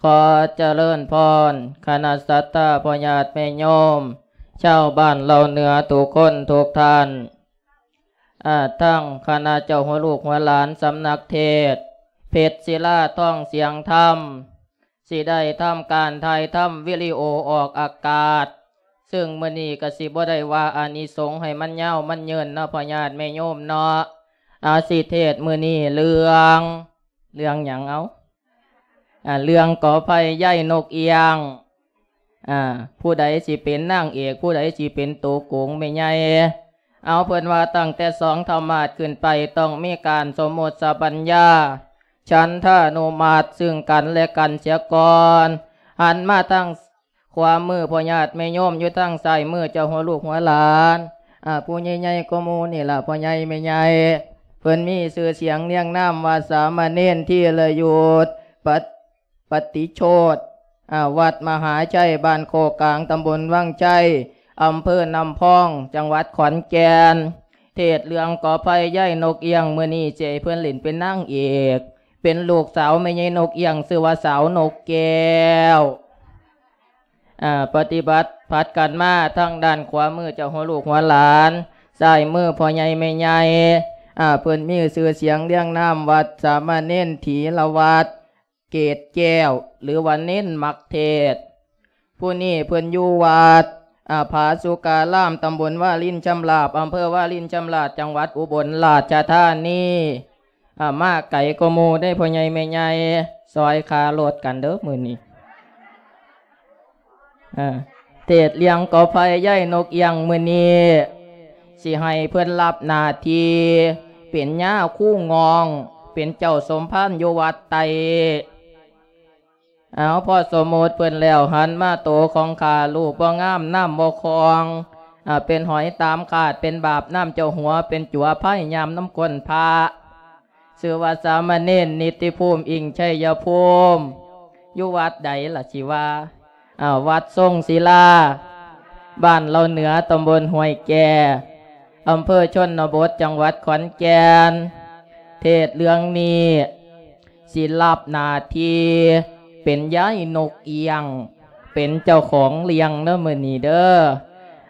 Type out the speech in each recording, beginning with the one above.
ຂໍຈະເລີນພອນ ຄະນະສັດທາພໍ່ຍາດແມ່ໂຍມ ຊາວບ້ານເຫຼົ່າເໜືອທຸກຄົນທຸກທ່ານ, ອາ ທັງຄະນະເຈົ້າຫົວລູກຫົວຫຼານສຳນັກເທດ ເພັດສິລາທອງສຽງທຳ ຊິໄດ້ທຳການຖ່າຍທຳວິດີໂອອອກອາກາດ, ເຊິ່ງມື້ນີ້ກະຊິບໍ່ໄດ້ວ່າອານິສົງໃຫ້ມັນຍາວມັນຍືນເນາະ ພໍ່ຍາດແມ່ໂຍມເນາະ. ອາ ຊິເທດມື້ນີ້ເລື່ອງ ເລື່ອງຫຍັງເອົາ? ອາ ເລື່ອງກໍໄຟໃຍນົກອຽງ. ອາ ຜູ້ໃດຊິເປັນນາງເອກ ຜູ້ໃດຊິເປັນໂຕໂກງແມ່ໃຫຍ່? ເອົາ ເພິ່ນວ່າຕັ້ງແຕ່ສອງທຳມາດຂຶ້ນໄປ ຕ້ອງມີການສົມມຸດສະບັນຍາ ສັນທານຸມາດເຊິ່ງກັນແລະກັນເສຍກ່ອນ. ຫັນມາທາງຂວາມືພໍ່ຍາດແມ່ໂຍມ ຢູ່ທາງຊ້າຍມືເຈົ້າຫົວລູກຫົວຫຼານ ອາ ຜູ້ໃຫຍ່ໆກວ່າໝູ່ນີ້ລະ ພໍ່ໃຫຍ່ແມ່ໃຫຍ່. ເພິ່ນມີຊື່ສຽງລຽງນາມວ່າສາມະເນນທີລະຍຸດ ປະ ປະຕິໂຊດ ອາ ວັດມະຫາໄຊ ບ້ານໂຄກກາງ ຕຳບົນວັງໄຊ ອຳເພີນ້ຳພອງ ຈັງຫວັດຂອນແກ່ນ. ເທດເລື່ອງກໍໄຟໃຍນົກອຽງ ມື້ນີ້ຊິໃຫ້ເພິ່ນຫຼິ້ນເປັນນາງເອກ ເປັນລູກສາວແມ່ໃຫຍ່ນົກອຽງ ຊື່ວ່າສາວນົກແກ້ວ. ອາ ປະຕິບັດຜັດກັນມາ ທາງດ້ານຂວາມືເຈົ້າຫົວລູກຫົວຫຼານ ຊ້າຍມືພໍ່ໃຫຍ່ແມ່ໃຫຍ່. ອາ ເພິ່ນມີຊື່ສຽງລຽງນາມວ່າສາມະເນນຖີລະວັດ ເກດແກ້ວ ຫຼືວ່າເນນມັກເທດ. ຜູ້ນີ້ເພິ່ນຢູ່ວັດ ອາ ຜາສຸກາລາມ ຕຳບົນວາລິນຊຳລາບ ອຳເພີວາລິນຊຳລາບ ຈັງຫວັດອຸບົນລາຊະທານີ. ອາ ມາໄກກວ່າໝູ່ເດ້ ພໍ່ໃຫຍ່ແມ່ໃຫຍ່ ຊ່ອຍຄ່າລົດກັນເດີມື້ນີ້. ເທດເລື່ອງກໍໄຟໃຍນົກອຽງ ມື້ນີ້ຊິໃຫ້ເພິ່ນຮັບໜ້າທີ່ເປັນຍາຄູງອງ ເປັນເຈົ້າສົມພານຢູ່ວັດໄຕ້. ເອົາ ພໍສົມມຸດເພິ່ນແລ້ວ ຫັນມາໂຕຂອງຂ້າ ຮູບບໍ່ງາມ ນາມບໍ່ຄອງ ອາ ເປັນຫອຍຕາມຄາດ ເປັນບາບນຳເຈົ້າຫົວ ເປັນຈົວພາຍຍາມນຳກົ້ນພະ. ຊື່ວ່າສາມະເນນນິດຕິພູມ ອິງໄຊຍະພູມ ຢູ່ວັດໃດລະຊິວ່າ? ເອົາ ວັດຊົງສິລາ ບ້ານເຫຼົ່າເໜືອ ຕຳບົນຫ້ວຍແກ່ ອຳເພີຊົນນະບົດ ຈັງຫວັດຂອນແກ່ນ. ເທດເລື່ອງນີ້ຊິຮັບໜ້າທີ່ເປັນຍາຍນົກອຽງ ເປັນເຈົ້າຂອງເລື່ອງເດີມື້ນີ້ເດີ.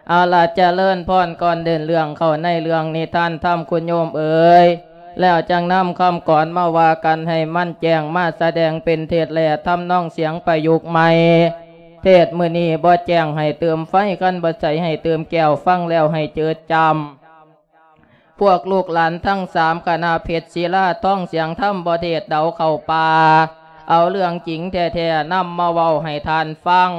ເອົາລະ ຈະເລີນພອນ ກ່ອນເດີນເລື່ອງເຂົ້າໃນເລື່ອງນິທານທຳ ຄຸນໂຍມເອີຍ ແລ້ວຈັ່ງນຳຄຳກອນມາວ່າກັນໃຫ້ມັນແຈ້ງ ມາສະແດງເປັນເທດແລະທຳນອງສຽງປະຍຸກໃໝ່. ເທດມື້ນີ້ບໍ່ແຈ້ງໃຫ້ເຕີມໄຟ ຄັນບໍ່ໃສໃຫ້ເຕີມແກ້ວ ຟັງແລ້ວໃຫ້ເຈີດຈຳ. ພວກລູກຫຼານທັງສາມຄະນະ ເພັດສິລາທອງສຽງທຳ ບໍ່ເທດເດົາເຂົ້າປ່າ ເອົາເລື່ອງຈິງແທ້ໆນຳມາເວົ້າໃຫ້ທ່ານຟັງ.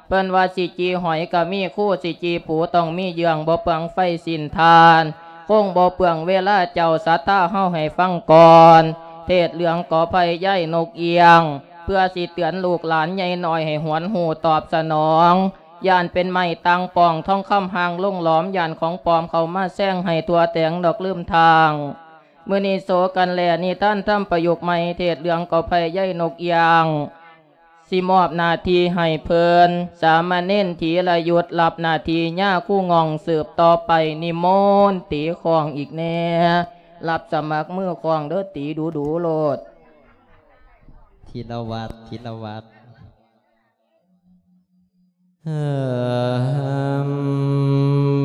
ເພິ່ນວ່າຊິຈີ່ຫອຍກະມີຄູ ຊິຈີ່ປູຕ້ອງມີເຍື່ອງ ບໍ່ເປືອງໄຟສິ້ນຖ່ານ ຄົງບໍ່ເປືອງເວລາເຈົ້າສັດທາເຮົາໃຫ້ຟັງກ່ອນ. ເທດເລື່ອງກໍໄຟໃຍນົກອຽງ ເພື່ອຊິເຕືອນລູກຫຼານໃຫຍ່ນ້ອຍໃຫ້ຫວນຮູ້ຕອບສະໜອງ. ຢ້ານເປັນໄມ້ຕ່າງປ່ອງ ທອງຄຳຫ່າງລົງຫຼອມ ຢ້ານຂອງປອມເຂົ້າມາແຊງໃຫ້ທົ່ວແຕງດອກລືມທາງ. ມື້ນີ້ໂສກັນແລະນິທານທຳປະຍຸກໃໝ່ ເທດເລື່ອງກໍໄຟໃຍນົກອຽງ ຊິມອບໜ້າທີ່ໃຫ້ເພິ່ນ ສາມະເນນທີລະຍຸດ ຮັບໜ້າທີ່ຍາຄູງອງສືບຕໍ່ໄປ. ນິມົນຕີຄ້ອງອີກແດ່ ຮັບສະໝັກມືຄ້ອງເດີ ຕີດູໆໂລດ. ທີລະວັດ ທີລະວັດ.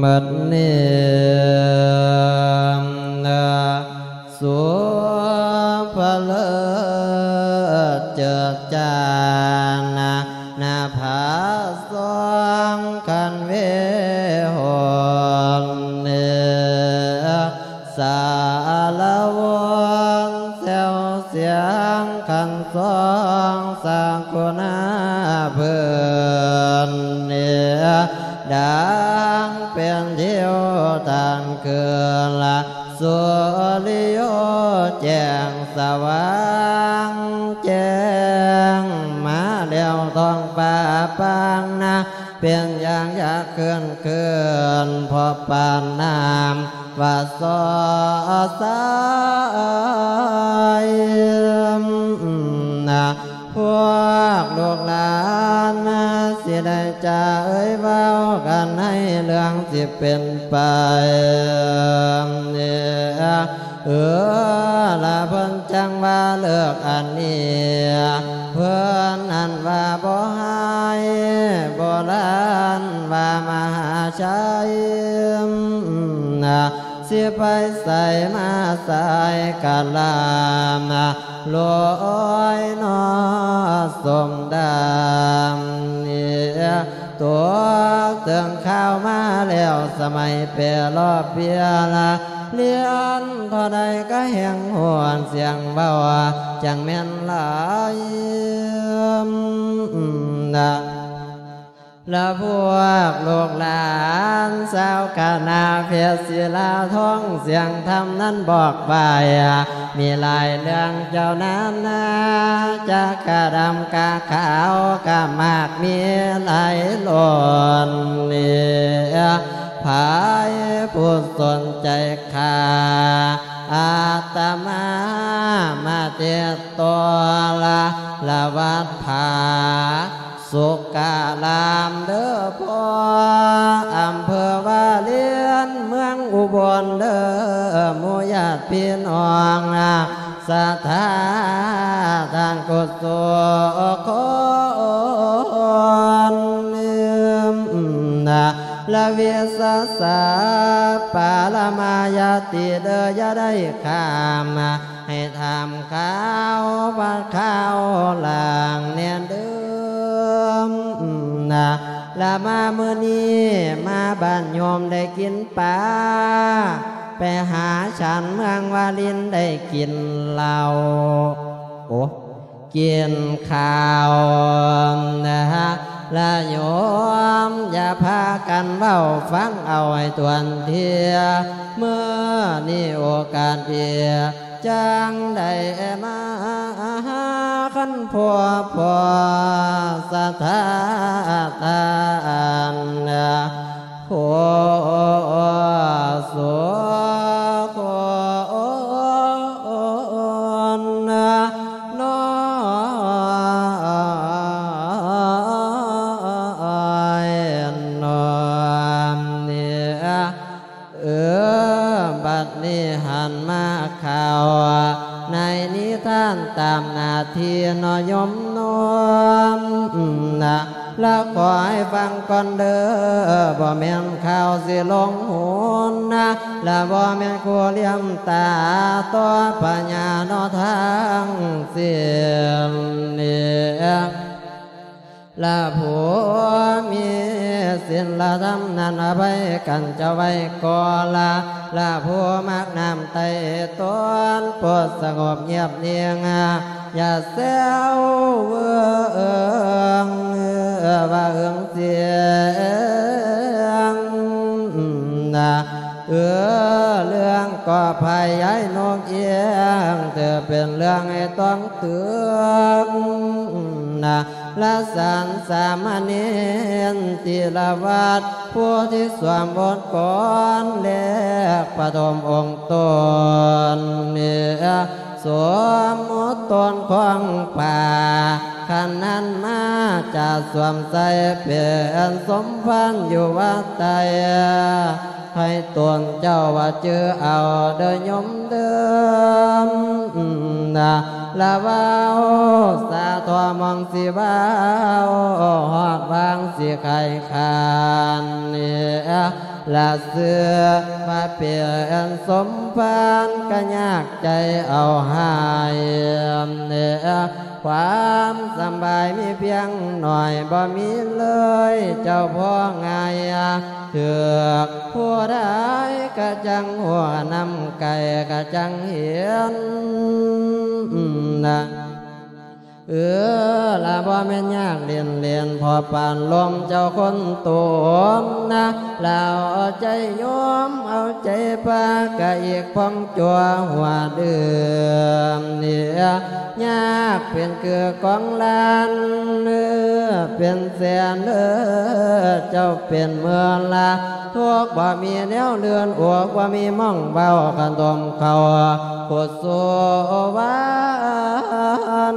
ບັດນີ້ນະ ສຸພະເລີດເຈີດຈ້ານະ ນະພາສອງຄັນເວຫົນເນ ສາລະວົນແຊວສຽງຄັນສອງ ສັກຄຸນາເພິ່ນເນ ດັງເປັນທິວຕານຄືນລະ ສຸລິໂຍແຈ້ງສະຫວ່າງແຈ້ງ ມາແລ້ວທ້ອງຟ້າປາງນາ ເປັນຢ່າງຢາກເຄື່ອນຄືນ ເພາະປານນ້ຳວ່າສໍສາຍນະ ພວກລູກຫຼານນະ ຊິໄດ້ຈາເອີຍເວົ້າກັນໃນເລື່ອງຊິເປັນໄປ ເອີ ລະເພິ່ນຈັ່ງວ່າເລີກອັນນີ້ ເພິ່ນ ອັນວ່າບໍ່ຫາຍ ໂບລານວ່າມະຫາໄຊ ຊິໄປໃສມາໃສກະລາມ ລອຍນອສົມດາມ ຕົກເຖິງຂ່າວມາແລ້ວ ສະໄໝແປລອບເບຍລະ ລຽນເທົ່າໃດກະແຮງຫວນສຽງເວົ້າ ຈັ່ງແມ່ນຫຼາຍ ລະພວກລູກຫຼານຊາວຄະນະເພດສິລາທອງ ສຽງທຳນັ້ນບອກໄປ ມີຫຼາຍເລື່ອງເຈົ້ານານາ ຈາກກະດຳກະຂາວ ກະໝາກມີຫຼາຍລົ້ນ ໃຜຜູ້ສົນໃຈ ຂ້າອາດຕະມາມາຕິດຕໍ່ລະ ລະວັດຜາສຸກກະລາມເດີພໍ່ ອຳເພີວາລິນ ເມືອງອຸບົນເດີ ໝູ່ຍາດພີ່ນ້ອງ ສັດທາທ່ານກຸສົກຄົນ ລະວິສາສະປາລະມາຍາຕິເດີ ຢ່າໄດ້ຂ້າມ ໃຫ້ຖາມຂ່າວວ່າຂ່າວຫຼາງແນ່ເດີ ລະມາມື້ນີ້ມາບ້ານໂຍມໄດ້ກິນປາ ໄປຫາສັນເມືອງວາລິນໄດ້ກິນເຫຼົ້າ ໂອ ກິນຂ້າວນະ ລະໂຍມຢ່າພາກັນເວົ້າ ຟັງເອົາໃຫ້ຖ້ວນເທື່ອ ມື້ນີ້ໂອກາດດີ ຈັ່ງໄດ້ມາຫາຄັນພົບພໍສະຖາທ່ານ ໂຄສົກຄົນນ້ອຍນ້ອມນີ້ ເອີ ບັດນີ້ຫັນມາຂ່າວໃນນິທານຕາມໜ້າທີ່ເນາະໂຍມເນາະ ລະຂໍໃຫ້ຟັງກ່ອນເດີ ບໍ່ແມ່ນຂ່າວຊິລົງຫຸນນະ ລະບໍ່ແມ່ນຄູ່ຫຼຽມຕາຕໍ່ພະຍາເນາະທັງສິ້ນນີ້ ລະຜູ້ມີສິນລະທຳນັ້ນອະໄພກັນເຈົ້າໄວ້ກໍລະ ລະຜູ້ມັກນ້ຳໄຕ້ຕົນ ໂປດສະຫງົບງຽບນິ່ງ ຢ່າແຊວເວີງວ່າເອີງສຽງນະ ເອີ ເລື່ອງກໍພະຍາຍນົກເອງ ຖືເປັນເລື່ອງໃຫ້ຕ້ອງຕຶງນະ ລະສັນສາມະເນນຕິລະວັດ ໂພທິສວມບົດກ່ອນແລກປະຖົມອົງຕົນ ສົມມຸດຕົນຂອງພະ ຂັ້ນນັ້ນມາຈະສວມໃສ່ເປັນສົມພັນຢູ່ວັດໃດ ໃຫ້ຕົນເຈົ້າວ່າຈື່ເອົາເດີໂຍມເດີ ລະເວົ້າສາທໍ່ມອງຊິເວົ້າ ຮອດວາງຊິໄຂຄານ ລະເຊື່ອວ່າເປັນສົມພານ ກະຍາກໃຈເອົາໃຫ້ ຄວາມສຳບາຍມີພຽງໜ້ອຍ ບໍ່ມີເລີຍເຈົ້າພໍງ່າຍ ຖືກຜູ້ໃດກະຈັ່ງຮູ້ ນຳໃກ້ກະຈັ່ງເຫັນ ເອີ ລະບໍ່ແມ່ນຍາກຫຼິ້ນໆ ພໍປານລົມເຈົ້າຄົນຕົມນະ ລະເອົາໃຈໂຍມເອົາໃຈພະ ກະອີກພອງຈົວຫົວດື່ມນີ້ ຍາກເປັນຄືກອງລ້ານ ເປັນແສນເດີ ເຈົ້າເປັນໝື່ນລະ ທຸກບໍ່ມີແນວເລື່ອນ ອົກບໍ່ມີໝ່ອງເວົ້າ ຄັນຕົມເຂົ້າໂຄດໂສວານ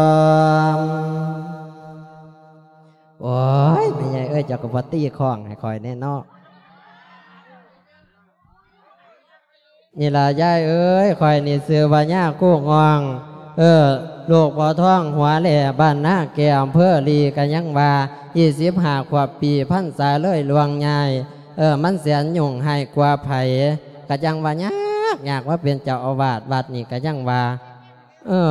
ມ. ໂອ້ຍ ແມ່ໃຫຍ່ເອີຍ ເຈົ້າກໍບໍ່ຕີຄ້ອງໃຫ້ຂ້ອຍແດ່ເນາະ. ນີ້ລະຍາຍເອີຍ ຂ້ອຍນີ້ຊື່ວ່າຍາຄູງ່ອງ ເອີ ລູກພໍ່ທອງຫົວແຫຼ້ ບ້ານນາແກ້ວ ອຳເພີລີ ກະຍັງວ່າ ຊາວຫ້າຂວບປີ ພັນສາເລີຍລ່ວງຍາຍ ເອີ ມັນແສນຫຍຸ້ງຮ້າຍກວ່າໃຜ ກະຍັງວ່າຍາກ ຍາກມາເປັນເຈົ້າອາວາດວັດນີ້ ກະຍັງວ່າ ເອີ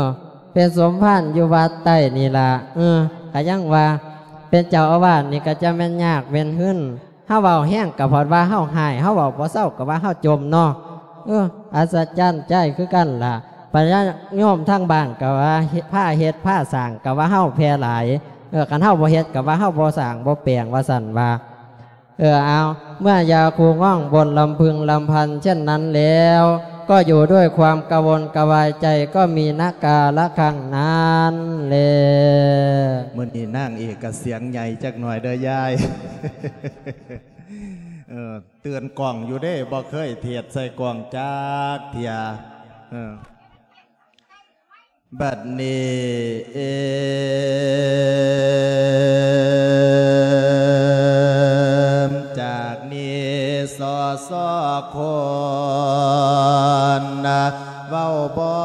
ເປັນສົມພານຢູ່ວັດໃຕ້ນີ້ລະ ເອີ ກະຍັງວ່າເປັນເຈົ້າອາວາດນີ້ກະຈະແມ່ນຍາກແມ່ນຫຶນ ເຮົາເວົ້າແຮງກະເພາະວ່າເຮົາຮ້າຍ ເຮົາເວົ້າບໍ່ເຊົາກະວ່າເຮົາຈົ່ມເນາະ ເອີ ອັດສະຈັນໃຈຄືກັນລະ ພະຍາດໂຍມທາງບ້ານກະວ່າເຮັດ ພາເຮັດພາສ້າງກະວ່າເຮົາແຜ່ຫຼາຍ ເອີ ຄັນເຮົາບໍ່ເຮັດກະວ່າເຮົາບໍ່ສ້າງບໍ່ແປງວ່າຊັ້ນວ່າ ເອີ ເອົາ ເມື່ອຍາຄູງ່ອງບ່ນລຳພຶງລຳພັນເຊັ່ນນັ້ນແລ້ວ ກໍຢູ່ດ້ວຍຄວາມກະວົນກະວາຍໃຈ ກໍມີນະກາລະຄັ້ງນັ້ນແລ. ມື້ນີ້ນາງເອກກະສຽງໃຫຍ່ຈັກໜ້ອຍເດີຍາຍ ເອີ ເຕືອນກ້ອງຢູ່ເດ້ ບໍ່ເຄີຍເທດໃສ່ກ້ອງຈັກເທື່ອ ເອີ. ບັດນີ້ ເອ ຈາກນີ້ ສສ ຄົນ ເວົ້າບ່ອ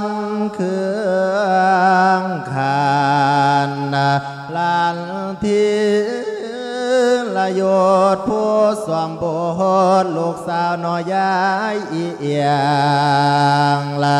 ນເຄື່ອງຂານ ຫຼານທີລະໂຍດ ຜູ້ສວມບົດ ລູກສາວນ້ອຍຍາຍອີ່ອຽງລະ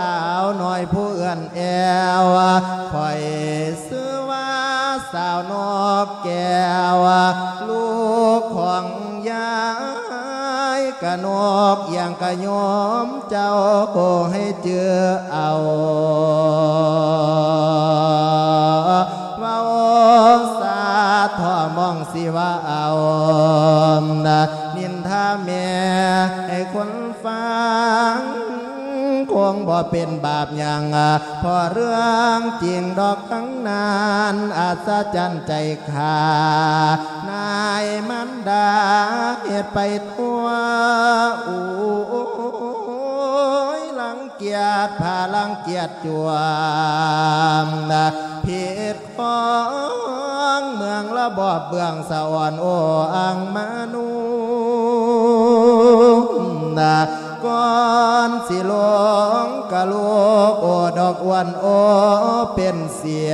າວນ້ອຍຜູ້ເອື້ອນແອວ ຂ້ອຍຊື່ວ່າສາວນົກແກ້ວ ລູກຂອງຍາຍກະນົກ ຢ່າງກະໂຍມເຈົ້າໃຫ້ຈື່ເອົາ ເວົ້າສາເທາະໝ່ອງຊິວ່າເອົາ ນິນທາແມ່ໃຫ້ຄົນ ຟັງ ຄົງບໍ່ເປັນບາບຫຍັງ ເພາະເລື່ອງຈິງດອກທັງນັ້ນ ອັດສະຈັນໃຈຂ້າ ນາຍມານດາເຮັດໄປທົ່ວ ໂອ້ຍ ລັງກຽດ ພາລັງກຽດຈວມ ຜິດ ຂອງເມືອງລະບອບເບື້ອງສະອອນໂອອັງມະນຸນນະ ກ່ອນຊິລົງກະລູກໂອດອກອວນໂອເປັນສຽ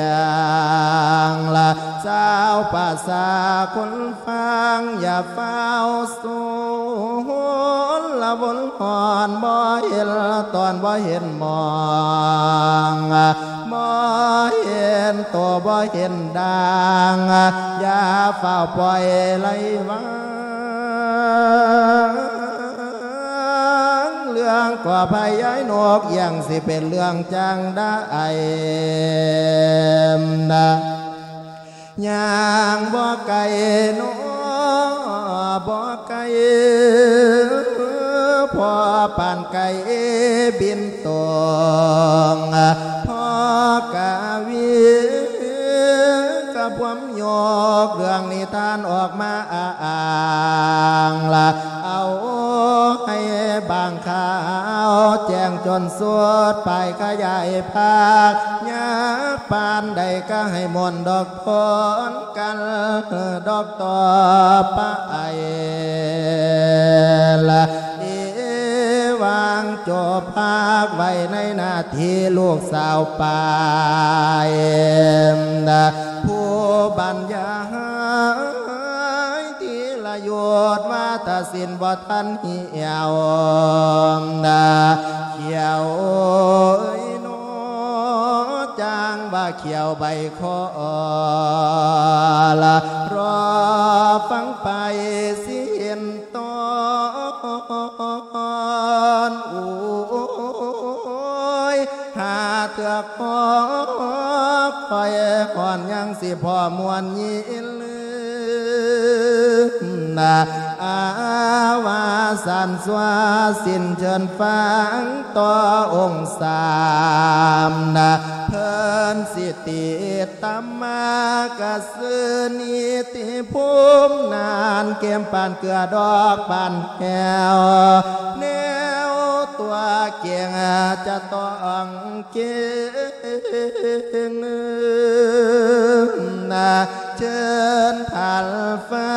ງລະ ຊາວປະຊາຄົນຟັງຢ່າຟ້າວສ ລະວົນຮ້ອນ ບໍ່ເຫັນຕອນ ບໍ່ເຫັນມອງ ບໍ່ເຫັນໂຕ ບໍ່ເຫັນດາງ ຢ່າຟ້າວປ່ອຍໄຫຼວາງ ເລື່ອງກໍພະຍາຍນົກຢ່າງຊິເປັນເລື່ອງຈັ່ງໃດ ນະ ຍ່າງບໍ່ໄກ ນອ ບໍ່ໄກ ພໍປານໄກ່ບິນຕົງ ພໍກະວີກະພວມຍົກເລື່ອງນິທານອອກມາອ້າງລະ ເອົາໃຫ້ບາງຂ່າວແຈ້ງຈົນສຸດ ປາຍຂະຫຍາຍພາກ ຍາກປານໃດກະໃຫ້ມ່ວນດອກ ພ້ອມກັນດອກຕໍ່ໄປລະ ເອຫວ່າງຈົບພາກໄວ້ໃນໜ້າທີ່ລູກສາວປາຍ ຜູ້ບັນຍາຍທີລະຍຸດວາທະສິນບໍ່ທັນ ຂຽວນະ ຂຽວເອີຍນໍ ຈ້າງວ່າຂຽວໃບຄໍລະ ລໍຟັງໄປສິ້ນຕອນ ໂອ້ຍ ຫາເທື່ອຂໍ ຂ້ອຍຮ້ອນຍັງ ຊິພໍມ່ວນຍິນນະ ອາວາສັນສວາສິນເຊີນຟັງຕໍ່ອົງສາມນະ ເພິ່ນຊິຕິດຕາມມາກະຊື່ນິຕິພູມນານ ເກມປານເກືອດອກປານແຫ້ວ ແນວຕົວເກັ່ງຈະຕ້ອງ ເກັ່ງນະ ເຊີນທ່ານຟັ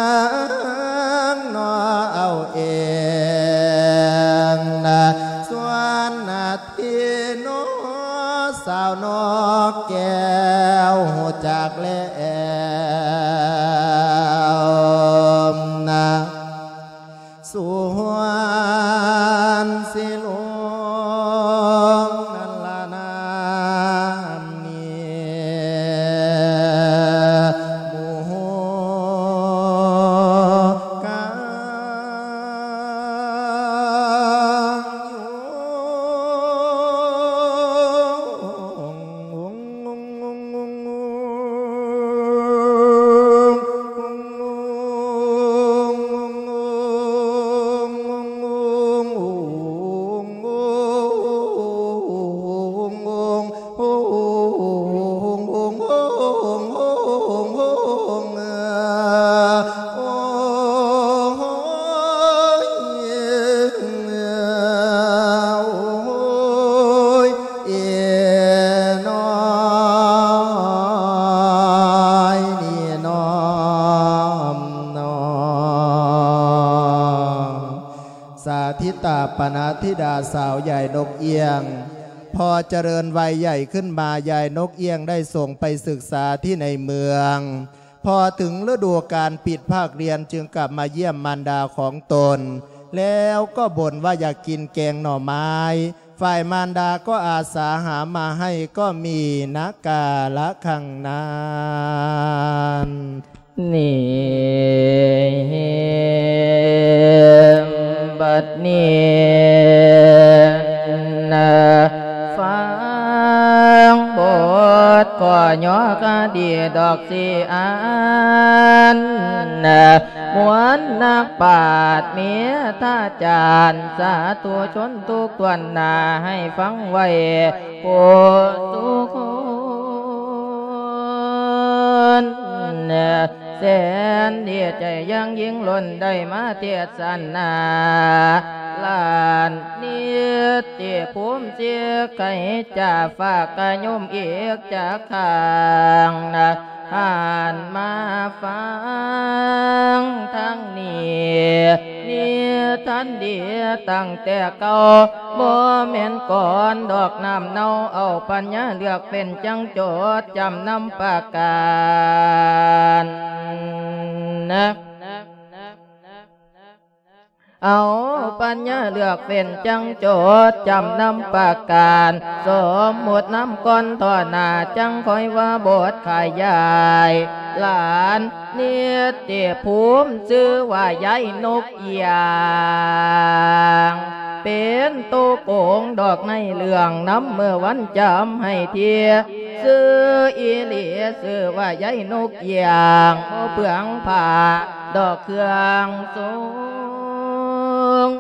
ງໜໍເອົາເອງນະ ສ່ວນນາທີໜໍສາວນອກແກ້ວຮູ້ຈັກແລ້ວນະ ສວນສີຫຼົງນັ້ນລະນາມນີ້ ໝູ່ກາງຢູ່ ສາທິຕາປະນະທິດາສາວ ຍາຍນົກອຽງ ພໍຈະເລີນໄວໃຫຍ່ຂຶ້ນມາ ຍາຍນົກອຽງໄດ້ສົ່ງໄປສຶກສາທີ່ໃນເມືອງ. ພໍເຖິງລະດູການປິດພາກຮຽນ ຈຶ່ງກັບມາຢ້ຽມມານດາຂອງຕົນ ແລ້ວກໍບົ່ນວ່າຢາກກິນແກງໜໍ່ໄມ້. ຝ່າຍມານດາກໍອາສາຫາມາໃຫ້ ກໍມີນະກາລະຄັງນັ້ນ. ນີ້ ບັດນີ້ນະ ຟັງບົດກໍຍໍຄະດີດອກຊິອ່ານນະ ມ່ວນນັກປາດເມດຕາຈານ ສາທຸຊົນທຸກຖ້ວນໜ້າ ໃຫ້ຟັງໄວ້ ຜູ້ສູ່ຄົນ ແສນດີໃຈຢ່າງຍິ່ງ ລົ້ນໄດ້ມາເທດສະໜາ ລ້ານນິດຕິພູມສິກໄກຈາ ຝາກກະໂຍມອີກຈັກຄັ້ງນະ ທ່ານມາຟັງທາງນີ້ ນິທານດີຕັ້ງແຕ່ເກົ່າ ບໍ່ແມ່ນກ່ອນດອກນ້ຳເນົ່າ ເອົາປັນຍາເລືອກເປັນ ຈັ່ງຈົດຈຳນຳປະການນະ ເອົາປັນຍາເລືອກເປັນ ຈັ່ງຈົດຈຳນຳປະການ ສົມມຸດນຳກ່ອນຕໍ່ໜ້າ ຈັ່ງຄ່ອຍວ່າບົດຂະຫຍາຍ ຫຼານ ນິດຕິພູມ ຊື່ວ່າຍາຍນົກອຽງ ເປັນໂຕໂກງດອກໃນເລື່ອງນຳ ເມື່ອວັນຈຳໃຫ້ເທ ຊື່ອີຫຼີຊື່ວ່າຍາຍນົກອຽງ ບໍ່ເປືອງຜ້າດອກເຄື່ອງຊົງ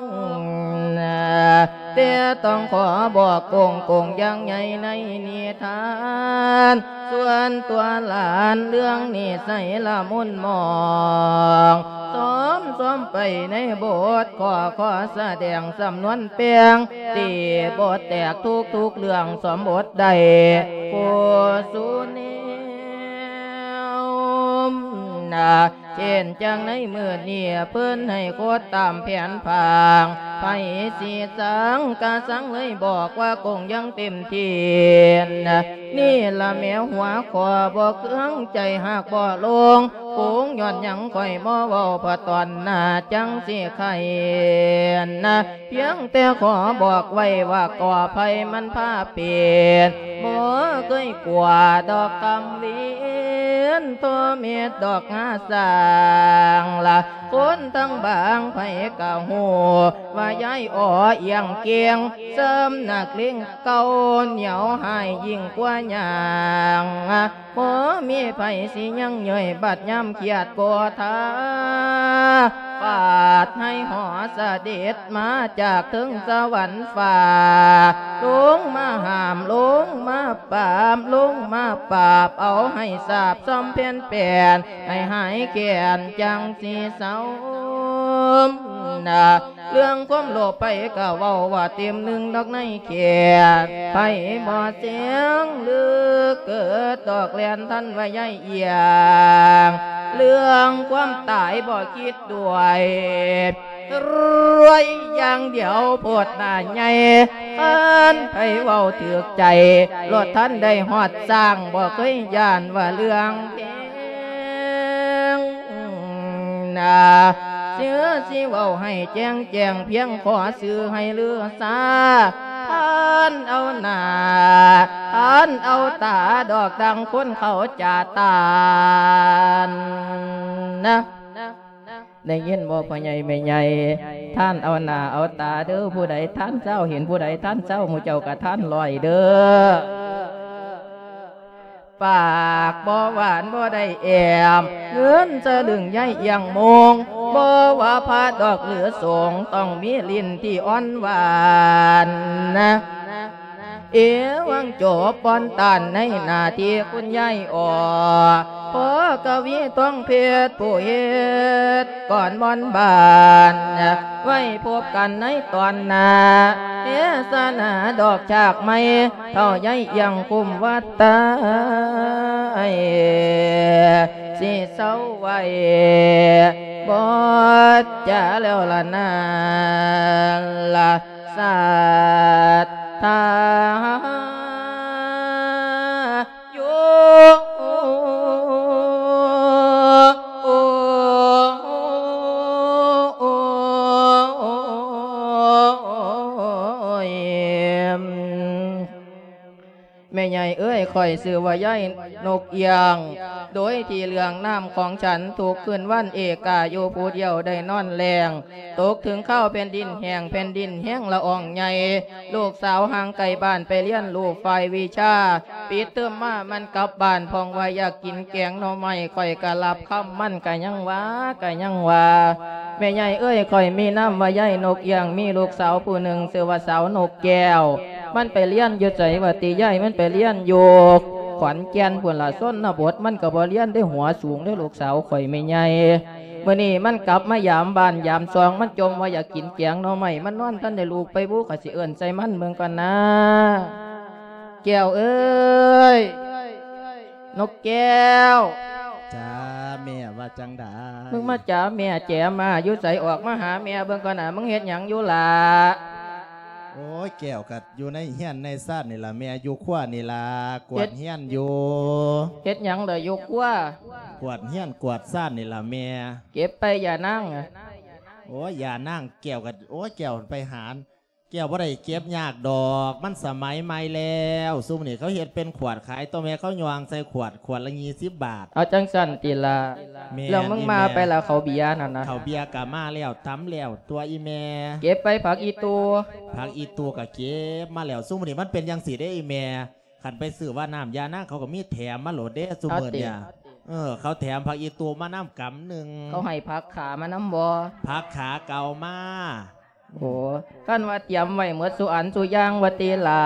ແຕ່ຕ້ອງຂໍບອກໂກງໆຢ່າງໃຫຍ່ໃນນິທານ ສ່ວນຕົວຫຼານເລື່ອງນິໄສລະມຸນໝອງ ຊອມໆໄປໃນບົດ ຂໍ ຂໍສະແດງສຳນວນແປງ ຕີບໍ່ແຕກທຸກໆເລື່ອງ ຊອມບົດໄດ້ຜູ້ສູ່ແນວນະ ເຊັ່ນຈັ່ງໃນມື້ນີ້ ເພິ່ນໃຫ້ໂຄດຕາມແຜນຜັງ ໃຜຊິສັງກະສັງເລີຍ ບອກວ່າກົງຢ່າງເຕັມທີ່ນະ ນີ້ລະແມ່ຫົວຂໍ້ ບໍ່ເຄືອງໃຈ ຫາກບໍ່ລົງ ກົງຍ້ອນຫຍັງຂ້ອຍບໍ່ເວົ້າ ເພາະຕອນໜ້າຈັ່ງຊິໄຂນະ ພຽງແຕ່ຂໍບອກໄວ້ວ່າ ກໍໄພມັນພາເປັນ ບໍ່ເຄີຍກົວດອກຄຳເວັນ ໂທເມັດດອກງາສ້າງລະ ຄົນທັງບາງໃຜກະຮູ້ ວ່າຍາຍອໍອຽງເກັ່ງ ເສີມນັກເລງເກົ່າ ໜຽວຮ້າຍຍິ່ງກວ່າຫຍັງ ບໍ່ມີໃຜຊິຍັງເຍີ້ຍ ບັດຍາມຄຽດກໍທາ ຟາດໃຫ້ຫໍສະເດັດ ມາຈາກເທິງສະຫວັນຟ້າ ລົງມາຫ້າມ ລົງມາປາບ ລົງມາປາບ ເອົາໃຫ້ສາບຊ່ອມແຜ່ນແປນ ໃຫ້ຫາຍແຄ້ນ ຈັ່ງຊິເຊົານະ. ເລື່ອງຄວາມໂລບໃຜກໍເວົ້າວ່າເຕັມໜຶ່ງດອກໃນແຂນ ໃຜບໍ່ສຽງຫຼືເກີດດອກແລ່ນທັນວ່າຍາຍອຽງ ເລື່ອງຄວາມຕາຍບໍ່ຄິດດ້ວຍ ລວຍຢ່າງດຽວໂພດໜ້າໃຫຍ່ ຄັນໃຜເວົ້າຖືກໃຈ ໂລດທັນໄດ້ຮອດຊ້າງ ບໍ່ເຄີຍຢ້ານວ່າເລື່ອງແພງນາ ເຊື່ອຊິເວົ້າໃຫ້ແຈ້ງແຈ້ງ ພຽງຂໍຊື່ໃຫ້ລືຊາ ທ່ານເອົາໜ້າ ທ່ານເອົາຕາ ດອກດັ່ງຄົນເຂົາຈາຕານນະ. ໄດ້ຍິນບໍ່ພໍ່ໃຫຍ່ແມ່ໃຫຍ່ ທ່ານເອົາໜ້າເອົາຕາເດີ ຜູ້ໃດທ່ານຊາວ ເຫັນຜູ້ໃດທ່ານຊາວ ໝູ່ເຈົ້າກະທ່ານຮ້ອຍເດີ. ປາກບໍ່ຫວານບໍ່ໄດ້ແອມ ເງິນສະລຶງໃຫຍ່ອຽງໂມງ ບໍ່ວ່າພະດອກຫຼືສົງ ຕ້ອງມີຫຼິ້ນທີ່ອ່ອນຫວານນະ. ເອວັງ ຈົບປ້ອນຕານໃນໜ້າທີ່ຄຸນຍາຍອໍ ພໍ່ກະວີທອງເພັດ ຜູ້ເຮັດກອນມ່ອນບ້ານ ໄວ້ພົບກັນໃນຕອນໜ້າ ເທສະໜາດອກຈາກໃໝ່ ເຖົ້າຍາຍອຽງຄຸ້ມວັດຕາຍ ຊິເຊົາໄວ້ ບໍ່ຈາແລ້ວລະນາລະ. ສັດທາຢູ່ ແມ່ໃຫຍ່ເອີຍ ຂ້ອຍຊື່ວ່າຍາຍນົກອຽງ ໂດຍທີ່ເລື່ອງນ້ຳຂອງສັນ ທຸກຄືນວັນເອກາຢູ່ຜູ້ດຽວໄດ້ນອນແລ້ງ ຕົກເຖິງຄາວແຜ່ນດິນແຫ້ງ ແຜ່ນດິນແຮງລະອອງໃຫຍ່ ລູກສາວຫ່າງໄກບ້ານໄປຮຽນຮູ້ຝ່າຍວິຊາ ປິດເທີມມາມັນກັບບ້ານ ພ້ອງວ່າຢາກກິນແກງໜໍ່ໄມ້ ຂ້ອຍກະລັບຄຳ ມັນກະຍັງວ່າ ກະຍັງວ່າ ແມ່ໃຫຍ່ເອີຍ ຂ້ອຍມີນາມວ່າຍາຍນົກອຽງ ມີລູກສາວຜູ້ໜຶ່ງຊື່ວ່າສາວນົກແກ້ວ ມັນໄປຮຽນຢູ່ໃສວະຕິຍາຍ? ມັນໄປຮຽນຢູ່ຂອນແກ່ນພຸ້ນລະ ຊົນນະບົດ ມັນກະບໍ່ຮຽນເດ້ ຫົວສູງເດ້ ລູກສາວຂ້ອຍແມ່ໃຫຍ່. ມື້ນີ້ມັນກັບມາຢາມບ້ານຢາມຊ່ອງ ມັນຈົ່ມວ່າຢາກກິນແກງໜໍ່ໄມ້ ມັນນອນທັນໄດ້ລຸກໄປບຸ ຂ້ອຍຊິເອີ້ນໃສ່ມັນເບິ່ງກ່ອນນາ. ແກ້ວເອີຍ ນົກແກ້ວ. ຈ້າແມ່ ວ່າຈັ່ງໃດ? ມຶງມາຈາແມ່ແຈມາຢູ່ໃສ? ອອກມາຫາແມ່ເບິ່ງກ່ອນນາ ມຶງເຮັດຫຍັງຢູ່ລະ? ໂອ້ຍ ແກ້ວກະຢູ່ໃນເຮືອນໃນຊານນີ້ລະແມ່ ຢູ່ຄົວນີ້ລະ ກວາດເຮືອນຢູ່. ເຮັດຫຍັງລະຢູ່ຄົວ? ກວາດເຮືອນກວາດຊານນີ້ລະແມ່. ເກັບໄປ ຢ່ານາງ. ໂອ້ຍ ຢ່ານາງ ແກ້ວກະ ໂອ້ຍ ແກ້ວໄປຫາ ແກ້ວບໍ່ໄດ້ເກັບຍາກດອກ ມັນສະໄໝໃໝ່ແລ້ວ ຊຸມນີ້ເຂົາເຮັດເປັນຂວດຂາຍ ຕົວແມ່ເຂົາຍ່ອງໃສ່ຂວດ ຂວດລະຍີ່ສິບບາດ. ເອົາຈັ່ງຊັ້ນຕິລະ. ແມ່ນ ແລ້ວມຶງມາໄປລະ ເຂົ້າເບຍນັ້ນນະ? ເຂົ້າເບຍກະມາແລ້ວ ຕຳແລ້ວຕົວະອີ່ແມ່. ເກັບໄປຜັກອີ່ຕູ່? ຜັກອີ່ຕູ່ກະເກັບມາແລ້ວ ຊຸມນີ້ມັນເປັນຈັ່ງຊີ້ເດ້ອີ່ແມ່. ຄັນໄປຊື້ວ່ານ້ຳຢານາງ ເຂົາກະມີແຖມມາໂລດເດ້ຊຸມມື້ນີ້. ເອີ ເຂົາແຖມຜັກອີ່ຕູ່ມານຳກຳໜຶ່ງ. ເຂົາໃຫ້ຜັກຂາມານຳບໍ່? ຜັກຂາເກົ່າມາ. ໂອ້ ຄັນວ່າຕຽມໄວ້ໝົດສູ່ອັນສູ່ຢ່າງວ່າຕິລະ.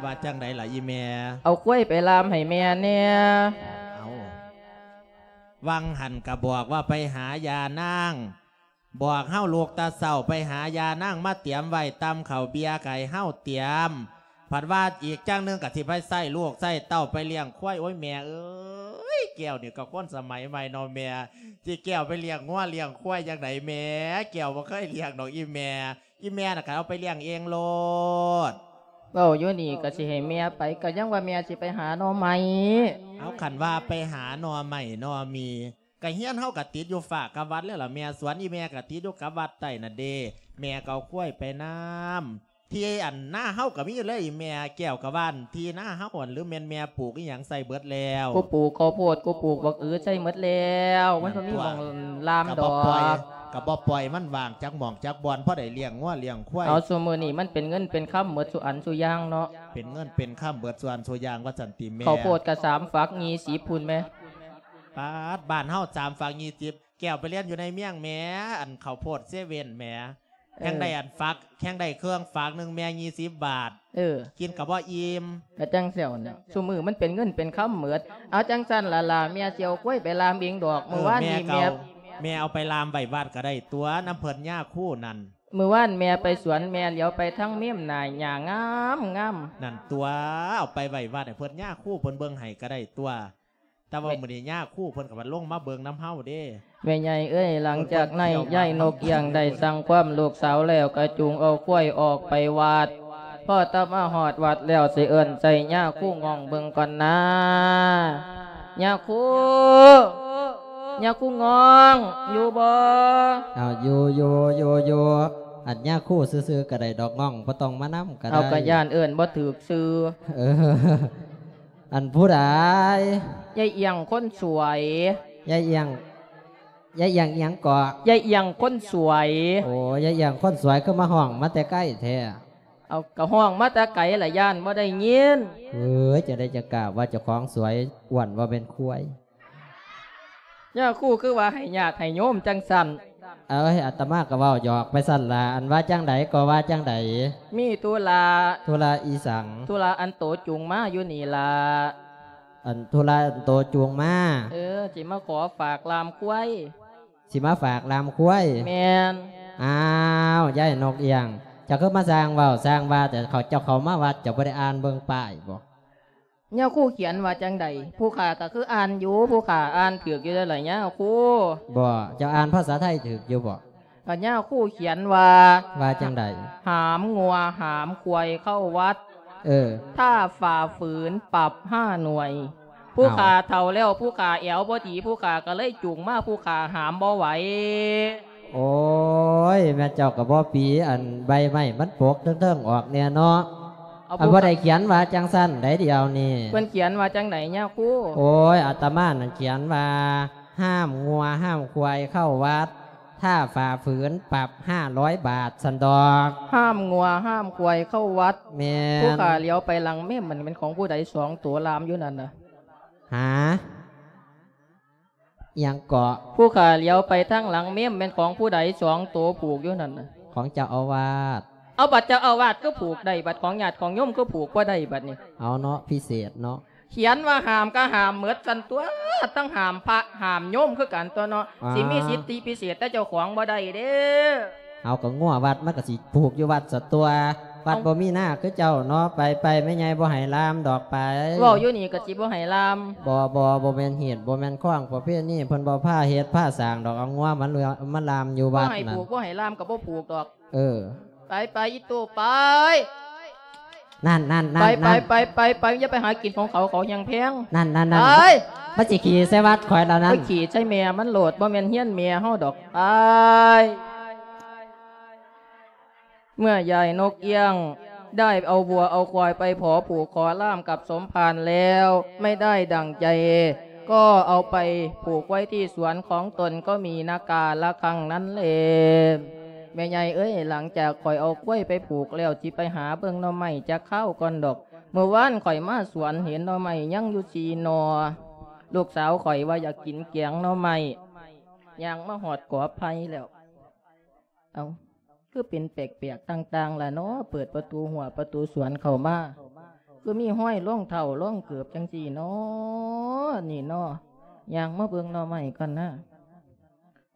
ວ່າຈັ່ງໃດລະອີ່ແມ່? ເອົາຄວາຍໄປລ່າມໃຫ້ແມ່ແດ່. ເອົາ ຫວ່າງຫັ້ນກະບອກວ່າໄປຫາຢານາງ ບອກເຮົາລຸກແຕ່ເຊົ້າໄປຫາຢານາງມາຕຽມໄວ້ ຕຳເຂົ້າເບຍກະໃຫ້ເຮົາຕຽມ ພັດວ່າອີກຈັ່ງໜຶ່ງກະຊິໄປໃຊ້ລູກໃຊ້ເຕົ້າໄປລ້ຽງຄວາຍ. ໂອ້ຍ ແມ່ເອີຍ ແກ້ວນີ້ກະຄົນສະໄໝໃໝ່ເນາະແມ່ ຊິແກ້ວໄປລ້ຽງງົວລ້ຽງຄວາຍຈັ່ງໃດແມ່? ແກ້ວບໍ່ເຄີຍລ້ຽງດອກອີ່ແມ່. ອີ່ແມ່ນະກະເອົາໄປລ້ຽງເອງໂລດ. ເວົ້າຢູ່ນີ້ກະຊິໃຫ້ແມ່ໄປ ກະຍັງວ່າແມ່ຊິໄປຫາໜໍ່ໄມ້. ເອົາ ຄັນວ່າໄປຫາໜໍ່ໄມ້ໜໍ່ມີ ກະເຮືອນເຮົາກະຕິດຢູ່ຟ້າກັບວັດແລ້ວລະແມ່ ສວນອີ່ແມ່ກະຕິດຢູ່ກັບວັດໃຕ້ນັ້ນເດ້. ແມ່ກໍເອົາຄວາຍໄປນຳ. ທີ່ອັນນາເຮົາກໍມີຢູ່ເລີຍ ແມ່ແກ້ວກໍວ່າ ທີ່ນາເຮົາອັນ ຫຼືແມ່ນແມ່ປູກອີ່ຫຍັງໃສ່ເບິດແລ້ວ? ກູປູກເຂົ້າໂພດ ກູປູກບັກອືໃສ່ເບິດແລ້ວ ມັນບໍ່ມີໝ່ອງລາມດອກ ກໍບໍ່ປ່ອຍ ກໍບໍ່ປ່ອຍມັນວ່າງຈັກໝ່ອງຈັກບ່ອນ ພໍໄດ້ລ້ຽງງົວລ້ຽງຄວາຍ. ເອົາ ຊຸມື້ນີ້ມັນເປັນເງິນເປັນຄຳເບິດສູ່ອັນສູ່ຢ່າງເນາະ ເປັນເງິນເປັນຄຳເບິດສູ່ອັນສູ່ຢ່າງ ວ່າຊັ້ນຕິແມ່. ເຂົ້າໂພດກໍສາມຝັກ ຍີ່ສິບພຸ້ນແມ່. ປາດ ບ້ານເຮົາສາມຝັກ ຍີ່ສິບ ແກ້ວໄປຮຽນຢູ່ໃນເມືອງແໝ ອັນເຂົ້າໂພດເຊເວັ່ນແໝ ແຮງໄດ້ອັນຝັກ ແຮງໄດ້ເຄື່ອງຝັກໜຶ່ງແມ່ ຍີ່ສິບບາດ. ເອີ ກິນກໍບໍ່ອີ່ມ ກໍຈັ່ງຊັ້ນແຫຼະ ຊຸມື້ມັນເປັນເງິນເປັນຄຳເໝິດ. ເອົາ ຈັ່ງຊັ້ນລະຫຼ້າ ແມ່ຊິເອົາຄວາຍໄປລ່າມເອງດອກ. ເອີ ມື້ວານນີ້ແມ່ ແມ່ເອົາໄປລ່າມໄວ້ວັດກໍໄດ້ຕົວະ ນຳເພິ່ນຍາຄູນັ້ນ. ມື້ວານແມ່ໄປສວນ ແມ່ຫຼຽວໄປທາງເມມ ໜ້າຫຍ້າງາມໆ ນັ້ນຕົວະ ເອົາໄປໄວ້ວັດໃຫ້ເພິ່ນຍາຄູເພິ່ນເບິ່ງໃຫ້ກໍໄດ້ຕົວະ. ແຕ່ວ່າມື້ນີ້ຍາຄູເພິ່ນກໍມາລົງມາເບິ່ງນຳເຮົາເດ້. ແມ່ໃຫຍ່ເອີຍ ຫຼັງຈາກນັ້ນ ເພິ່ນກໍມາ ຍາຍນົກອຽງໄດ້ສັ່ງຄວາມລູກສາວແລ້ວ ກໍຈູງເອົາຄວາຍອອກໄປວັດ. ພໍຕະມາຮອດວັດແລ້ວ ຊິເອີ້ນໃສ່ຍາຄູງ່ອງເບິ່ງກ່ອນນາ. ຍາຄູ ຍາຄູງ່ອງ ຢູ່ບໍ່? ເອົາ ຢູ່ ຢູ່ ຢູ່ ຢູ່. ອັນຍາຄູຊື່ໆກໍໄດ້ດອກ ງ່ອງບໍ່ຕ້ອງມານຳກໍໄດ້. ເອົາ ກໍຢ້ານເອີ້ນບໍ່ຖືກຊື່. ເອີ ອັນຜູ້ໃດ? ຍາຍອຽງຄົນສວຍ. ຍາຍອຽງ ຍາຍອຽງອີ່ຫຍັງເກາະ? ຍາຍອຽງຄົນສວຍ. ໂອ້ ຍາຍອຽງຄົນສວຍ ຄືມາຮ້ອງມາແຕ່ໄກແທ້? ເອົາ ກໍຮ້ອງມາແຕ່ໄກລະ ຢ້ານບໍ່ໄດ້ຍິນ. ເອີຍ ຈັ່ງໃດຈັ່ງກ້າວ່າເຈົ້າຂອງສວຍ ອ້ວນວ່າແມ່ນຄວາຍ. ຍາຄູຄືວ່າໃຫ້ຍາດໃຫ້ໂຍມຈັ່ງຊັ້ນ? ເອີຍ ອາດຕະມາກໍເວົ້າຫຍອກໄປຊັ້ນລະ ອັນວ່າຈັ່ງໃດກໍວ່າຈັ່ງໃດ? ມີທຸລະ. ທຸລະອີ່ສັງ? ທຸລະອັນໂຕຈູງມາຢູ່ນີ້ລະ. ອັນທຸລະອັນໂຕຈູງມາ? ເອີ ຊິມາຂໍຝາກລ່າມຄວາຍ. ຊິມາຝາກລ່າມຄວາຍ? ແມ່ນ. ອ້າວ ຍາຍນົກອຽງ ເຈົ້າຄືມາສ້າງເວົ້າສ້າງວ່າແຕ່ ເຈົ້າເຂົ້າມາວັດ ເຈົ້າບໍ່ໄດ້ອ່ານເບິ່ງປ້າຍບໍ່? ຍາຄູຂຽນວ່າຈັ່ງໃດ? ຜູ້ຂ້າກໍຄືອ່ານຢູ່ ຜູ້ຂ້າອ່ານຖືກຢູ່ເດ້ລະຍາຄູ. ບໍ່ ເຈົ້າອ່ານພາສາໄທຖືກຢູ່ບໍ່? ກໍຍາຄູຂຽນວ່າ ວ່າຈັ່ງໃດ? ຫາມງົວຫາມຄວາຍເຂົ້າວັດ ເອີ ຖ້າຝ່າຝືນປັບຫ້າໜ່ວຍ. ຜູ້ຂ້າເຖົ້າແລ້ວ ຜູ້ຂ້າແອວບໍ່ດີ ຜູ້ຂ້າກໍເລີຍຈູງມາ ຜູ້ຂ້າຫາມບໍ່ໄຫວ. ໂອ້ຍ ແມ່ເຈົ້າກໍບໍ່ປີ ອັນໃບໄມ້ມັນປົກເທິງໆອອກແດ່ເນາະ. ເອົາ ອັນບໍ່ໄດ້ຂຽນວ່າຈັ່ງຊັ້ນໃດດຽວນີ້. ເພິ່ນຂຽນວ່າຈັ່ງໃດຍາຄູ? ໂອ້ຍ ອາດຕະມານັ້ນຂຽນວ່າ ຫ້າມງົວຫ້າມຄວາຍເຂົ້າວັດ ຖ້າຝ່າຝືນປັບຫ້າຮ້ອຍບາດ ຊັ້ນດອກ. ຫ້າມງົວຫ້າມຄວາຍເຂົ້າວັດ. ແມ່ນ. ຜູ້ຂ້າຫຼຽວໄປຫຼັງເມມ ມັນແມ່ນຂອງຜູ້ໃດສອງໂຕລາມຢູ່ນັ້ນນະ? ຫາ? ອີ່ຫຍັງເກາະ? ຜູ້ຂ້າຫຼຽວໄປທາງຫຼັງເມມ ແມ່ນຂອງຜູ້ໃດສອງໂຕຜູກຢູ່ນັ້ນນະ? ຂອງເຈົ້າອາວາດ. ເອົາ ບັດເຈົ້າອາວາດຄືຜູກໄດ້ ບັດຂອງຍາດຂອງໂຍມຄືຜູກບໍ່ໄດ້ບັດນີ້? ເອົາເນາະ ພິເສດເນາະ. ຂຽນວ່າຫ້າມກໍຫ້າມໝົດຊັ້ນຕົວະ ທັງຫ້າມພະຫ້າມໂຍມຄືກັນຕົວະເນາະ. ອ້າວ ຊິມີສິດທິພິເສດແຕ່ເຈົ້າຂອງບໍ່ໄດ້ເດ້. ເອົາ ກໍງົວວັດມັນກໍຊິຜູກຢູ່ວັດຊະຕົວະ ວັດ ເອົ້າ ບໍ່ມີນາຄືເຈົ້າເນາະ. ໄປໆ ແມ່ໃຫຍ່ບໍ່ໃຫ້ລາມດອກໄປ. ເວົ້າຢູ່ນີ້ກໍຊິບໍ່ໃຫ້ລາມ. ບໍ່ ບໍ່ ບໍ່ແມ່ນຮີດ ບໍ່ແມ່ນຄອງປະເພນີ ເພິ່ນບໍ່ພາເຮັດພາສ້າງດອກ. ເອົາງົວມັນມາລາມຢູ່ວັດນັ້ນ. ບໍ່ໃຫ້ຜູກ ບໍ່ໃຫ້ລາມກໍບໍ່ຜູກດອກ. ເອີ ໄປໄປອີໂຕ້ໄປ. ນັ້ນນັ້ນນັ້ນ ໄປໄປໄປໄປໄປ ຢ່າໄປຫາກິນຂອງເຂົາ ເຂົາແຮງແພງ. ນັ້ນນັ້ນນັ້ນ ໄປ. ມັນຊິຂີ້ໃສ່ວັດຂ້ອຍລະນັ້ນ. ໄປຂີ້ໃສ່ແມ່ມັນໂລດ ບໍ່ແມ່ນເຮືອນແມ່ເຮົາດອກ. ໄປ. ເມື່ອຍາຍນົກອຽງໄດ້ເອົາງົວເອົາຄວາຍໄປຂໍຜູກຂໍລາມກັບສົມພານແລ້ວ ໄມ່ໄດ້ດັ່ງໃຈ ກໍເອົາໄປຜູກໄວ້ທີ່ສວນຂອງຕົນ ກໍມີນາກາລະຄັ້ງນັ້ນແລ. ແມ່ໃຫຍ່ເອີຍ ຫຼັງຈາກຂ້ອຍເອົາຄວາຍໄປຜູກແລ້ວ ຊິໄປຫາເບິ່ງໜໍ່ໄມ້ຈັກຄາວກ່ອນດອກ. ມື້ວານຂ້ອຍມາສວນເຫັນໜໍ່ໄມ້ຍັງຢູ່ສີ່ໜໍ່. ລູກສາວຂ້ອຍວ່າຢາກກິນແກງໜໍ່ໄມ້. ຍ່າງມາຮອດກອໄຜ່ແລ້ວ. ເອົ້າ ຄືເປັນແປກໆຕ່າງໆລະເນາະ? ເປີດປະຕູຮົ້ວປະຕູສວນເຂົ້າມາ ຄືມີຮອຍລອງເທົ້າລອງເກີບຈັ່ງຊີ້ເນາະ ນີ້ເນາະ. ຍ່າງມາເບິ່ງໜໍ່ໄມ້ກ່ອນນາ.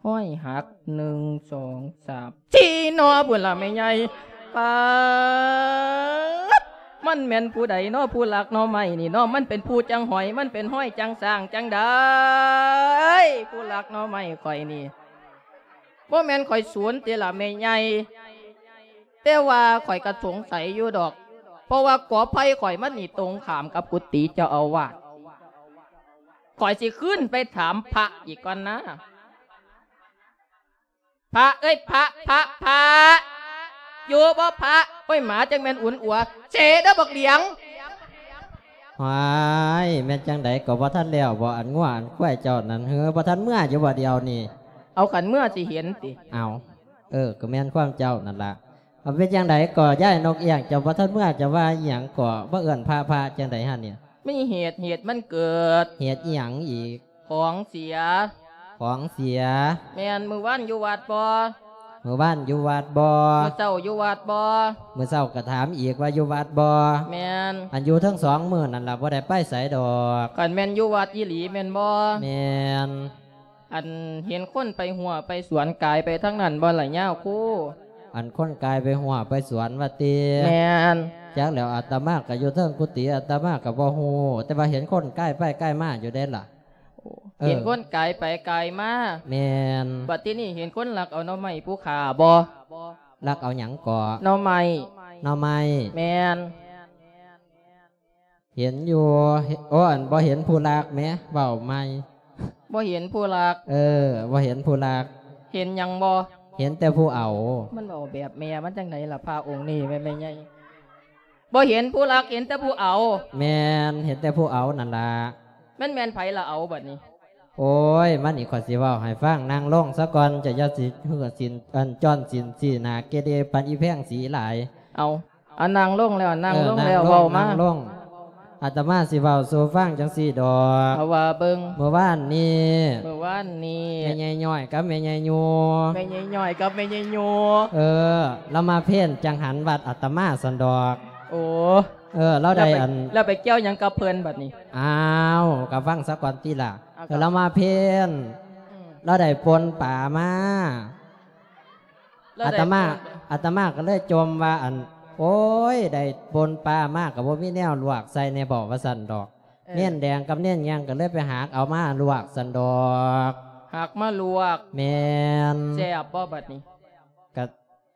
ຮອຍຫັກ ໜຶ່ງ ສອງ ສາມ ສີ່ໜໍ່ພຸ້ນລະແມ່ໃຫຍ່. ປາດ ມັນແມ່ນຜູ້ໃດເນາະ ຜູ້ລັກໜໍ່ໄມ້ນີ້ເນາະ? ມັນເປັນຜູ້ຈັ່ງຫອຍ ມັນເປັນຮອຍຈັ່ງຊ້າງຈັ່ງໃດ ຜູ້ລັກໜໍ່ໄມ້ຂ້ອຍນີ້? ບໍ່ແມ່ນຂ້ອຍສູນຕິລະແມ່ໃຫຍ່? ແຕ່ວ່າຂ້ອຍກໍສົງໄສຢູ່ດອກ ເພາະວ່າກອໄຜ່ຂ້ອຍມັນນີ້ຕົງຂ້າມກັບກຸຕິເຈົ້າອາວາດ. ຂ້ອຍຊິຄືນໄປຖາມພະອີກກ່ອນນາ. ພະເອີຍ ພະ ພະ ພະ. ຢູ່ບໍ່ພະ? ໂອ້ຍ ໝາຈັ່ງແມ່ນອຸ່ນອົວ ເສເດີບັກຫຼຽງ. ຫວາຍ ແມ່ນຈັ່ງໃດກໍບໍ່ທັນແລ້ວບໍ່ ອັນງົວອັນຄວາຍເຈົ້ານັ້ນ ເຮີ ບໍ່ທັນເມືອຢູ່ບໍ່ດຽວນີ້? ເອົາ ຄັນເມືອຊິເຫັນຕິ? ເອົາ ເອີ ກໍແມ່ນຄວາມເຈົ້ານັ້ນລະ. ເອົາ ເປັນຈັ່ງໃດກໍ ຍາຍນົກອຽງ ເຈົ້າບໍ່ທັນເມືອ ເຈົ້າວ່າອີ່ຫຍັງກໍ ບໍ່ເອີ້ນພະ ພະຈັ່ງໃດຫັ້ນນີ້? ມີເຫດ ເຫດມັນເກີດ. ເຫດອີ່ຫຍັງອີກ? ຂອງເສຍ. ຂອງເສຍ? ແມ່ນ. ມື້ວານຢູ່ວັດບໍ່? ມື້ວານຢູ່ວັດບໍ່? ມື້ເຊົ້າຢູ່ວັດບໍ່? ມື້ເຊົ້າກໍຖາມອີກວ່າຢູ່ວັດບໍ່? ແມ່ນ. ອັນຢູ່ເທິງສອງມື້ນັ້ນລະ ບໍ່ໄດ້ໄປໃສດອກ. ຄັນແມ່ນຢູ່ວັດອີ່ຫຼີແມ່ນບໍ່? ແມ່ນ. ອັນເຫັນຄົນໄປຮົ້ວໄປສວນກາຍໄປທາງນັ້ນບໍ່ລະຍາຄູ? ອັນຄົນກາຍໄປຮົ້ວໄປສວນວ່າຕິ? ແມ່ນ. ຈັກແລ້ວ ອາດຕະມາກໍຢູ່ເທິງກຸຕິ ອາດຕະມາກໍບໍ່ຮູ້ ແຕ່ວ່າເຫັນຄົນກາຍໄປກາຍມາຢູ່ເດ້ລະ. ໂອ້ ເອີ ເຫັນຄົນກາຍໄປກາຍມາ. ແມ່ນ. ບັດທີນີ້ເຫັນຄົນລັກເອົາໜໍ່ໄມ້ຜູ້ຂ້າບໍ່? ລັກເອົາຫຍັງເກາະ? ໜໍ່ໄມ້. ໜໍ່ໄມ້. ແມ່ນ. ເຫັນຢູ່ ເຫັນ ໂອ້ ອັນບໍ່ເຫັນຜູ້ລັກແໝ ເວົ້າໃໝ່. ບໍ່ເຫັນຜູ້ລັກ. ເອີ ບໍ່ເຫັນຜູ້ລັກ. ເຫັນຫຍັງບໍ່? ເຫັນແຕ່ຜູ້ເອົາ. ມັນເວົ້າແບບແມ່ມັນຈັ່ງໃດລະ ພະອົງນີ້ແມ່ນແມ່ໃຫຍ່? ບໍ່ເຫັນຜູ້ລັກ ເຫັນແຕ່ຜູ້ເອົາ. ແມ່ນ ເຫັນແຕ່ຜູ້ເອົານັ້ນລະ. ແມ່ນ ແມ່ນໃຜລະເອົາບັດນີ້? ໂອ້ຍ ມານີ້ ຂ້ອຍຊິເວົ້າໃຫ້ຟັງ ນັ່ງລົງສາກ່ອນ ເຈົ້າຢ່າຊິເຮີ້ສິນ ອັນ ຈ້ອນສິນຊີ້ໜ້າເກເລປານອີແພງສີຫຼາຍ. ເອົາ ອາ ນັ່ງລົງແລ້ວ ນັ່ງລົງແລ້ວ ເອີ ເວົ້າມາ ນັ່ງລົງ ອາດຕະມາຊິເວົ້າສູ່ຟັງຈັ່ງຊີ້ດອກ ເອົາ ວ່າເບິ່ງ. ມື້ວານນີ້ ມື້ວານນີ້ ແມ່ໃຫຍ່ຍ້ອຍກັບແມ່ໃຫຍ່ຢູ່ ແມ່ໃຫຍ່ຍ້ອຍກັບແມ່ໃຫຍ່ຢູ່ ເອີ ລາວມາເພນຈັງຫັນວັດອາດຕະມາຊັ້ນດອກ. ໂອ້ ເອີ ລາວໄດ້ ແລ້ວໄປ ອັນ ແລ້ວໄປກ່ຽວຫຍັງກັບເພິ່ນບັດນີ້? ອ້າວ ກໍຟັງສາກ່ອນຕິລະ. ເອົາ ເອີ ລາວມາເພນ ອືມ ລາວໄດ້ປົ່ນປາມາ. ລາວໄດ້ ອາດຕະມາ ອາດຕະມາກໍເລີຍຈົ່ມວ່າ ອັນ ໂອ້ຍ ໄດ້ປົ່ນປາມາກໍບໍ່ມີແນວລວກໃສ່ແດ່ບໍ ວ່າຊັ້ນດອກ. ເອີ ເນນແດງກັບເນນຫຍັງກໍເລີຍໄປຫາກເອົາມາລວກຊັ້ນດອກ. ຫາກມາລວກ. ແມ່ນ. ແຊບບໍ່ບັດນີ້? ກໍ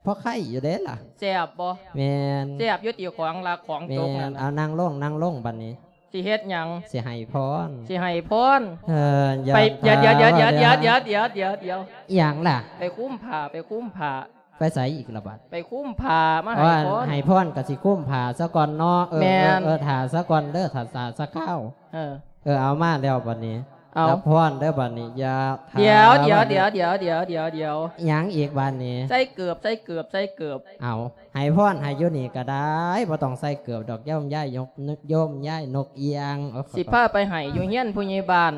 ພໍໄຄຢູ່ເດ້ລະ. ແຊບບໍ່? ແມ່ນ. ແຊບຢູ່ຕິ ຂອງລັກຂອງຕົກນັ້ນ. ແມ່ນ. ເອົາ ນັ່ງລົງ ນັ່ງລົງບັດນີ້. ຊິເຮັດຫຍັງ? ຊິໃຫ້ພອນ. ຊິໃຫ້ພອນ. ເອີ ໄປ ຢ່າ ດຽວ ດຽວ ດຽວ ດຽວ ດຽວ ດຽວ ດຽວ ດຽວ ດຽວ ດຽວ ອີ່ຫຍັງລະ? ໄປຄຸມຜ້າ ໄປຄຸມຜ້າ. ໄປໃສອີກລະບັດ? ໄປຄຸມຜ້າມາໃຫ້ພອນ. ໃຫ້ພອນກໍຊິຄຸມຜ້າຊະກ່ອນເນາະ. ເອີ ແມ່ນ. ເອີ ເອີ ຖ້າຊະກ່ອນເດີ ຖ້າ ຖ້າຊະຄາວ. ເອີ ເອີ ເອົາມາແລ້ວບັດນີ້. ເອົາ ຮັບພອນເດີບັດນີ້. ຢ່າ ດຽວ ດຽວ ດຽວ ດຽວ ດຽວ ດຽວ ດຽວ ດຽວ ຫຍັງອີກບັດນີ້? ໃສ່ເກີບ ໃສ່ເກີບ ໃສ່ເກີບ. ເອົາ ໃຫ້ພອນໃຫ້ຢູ່ນີ້ກໍໄດ້ ບໍ່ຕ້ອງໃສ່ເກີບດອກ ໂຍມຍາຍນົກ ໂຍມຍາຍນົກອຽງ. ໂອ້ຍ ຊິພາໄປໃຫ້ຢູ່ເຮືອນຜູ້ໃຫຍ່ບ້ານ.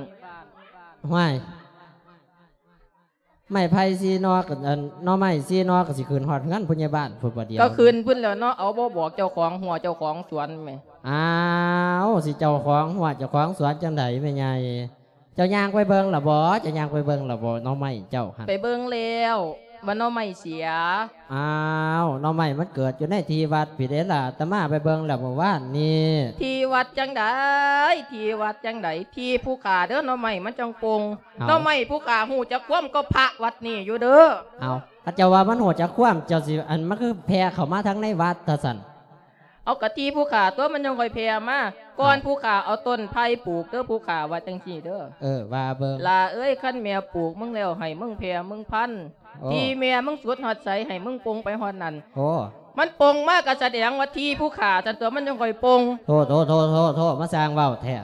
ຫ້ວຍ ໄມ້ໄຜ່ສີ່ໜໍ່ ອັນ ໜໍ່ໄມ້ສີ່ໜໍ່ກໍຊິຂຶ້ນຮອດເຮືອນຜູ້ໃຫຍ່ບ້ານພຸ້ນບໍ່ດຽວ. ກໍຂຶ້ນພຸ້ນແລ້ວເນາະ ເອົາ ບໍ່ບອກເຈົ້າຂອງຮົ້ວເຈົ້າຂອງສວນແໝ. ອ້າວ ຊິເຈົ້າຂອງຮົ້ວເຈົ້າຂອງສວນຈັ່ງໃດແມ່ໃຫຍ່? ເຈົ້າຍ່າງໄປເບິ່ງລະບໍ່? ເຈົ້າຍ່າງໄປເບິ່ງລະບໍ່? ໜໍ່ໄມ້ເຈົ້າຫັ້ນ. ໄປເບິ່ງແລ້ວ ວ່າໜໍ່ໄມ້ເສຍ. ອ້າວ ໜໍ່ໄມ້ມັນເກີດຢູ່ໃນທີ່ວັດພີ້ເດ້ລະ ອາດຕະມາໄປເບິ່ງແລ້ວມື້ວານນີ້. ທີ່ວັດຈັ່ງໃດ? ທີ່ວັດຈັ່ງໃດ? ທີ່ຜູ້ຂ້າເດີ ໜໍ່ໄມ້ມັນຈັ່ງປົ່ງ. ເອົາ ໜໍ່ໄມ້ຜູ້ຂ້າຮູ້ຈັກຄວາມກໍພະວັດນີ້ຢູ່ເດີ. ເອົາ ເຂົາເຈົ້າວ່າມັນຮູ້ຈັກຄວາມ ເຈົ້າຊິ ອັນ ມັນຄືແຜ່ເຂົ້າມາທາງໃນວັດຊັ້ນ? ເອົາ ກະທີ່ຜູ້ຂ້າຕົວະ ມັນຈັ່ງຄ່ອຍແຜ່ມາ. ກ່ອນ ເອົ້າ ຜູ້ຂ້າເອົາຕົ້ນໄຜ່ປູກເດີ ຜູ້ຂ້າວ່າຈັ່ງຊີ້ເດີ. ເອີ ວ່າເບິ່ງ. ຫຼ້າເອີຍ ຄັນແມ່ປູກມຶງແລ້ວ ໃຫ້ມຶງແຜ່ມຶງພັນ. ໂອ້ ທີ່ແມ່ມຶງສຸດຮອດໃສ ໃຫ້ມຶງປົ່ງໄປຮອດນັ້ນ. ໂອ້ ມັນປົ່ງມາກະສະແດງວ່າທີ່ຜູ້ຂ້າຊັ້ນຕົວະ ມັນຈັ່ງຄ່ອຍປົ່ງ. ໂທ້ ໂທ້ ໂທ້ ໂທ້ ໂທ້ ມາສ້າງເວົ້າແທ້.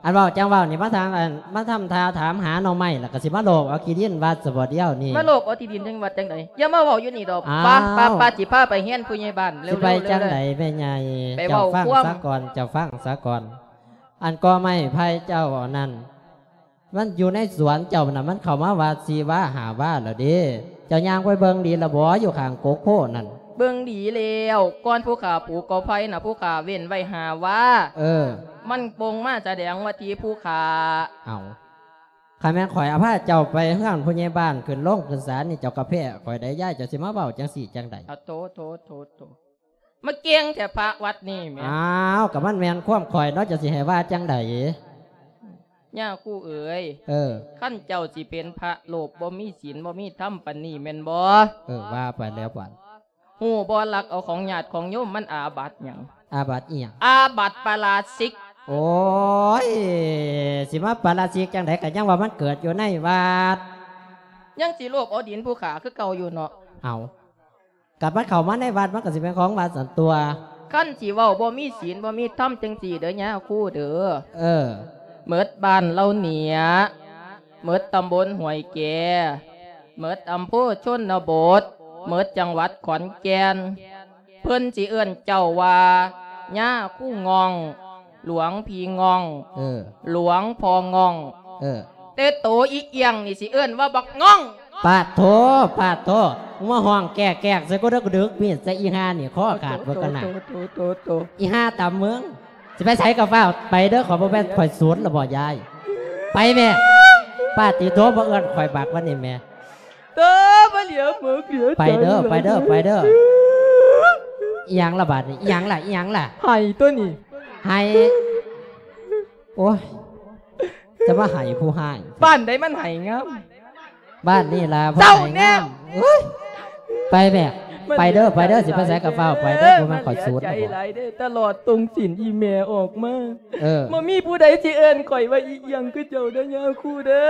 ອັນເວົ້າຈັ່ງເວົ້ານີ້ ມາທາງ ອັນ ມາທຳທ່າຖາມຫາໜໍ່ໄມ້ ແລ້ວກໍຊິມາໂລບເອົາທີ່ດິນວັດຊະບໍ່ດຽວນີ້? ມາໂລບເອົາທີ່ດິນຈັງຫວັດຈັ່ງໃດ? ຢ່າມາເວົ້າຢູ່ນີ້ດອກ. ອ້າວ ໄປ ໄປ ໄປ ຊິພາໄປເຮືອນຜູ້ໃຫຍ່ບ້ານເລັວໆ. ຊິໄປຈັ່ງໃດແມ່ໃຫຍ່? ໄປເວົ້າຄວາມ ເຈົ້າຟັງສາກ່ອນ ເຈົ້າຟັງສາກ່ອນ. ອັນກໍໄມ້ໄຜ່ເຈົ້າອັນນັ້ນ ມັນຢູ່ໃນສວນເຈົ້ານະ ມັນເຂົ້າມາວ່າສີ່ວາຫ້າວາແລ້ວເດ້. ເຈົ້າຍ່າງໄປເບິ່ງດີລະບໍ່ ຢູ່ຂ້າງກົກໂພນັ້ນ? ເບິ່ງດີແລ້ວ ກ່ອນຜູ້ຂ້າປູກກໍໄຜ່ນະ ຜູ້ຂ້າເວັ້ນໄວ້ຫ້າວາ. ເອີ ມັນບົ່ງມາສະແດງວ່າທີ່ຜູ້ຂ້າ. ເອົ້າ ຄັນແມ່ນຂ້ອຍອາພາເຈົ້າໄປເຮືອນຜູ້ໃຫຍ່ບ້ານ ຂຶ້ນໂຮງຂຶ້ນສານນີ້ ເຈົ້າກໍແພ້ຂ້ອຍໄດ໋ຍາຍ ເຈົ້າຊິມາເວົ້າຈັ່ງຊີ້ຈັ່ງໃດ? ອາ ໂຖ ໂຖ ໂຖ ໂຖ ມາເກັ່ງແທ້ພະວັດນີ້ແໝ. ອ້າວ ກໍມັນແມ່ນຄວາມຂ້ອຍເນາະ ເຈົ້າຊິໃຫ້ວ່າຈັ່ງໃດ? ຍ່າຄູເອີຍ ເອີ ຄັນເຈົ້າຊິເປັນພະໂລບ ບໍ່ມີສິນ ບໍ່ມີທຳປານນີ້ແມ່ນບໍ່? ເອີ ວ່າໄປແລ້ວບັດ. ຮູ້ບໍ່ ລັກເອົາຂອງຍາດຂອງໂຍມ ມັນອາບັດຫຍັງ? ອາບັດອີ່ຫຍັງ? ອາບັດປາລາຊິກ. ໂອ້ຍ ຊິມາປາລາຊິກຈັ່ງໃດ ກໍຍັງວ່າມັນເກີດຢູ່ໃນວັດ. ຍັງຊິໂລບເອົາດິນຜູ້ຂ້າຄືເກົ່າຢູ່ເນາະ. ເອົ້າ ກັບມັນເຂົ້າມາໃນວັດ ມັນກໍຊິແມ່ນຂອງວັດຊັ້ນຕົວະ. ຄັນຊິເວົ້າບໍ່ມີສິນບໍ່ມີທຳຈັ່ງຊີ້ເດີຍາຄູເດີ. ເອີ ໝົດບ້ານເຫຼົ່າເໜຍ ໝົດຕຳບົນຫ້ວຍແກ ໝົດອຳເພີຊົນນະບົດ ໝົດຈັງຫວັດຂອນແກ່ນ ເພິ່ນຊິເອີ້ນເຈົ້າວ່າຍາຄູງ່ອງ ຫຼວງພີ່ງ່ອງ ເອີ ຫຼວງພໍ່ງ່ອງ ເອີ ແຕ່ໂຕອີ່ອຽງນີ້ຊິເອີ້ນວ່າບັກງ່ອງ. ປາດໂທ ປາດໂທ ມຶງມາຮ້ອງແກກໆໃສ່ກູເດີ ກູດຶກມີດໃສ່ອີ່ຫ່ານີ້ ຄໍຂາດເບິດກ່ອນນະ. ໂຕ ໂຕ ໂຕ ອີ່ຫ່າຕຳມຶງ ຊິໄປໃສກໍຟ້າວໄປເດີ ຂ້ອຍບໍ່ແມ່ນຂ້ອຍສູນລະບໍ່ຍາຍ. ໄປແມ່. ປາດຕິໂທ ບໍ່ເອີ້ນຂ້ອຍບັກວັນນີ້ແມ່. ເອີ ບໍ່ເຫຼືອໝົກເຫຼືອໃຈ ໄປເດີ ໄປເດີ ໄປເດີ. ອີ່ຫຍັງລະບາດນີ້ ອີ່ຫຍັງລະ ອີ່ຫຍັງລະ? ໄຫ້ຕົວນີ້ ໄຫ້. ໂອ້ຍ ຈະມາໄຫ້ຜູ້ຮ້າຍ. ບ້ານໃດມັນໄຫ້ງາມ? ບ້ານນີ້ລະ ເຈົ້າແນ່ ຜູ້ໄຫ້ງາມ. ໂອ້ຍ ໄປແມ່ ໄປເດີ ໄປເດີ ຊິໄປໃສກໍຟ້າວໄປເດີ ບໍ່ແມ່ນຂ້ອຍສູນ ໃຈຫຼາຍເດ້ ຕະຫຼອດຕົງສິນອີ່ແມ່ອອກມາ. ເອີ ບໍ່ມີຜູ້ໃດຊິເອີ້ນຂ້ອຍວ່າອີ່ຫຍັງຄືເຈົ້າເດີຍາຄູເດີ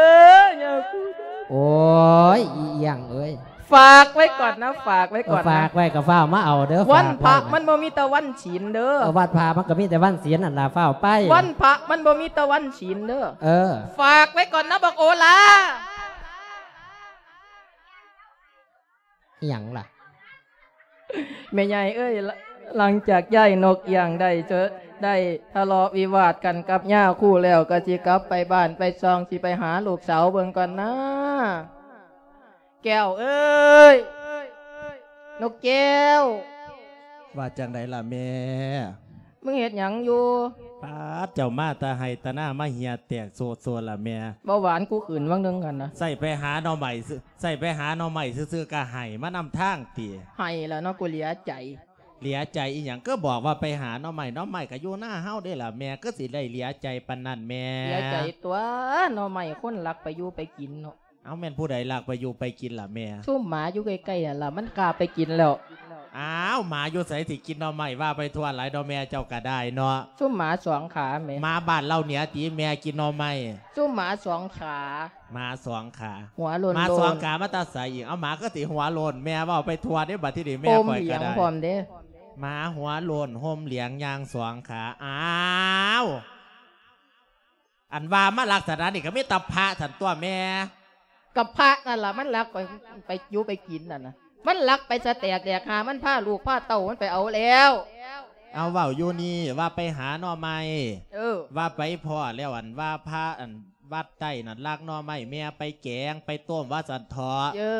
ຍາຄູເດີ. ໂອ້ຍ ອີ່ຫຍັງເອີຍ ຝາກໄວ້ກ່ອນນະ ຝາກໄວ້ກ່ອນນະ ເອີ ຝາກໄວ້ກໍຟ້າວມາເອົາເດີ. ວັນພະມັນບໍ່ມີແຕ່ວັນສິນເດີ. ເອີ ວັນພະມັນກໍມີແຕ່ວັນສິນຫັ້ນລະ ຟ້າວໄປ. ວັນພະມັນບໍ່ມີແຕ່ວັນສິນເດີ. ເອີ ຝາກໄວ້ກ່ອນນະບັກໂອລາ. ອີ່ຫຍັງລະ? ແມ່ໃຫຍ່ເອີຍ ຫຼັງຈາກຍາຍນົກອຽງໄດ້ ໄດ້ທະເລາະວິວາດກັນກັບຍາຄູແລ້ວ ກໍຊິກັບໄປບ້ານໄປຊ່ອງ ຊິໄປຫາລູກສາວເບິ່ງກ່ອນນາ. ແກ້ວເອີຍ ນົກແກ້ວ. ວ່າຈັ່ງໃດລະແມ່? ມຶງເຮັດຫຍັງຢູ່? ປາດ ເຈົ້າມາແຕ່ໄຮ່ແຕ່ນາ ມາເຫື່ອແຕກໂຊດໆລະແມ່. ເບົາຫວານກູຂຶ້ນຫວ່າງໜຶ່ງຫັ້ນນະ. ໃສ່ໄປຫາໜໍ່ໄມ້ຊື່ ໃສ່ໄປຫາໜໍ່ໄມ້ຊື່ໆ ກະໄຫ້ມານຳທາງຕິ? ໄຫ້ລະເນາະ ກູເຫຼືອໃຈ. ເຫຼືອໃຈອີ່ຫຍັງ? ກໍບອກວ່າໄປຫາໜໍ່ໄມ້ ໜໍ່ໄມ້ກະຢູ່ນາເຮົາເດ້ລະແມ່ ກໍຊິໄດ້ເຫຼືອໃຈປານນັ້ນແມ່. ເຫຼືອໃຈຕົວະ ໜໍ່ໄມ້ຄົນລັກໄປຢູ່ໄປກິນເນາະ. ເອົ້າ ແມ່ນຜູ້ໃດລັກໄປຢູ່ໄປກິນລະແມ່? ຊຸມໝາຢູ່ໃກ້ໆຫັ້ນລະ ມັນຄາບໄປກິນແລ້ວ. ອ້າວ ໝາຢູ່ໃສຊິກິນໜໍ່ໄມ້ ວ່າໄປທົ່ວຫຼາຍເນາະແມ່ເຈົ້າກະໄດ້ເນາະ. ຊຸມໝາສອງຂາແມ່. ໝາບ້ານເຫຼົ່າເໜືອຕິແມ່ກິນໜໍ່ໄມ້? ຊຸມໝາສອງຂາ. ໝາສອງຂາ ຫົວໂລ້ນໆ. ໝາສອງຂາມາແຕ່ໃສອີກ? ເອົາ ໝາຄືຊິຫົວໂລ້ນ ແມ່ເວົ້າໄປທົ່ວເດ້ ບັດທີນີ້ແມ່ຂ້ອຍກະໄດ້. ຫົ່ມເຫຼືອງພ້ອມເດ້. ໝາຫົວໂລ້ນ ຫົ່ມເຫຼືອງ ຍ່າງສອງຂາ. ອ້າວ ອັນວ່າມາລັກສະນະນີ້ກໍມີແຕ່ພະຊັ້ນຕົວະແມ່. ກໍພະນັ້ນລະ ມັນລັກໄປ ໄປຢູ່ໄປກິນນັ້ນນະ ມັນລັກໄປສະແຕກແດກຫາ ມັນພາລູກພາເຕົ້າມັນໄປເອົາແລ້ວ. ເອົາ ເວົ້າຢູ່ນີ້ວ່າໄປຫາໜໍ່ໄມ້. ເອີ ວ່າໄປພໍ້ແລ້ວ ອັນວ່າພະ ອັນວັດໃຕ້ນັ້ນລັກໜໍ່ໄມ້ແມ່ໄປແກງໄປຕົ້ມວ່າຊັ້ນເຖາະ. ເອີ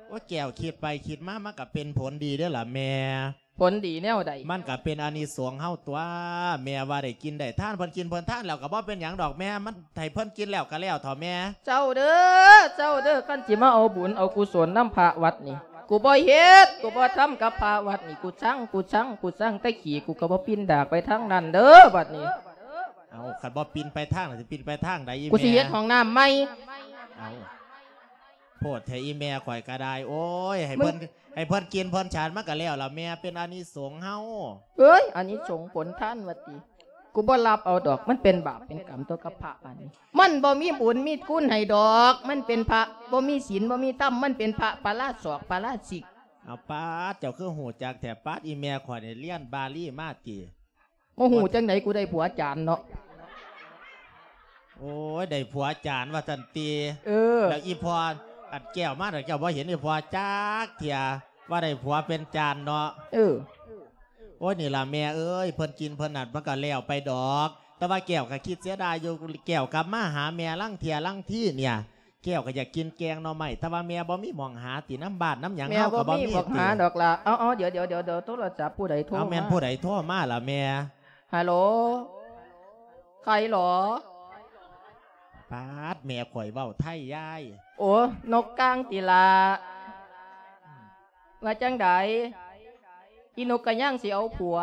ໂອ້ ແກ້ວຄິດໄປຄິດມາ ມັນກໍເປັນຜົນດີເດ້ລະແມ່. ຜົນດີແນວໃດ? ມັນກະເປັນອານິສົງເຮົາຕົວະ ແມ່ວ່າໄດ້ກິນໄດ້ທານ ເພິ່ນກິນເພິ່ນທານແລ້ວກະບໍ່ເປັນຫຍັງດອກແມ່ ມັນໃຫ້ເພິ່ນກິນແລ້ວກະແລ້ວເຖາະແມ່. ເຈົ້າເດີ ເຈົ້າເດີ ຄັນຊິມາເອົາບຸນເອົາກຸສົນນຳພະວັດນີ້ ກູບໍ່ເຮັດ ກູບໍ່ທຳກັບພະວັດນີ້ ກູຊັງ ກູຊັງ ກູຊັງ ແຕ່ຂີ້ກູກະບໍ່ປິ່ນດາກໄປທາງນັ້ນເດີບັດນີ້. ເອົ້າ ຄັນບໍ່ປິ່ນໄປທາງນັ້ນ ຊິປິ່ນໄປທາງໃດອີ່ແມ່? ກູຊິເຮັດຫ້ອງນ້ຳໃໝ່. ເອົ້າ ໂພດແທ້ອີ່ແມ່ຂ້ອຍກະໄດ້ ໂອ້ຍ ໃຫ້ເພິ່ນ ໃຫ້ເພິ່ນກິນເພິ່ນສັນ ມັນກະແລ້ວລະແມ່ ເປັນອານິສົງເຮົາ. ເອີຍ ອານິສົງຜົນທານວ່າຕິ ກູບໍ່ຮັບເອົາດອກ ມັນເປັນບາບເປັນກຳຕົວະກັບພະບາດນີ້ ມັນບໍ່ມີບຸນມີຄຸນໃຫ້ດອກ ມັນເປັນພະບໍ່ມີສິນບໍ່ມີທຳ ມັນເປັນພະປາລາສອກປາລາສິກ. ເອົາ ປາດ ເຈົ້າຄືຮູ້ຈັກແທ້ ປາດ ອີ່ແມ່ຂ້ອຍນີ້ລຽນບາລີມາຕິ? ບໍ່ຮູ້ຈັ່ງໃດ ກູໄດ້ຜົວຈານເນາະ. ໂອ້ຍ ໄດ້ຜົວຈານວ່າຊັ້ນຕິ. ເອີ ແລ້ວອີ່ພໍ່ ອັນແກ້ວມາ ແລ້ວເຈົ້າບໍ່ເຫັນອີ່ພໍ່ຈັກເທື່ອ ວ່າໄດ້ຜົວເປັນຈານເນາະ. ເອີ ໂອ້ຍ ນີ້ລະແມ່ເອີຍ ເພິ່ນກິນເພິ່ນນັ້ນ ມັນກະແລ້ວໄປດອກ ແຕ່ວ່າແກ້ວກະຄິດເສຍດາຍຢູ່ ແກ້ວກັບມາຫາແມ່ລາງເທື່ອລາງທີເນຍ ແກ້ວກໍຢາກກິນແກງໜໍ່ໄມ້ ແຕ່ວ່າແມ່ບໍ່ມີໝ່ອງຫາຕິ ນຳບ້ານນຳຫຍັງເຮົາກໍບໍ່ມີ ແມ່ບໍ່ມີໝ່ອງຫາດອກລະ. ເອົາໆ ດຽວໆ ໂທລະສັບຜູ້ໃດໂທມາ? ເອົາ ແມ່ນຜູ້ໃດໂທມາລະແມ່? ຮາໂຫຼ ໃຜຫຼໍ? ປາດ ແມ່ຂ້ອຍເວົ້າໄທຍາຍ. ໂອ ນົກກາງຕິລະ ວ່າຈັ່ງໃດ? ອີ່ນົກກະຍາງຊິເອົາຜົວ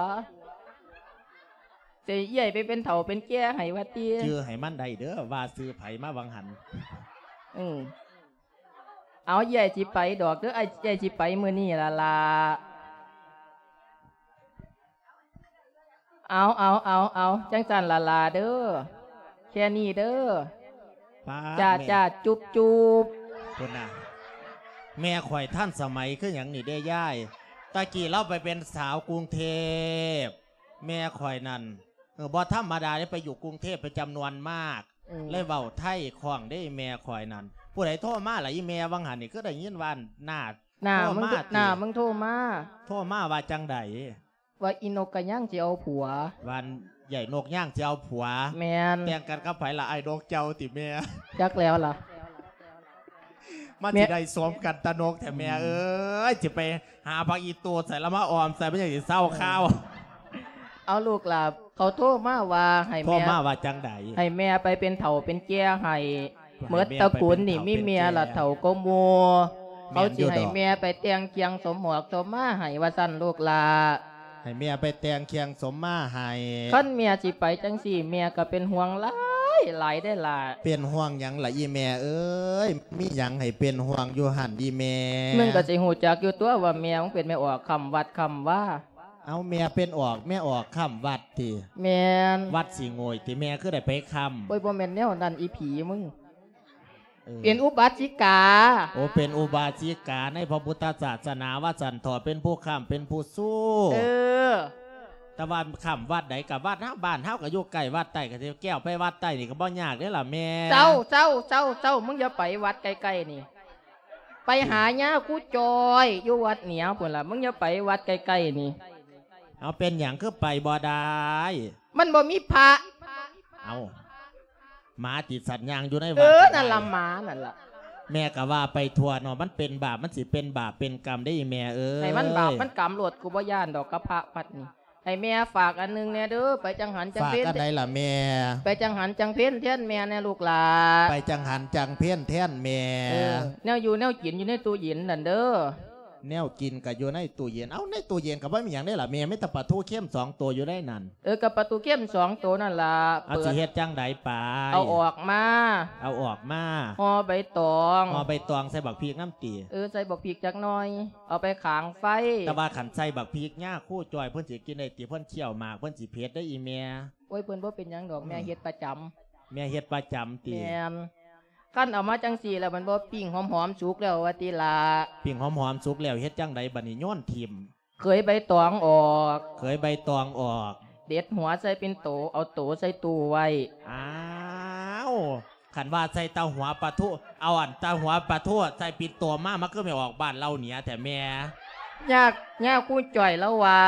ຊິເອື້ອຍໄປເປັນເຖົ້າເປັນແກ່ໃຫ້ວ່າຕິ? ຈື່ໃຫ້ມັນໄດ້ເດີ ວ່າຊື່ໃຜມາຫວ່າງຫັ້ນ. ອື ເອົາ ເອື້ອຍຊິໄປດອກເດີ ອ້າຍ ເອື້ອຍຊິໄປມື້ນີ້ລະລະ. ເອົາ ເອົາ ເອົາ ເອົາ ຈັ່ງຊັ້ນລະລະເດີ ແຄ່ນີ້ເດີ. ປ້າດ ຈ້າ ແມ່ ຈ້າ ຈຸບ ຈຸບ. ພຸ້ນນະ ແມ່ຂ້ອຍທັນສະໄໝຄືຫຍັງນີ້ເດ້ຍາຍ. ຕະກີ້ລາວໄປເປັນສາວກຸງເທບ ແມ່ຂ້ອຍນັ້ນ ເອີ ບໍ່ທຳມະດາເດ້ ໄປຢູ່ກຸງເທບເປັນຈຳນວນມາກ ເອີ ເລີຍເວົ້າໄທຄ່ອງເດ້ແມ່ຂ້ອຍນັ້ນ. ຜູ້ໃດໂທມາລະອີ່ແມ່ ຫວ່າງຫັ້ນນີ້ ຄືໄດ້ຍິນວ່າໜ້າ ໜ້າ ໂທ ມຶງ ມາຕິ ໜ້າມຶງໂທມາ ໂທມາວ່າຈັ່ງໃດ? ວ່າອີ່ນົກກະຍາງຊິເອົາຜົວ ວ່າໃຫຍ່ນົກຍາງຊິເອົາຜົວ. ແມ່ນ. ແຕ່ງກັນກັບໃຜລະ ອ້າຍນົກເຈົ້າຕິແມ່? ຈັກແລ້ວລະ ມັນ ແມ່ ຊິໄດ້ສົມກັນຕານົກແທ້ແມ່ເອີຍ. ຊິໄປຫາຜັກອີ່ຕູໃສ່ລະມາອ້ອມໃສ່ ມັນຈັ່ງຊິເຊົາຄາວ. ເອີ ເອົາລູກຫຼາ ເຂົາໂທມາວ່າໃຫ້ ໂທ ແມ່ ມາວ່າຈັ່ງໃດ? ໃຫ້ແມ່ໄປເປັນເຖົ້າເປັນແກ່ໃຫ້ ໃຫ້ ໝົດຕະກູນນີ້ມີແມ່ລະເຖົ້າກວ່າໝູ່. ແມ່ນຢູ່ດອກ. ເຂົາຊິໃຫ້ແມ່ໄປແຕ່ງຄຽງສົມໝອກສົມມາໃຫ້ວ່າຊັ້ນລູກຫຼ້າ. ໃຫ້ແມ່ໄປແຕ່ງຄຽງສົມມາໃຫ້. ຄັນແມ່ຊິໄປຈັ່ງຊີ້ ແມ່ກໍເປັນຫ່ວງຫຼາຍໆເດ້ຫຼ້າ. ເປັນຫ່ວງຫຍັງລະອີ່ແມ່ເອີຍ? ມີຫຍັງໃຫ້ເປັນຫ່ວງຢູ່ຫັ້ນອີ່ແມ່? ມຶງກໍຊິຮູ້ຈັກຢູ່ຕົວະວ່າແມ່ມຶງເປັນແມ່ອອກຄ້ຳວັດຄ້ຳວາ. ເອົາ ແມ່ເປັນອອກ ແມ່ອອກຄ້ຳວັດຕິ? ແມ່ນ. ວັດຊິໂງ່ຍຕິແມ່ ຄືໄດ້ໄປຄ້ຳ? ໂອ້ຍ ບໍ່ແມ່ນແນວນັ້ນອີ່ຜີມຶງ. ເອີ ເປັນອຸບາສິກາ. ໂອ້ ເປັນອຸບາສິກາໃນພະພຸດທະສາສະໜາວ່າຊັ້ນເຖາະ ເປັນຜູ້ຄ້ຳ ເປັນຜູ້ຊູ. ເອີ ແຕ່ວ່າຄ້ຳວັດໃດ ກະວັດເຮົາ ບ້ານເຮົາກະຢູ່ໃກ້ວັດໃຕ້ ກະຊິແກ່ວໄປວັດໃຕ້ນີ້ກະບໍ່ຍາກເດ້ລະແມ່. ເຊົາ ເຊົາ ເຊົາ ເຊົາ ມຶງຢ່າໄປວັດໃກ້ໆນີ້ ໄປຫາຍາຄູຈອຍຢູ່ວັດເໜືອພຸ້ນລະ ມຶງຢ່າໄປວັດໃກ້ໆນີ້. ເອົາ ເປັນຫຍັງຄືໄປບໍ່ໄດ້? ມັນບໍ່ມີພະ. ເອົາ ໝາຕິສັດຍ່າງຢູ່ໃນວັດ. ເອີ ນັ້ນລະ ໝານັ້ນລະ. ແມ່ກະວ່າໄປທົ່ວເນາະ ມັນເປັນບາບ ມັນຊິເປັນບາບເປັນກຳເດ້ອີ່ແມ່ເອີຍ. ໃຫ້ມັນບາບມັນກຳໂລດ ກູບໍ່ຢ້ານດອກກັບພະວັດນີ້. ໃຫ້ແມ່ຝາກອັນໜຶ່ງແດ່ເດີ ໄປຈັງຫັນຈັງເພັນ. ຝາກອັນໃດລະແມ່? ໄປຈັງຫັນຈັງເພັນແທນແມ່ແດ່ລູກຫຼ້າ. ໄປຈັງຫັນຈັງເພັນແທນແມ່. ເອີ ແນວຢູ່ແນວກິນຢູ່ໃນຕູ້ເຢັນນັ້ນເດີ. ແນວກິນກະຢູ່ໃນຕູ້ເຢັນ. ເອົ້າ ໃນຕູ້ເຢັນກະບໍ່ມີຫຍັງເດ້ລະແມ່ ມີແຕ່ປາທູເຄັມສອງໂຕຢູ່ໃນນັ້ນ. ເອີ ກະປາທູເຄັມສອງໂຕນັ້ນລະ. ເອົາ ເປີດ ຊິເຮັດຈັ່ງໃດປາຍ? ເອົາອອກມາ. ເອົາອອກມາ. ຫໍ່ໃບຕອງ. ຫໍ່ໃບຕອງໃສ່ບັກພິກນຳຕິ? ເອີ ໃສ່ບັກພິກຈັກໜ່ອຍ ເອົາໄປຂາງໄຟ. ແຕ່ວ່າຄັນໃສ່ບັກພິກຍາຄູຈອຍເພິ່ນຊິກິນໄດ້ຕິ? ເພິ່ນຄ້ຽວໝາກ ເພິ່ນຊິເຜັດເດ້ອີ່ແມ່. ໂອ້ຍ ເພິ່ນບໍ່ເປັນຫຍັງດອກ ແມ່ເຮັດປະຈຳ. ແມ່ເຮັດປະຈຳຕິ? ແມ່ນ. ຄັນເອົາມາຈັ່ງຊີ້ລະ ມັນບໍ່ປີ້ງຫອມໆສຸກແລ້ວວ່າຕິລະ? ປີ້ງຫອມໆສຸກແລ້ວເຮັດຈັ່ງໃດບາດນີ້? ໂຍນຖິ້ມ. ເຂີຍໃບຕອງອອກ. ເຂີຍໃບຕອງອອກ. ເດັດຫົວໃສ່ເປັນໂຕ ເອົາໂຕໃສ່ຕູ້ໄວ້. ອ້າວ ຄັນວ່າໃສ່ແຕ່ຫົວປາທູ ເອົາອັນແຕ່ຫົວປາທູໃສ່ປິ່ນໂຕມາ ມັນຄືໄມ່ອອກບ້ານເຫຼົ່າເໜືອແທ້ແມ່? ຍາ ຍາຄູຈ້ອຍລາວວ່າ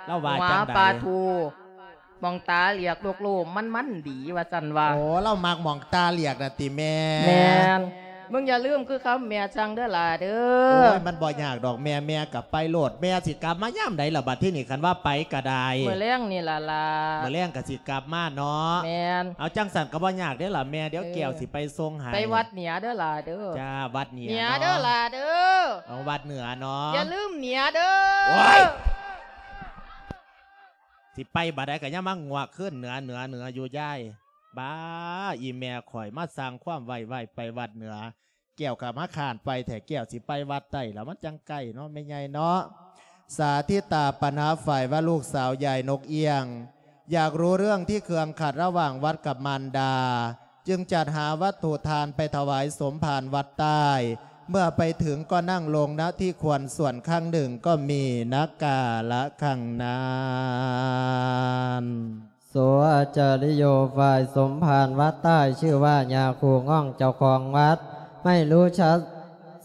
ລາວວ່າ ຫົວ ຈັ່ງໃດ? ປາທູ ໝ່ອງຕາຫຼຽກໂລກໂລມມັນມັນດີວ່າຊັ້ນວ່າ. ໂອ້ ລາວມັກໝ່ອງຕາຫຼຽກນະຕິແມ່? ແມ່ນ. ມຶງຢ່າລືມຄືຄຳແມ່ສັ່ງເດີຫຼ້າເດີ. ໂອ້ຍ ມັນບໍ່ຍາກດອກແມ່ ແມ່ກໍໄປໂລດ ແມ່ຊິກັບມາຍາມໃດລະບັດທີນີ້ ຄັນວ່າໄປກໍໄດ້? ມື້ແລງນີ້ລະຫຼ້າ. ມື້ແລງກໍຊິກັບມາເນາະ. ແມ່ນ. ເອົາ ຈັ່ງຊັ້ນກໍບໍ່ຍາກເດ້ລະແມ່ ດຽວແກ້ວຊິໄປສົ່ງໃຫ້. ໄປວັດເໜືອເດີຫຼ້າເດີ. ຈ້າ ວັດເໜືອ ເໜືອເດີຫຼ້າເດີ. ເອົາ ວັດເໜືອເນາະ ຢ່າລືມເໜືອເດີ. ໂອ້ຍ ຊິໄປບາດໃດກໍຍັງມາງວກຄືນເໜືອ ເໜືອ ເໜືອຢູ່ຍາຍ. ບ້າ ອີ່ແມ່ຂ້ອຍມາສ້າງຄວາມໄວໆ ໄປວັດເໜືອ ແກ້ວກໍມາຄ້ານໄປແທ້ ແກ້ວຊິໄປວັດໃຕ້ລະ ມັນຈັ່ງໃກ້ເນາະແມ່ໃຫຍ່ເນາະ. ສາທິຕາ ປະນະຝ່າຍວ່າ ລູກສາວຍາຍນົກເອຍງ ຢາກຮູ້ເລື່ອງທີ່ເຄືອງຂັດລະຫວ່າງວັດກັບມານດາ ຈຶ່ງຈັດຫາວັດຖຸທານໄປຖວາຍສົມພານວັດໃຕ້ ເມື່ອໄປເຖິງກໍນັ່ງລົງ ນະທີ່ຄວນສ່ວນຂ້າງໜຶ່ງກໍມີນະກາລະຂ້າງນັ້ນ. ໂສ ອາຈາລິໂຍ ຝ່າຍສົມພານວັດໃຕ້ ຊື່ວ່າຍາຄູງ່ອງເຈົ້າຂອງວັດ ໄມ່ຮູ້ຊະ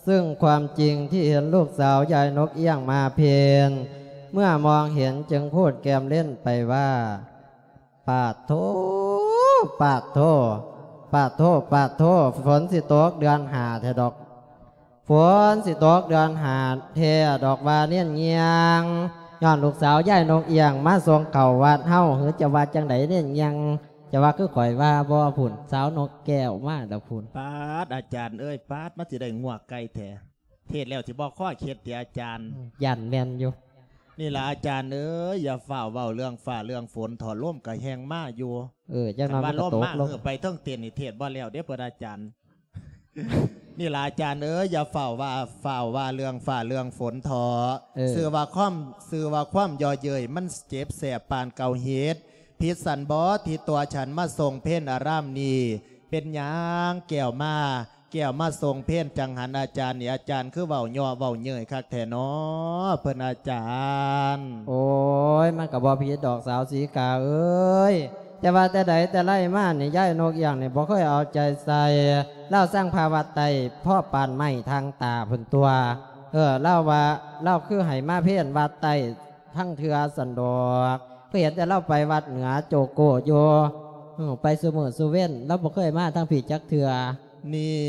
ຊຶ່ງຄວາມຈິງທີ່ເຫັນລູກສາວຍາຍນົກເອຍງມາເພັນ ເມື່ອມອງເຫັນຈຶ່ງພູດແກ້ມຫຼິ້ນໄປວ່າ ປາດໂທ ປາດໂທ ປາດໂທ ປາດໂທ ຝົນຊິຕົກເດືອນຫ້າແທ້ດອກ. ຝົນຊິຕົກເດືອນຫ້າແທ້ດອກວ່າເນນງຽງ ຍ້ອນລູກສາວຍາຍນົກເອຍງມາສົ່ງເຂົ້າວັດເຮົາ ຫຼືຈະວ່າຈັ່ງໃດເນນງຽງ ຈະວ່າຄືຂ້ອຍວ່າບໍ່ພຸ້ນ ສາວນົກແກ້ວມາແລ້ວພຸ້ນ. ປາດ ອາຈານເອີຍ ປາດ ມັນຊິໄດ້ງວກໄກ່ແທ້ ເທດແລ້ວຊິບໍ່ຄໍເຄັດຕິອາຈານ? ຢ້ານແມ່ນຢູ່. ນີ້ລະອາຈານເອີຍ ຢ່າຟ້າວເວົ້າເລື່ອງຟ້າເລື່ອງຝົນເຖາະ ລົມກະແຮ່ງມາຢູ່. ເອີ ຈັກໜ່ອຍມັນກໍຕົກລົງ. ຄັນວ່າລົມມາເຮີໄປເທິງເຕັນນີ້ ເທດບໍ່ແລ້ວເດ້ເພິ່ນອາຈານ. ນີ້ລະອາຈານເອີຍ ຢ່າຟ້າວວ່າ ຟ້າວວ່າເລື່ອງຟ້າເລື່ອງຝົນເຖາະ. ເອີ ຊື່ວ່າຄວາມ ຊື່ວ່າຄວາມເຍາະເຍີ້ຍ ມັນເຈັບແສບປານເກົາເຫັດ. ຜິດສັນບໍ ທີ່ຕົວະສັນມາສົ່ງເພັນອາຣາມນີ້ ເປັນຫຍັງແກ້ວມາ ແກ້ວມາສົ່ງເພນ ຈັງຫັນອາຈານນີ້ ອາຈານຄືເວົ້າເຍາະເວົ້າເຍີ້ຍຄັກແທ້ນໍ ເພິ່ນອາຈານ. ໂອ້ຍ ມັນກໍບໍ່ຜິດດອກສາວສີກາເອີຍ ແຕ່ວ່າແຕ່ໃດແຕ່ໄລມານີ້ ຍາຍນົກອຽງນີ້ບໍ່ເຄີຍເອົາໃຈໃສ່ ລາວຊັງພາວັດໃຕ້ພໍປານໄມ້ທາງຕາພຸ້ນຕົວະ. ເອີ ລາວວ່າ ລາວຄືໃຫ້ມາເພນວັດໃຕ້ທັງເທື່ອຊັ້ນດອກ ຄືເຫັນແຕ່ລາວໄປວັດເໜືອໂຈໂກຢູ່ ເອີ ໄປຊຸມື້ຊຸເວັນ ລາວບໍ່ເຄີຍມາທາງພີ້ຈັກເທື່ອ. ນີ້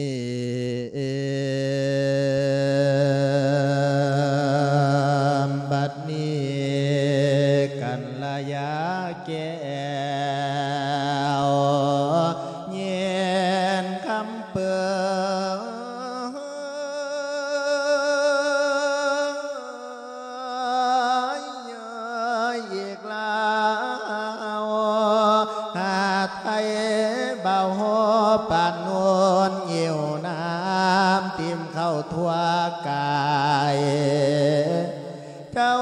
ບັດນີ້ກັນລະຍາແກ້ວ ຍິນຄຳເປີ ອີກແລ້ວ ຫາດໄທເບົາໂຮປານໂນນ ຫິວນ້ຳຕິ່ມເຂົ້າທົ່ວກາຍ ເຈົ້າ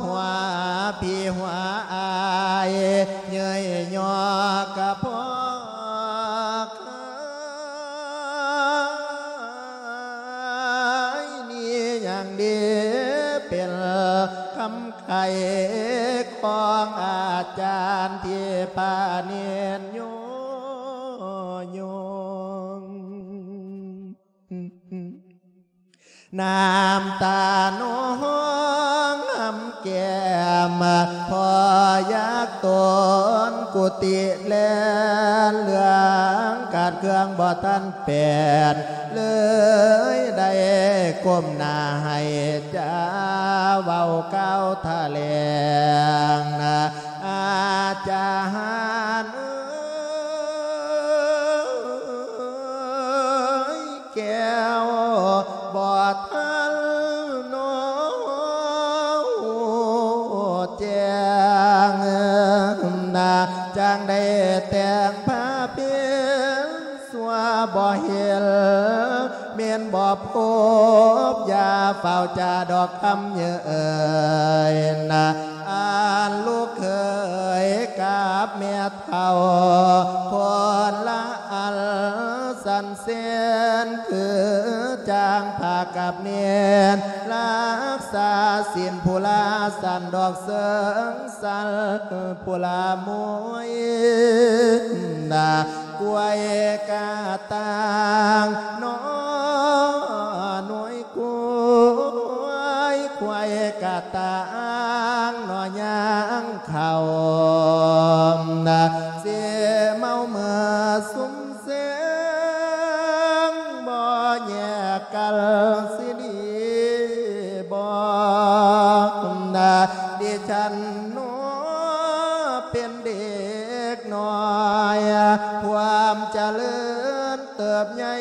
ຫົວພີ່ຫົວອ້າຍ ເຍີ້ຍຍໍກະພໍກາຍ ນີ້ຍັງດີເປັນຄຳ ໄຂຂອງອາຈານທີ່ປານີດໂຍ ໂຍງ ນ້ຳຕານອງຫຳແກ້ມ ພໍຢາກໂຕນກຸຕິແລນ ເລື່ອງການເຄື່ອງບໍ່ທັນ ແປນ ເລີຍໄດ້ກົ້ມໜ້າໃຫ້ຈາເວົ້າກ່າວຖະແຫຼງ ອາຈານເອີຍ ແກ້ວບໍ່ທັນນອນແຈ້ງ ຈັ່ງໄດ້ແຕ່ງພາເປັນ ຊົ່ວບໍ່ເຫັນ ແມ່ນບໍ່ພົບ ຢ່າຟ້າວຈາດອກຄຳເຍີ້ຍນະ ອັນລູກເຂີຍກັບແມ່ເຖົ້າ ຄົນລະອັນສັນເສັນ ຄືຈັ່ງພາກັບເນນ ລັກສາສິນຜູ້ລາສັນດອກເສີງ ສັນຜູ້ລາມວຍນະ ກວຍກະຕ່າງໜໍ່ໜ່ວຍກວຍ ຄວາຍກະຕ່າງໜໍ່ຍ່າງເຂົ້ານະ ຊິເມົາເມີສຸມ ແສງບໍ່ແຍກກັນຊິດີບໍ່ນະ ດິສັນໜໍ່ເປັນເດັກນ້ອຍ ຄວາມຈະເລີນເຕີບໃຫຍ່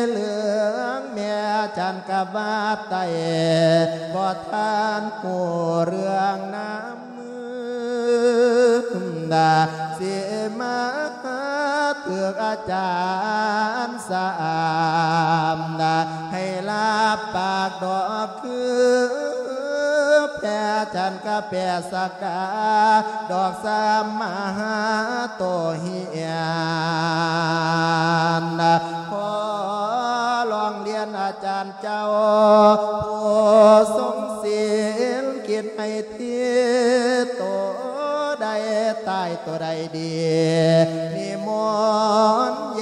ເລື່ອງແມ່ຈັນກະວາດໄຕ້ ບໍ່ທັນຮູ້ເລື່ອງນຳ ນາ ຊິມາຖືກອາຈານສະອາມນາ ໃຫ້ລາບປາກດອກຄື ແພຈັນກະແປສະກາ ດອກສາມມະຫາໂຕເຮຍນນາ ຂໍຮ້ອງລຽນອາຈານ ເຈົ້າຜູ້ຊົງສິນ ຄິດໃຫ້ທີ່ໂຕໃດຕາຍໂຕໃດດີ ນິມົນແຍ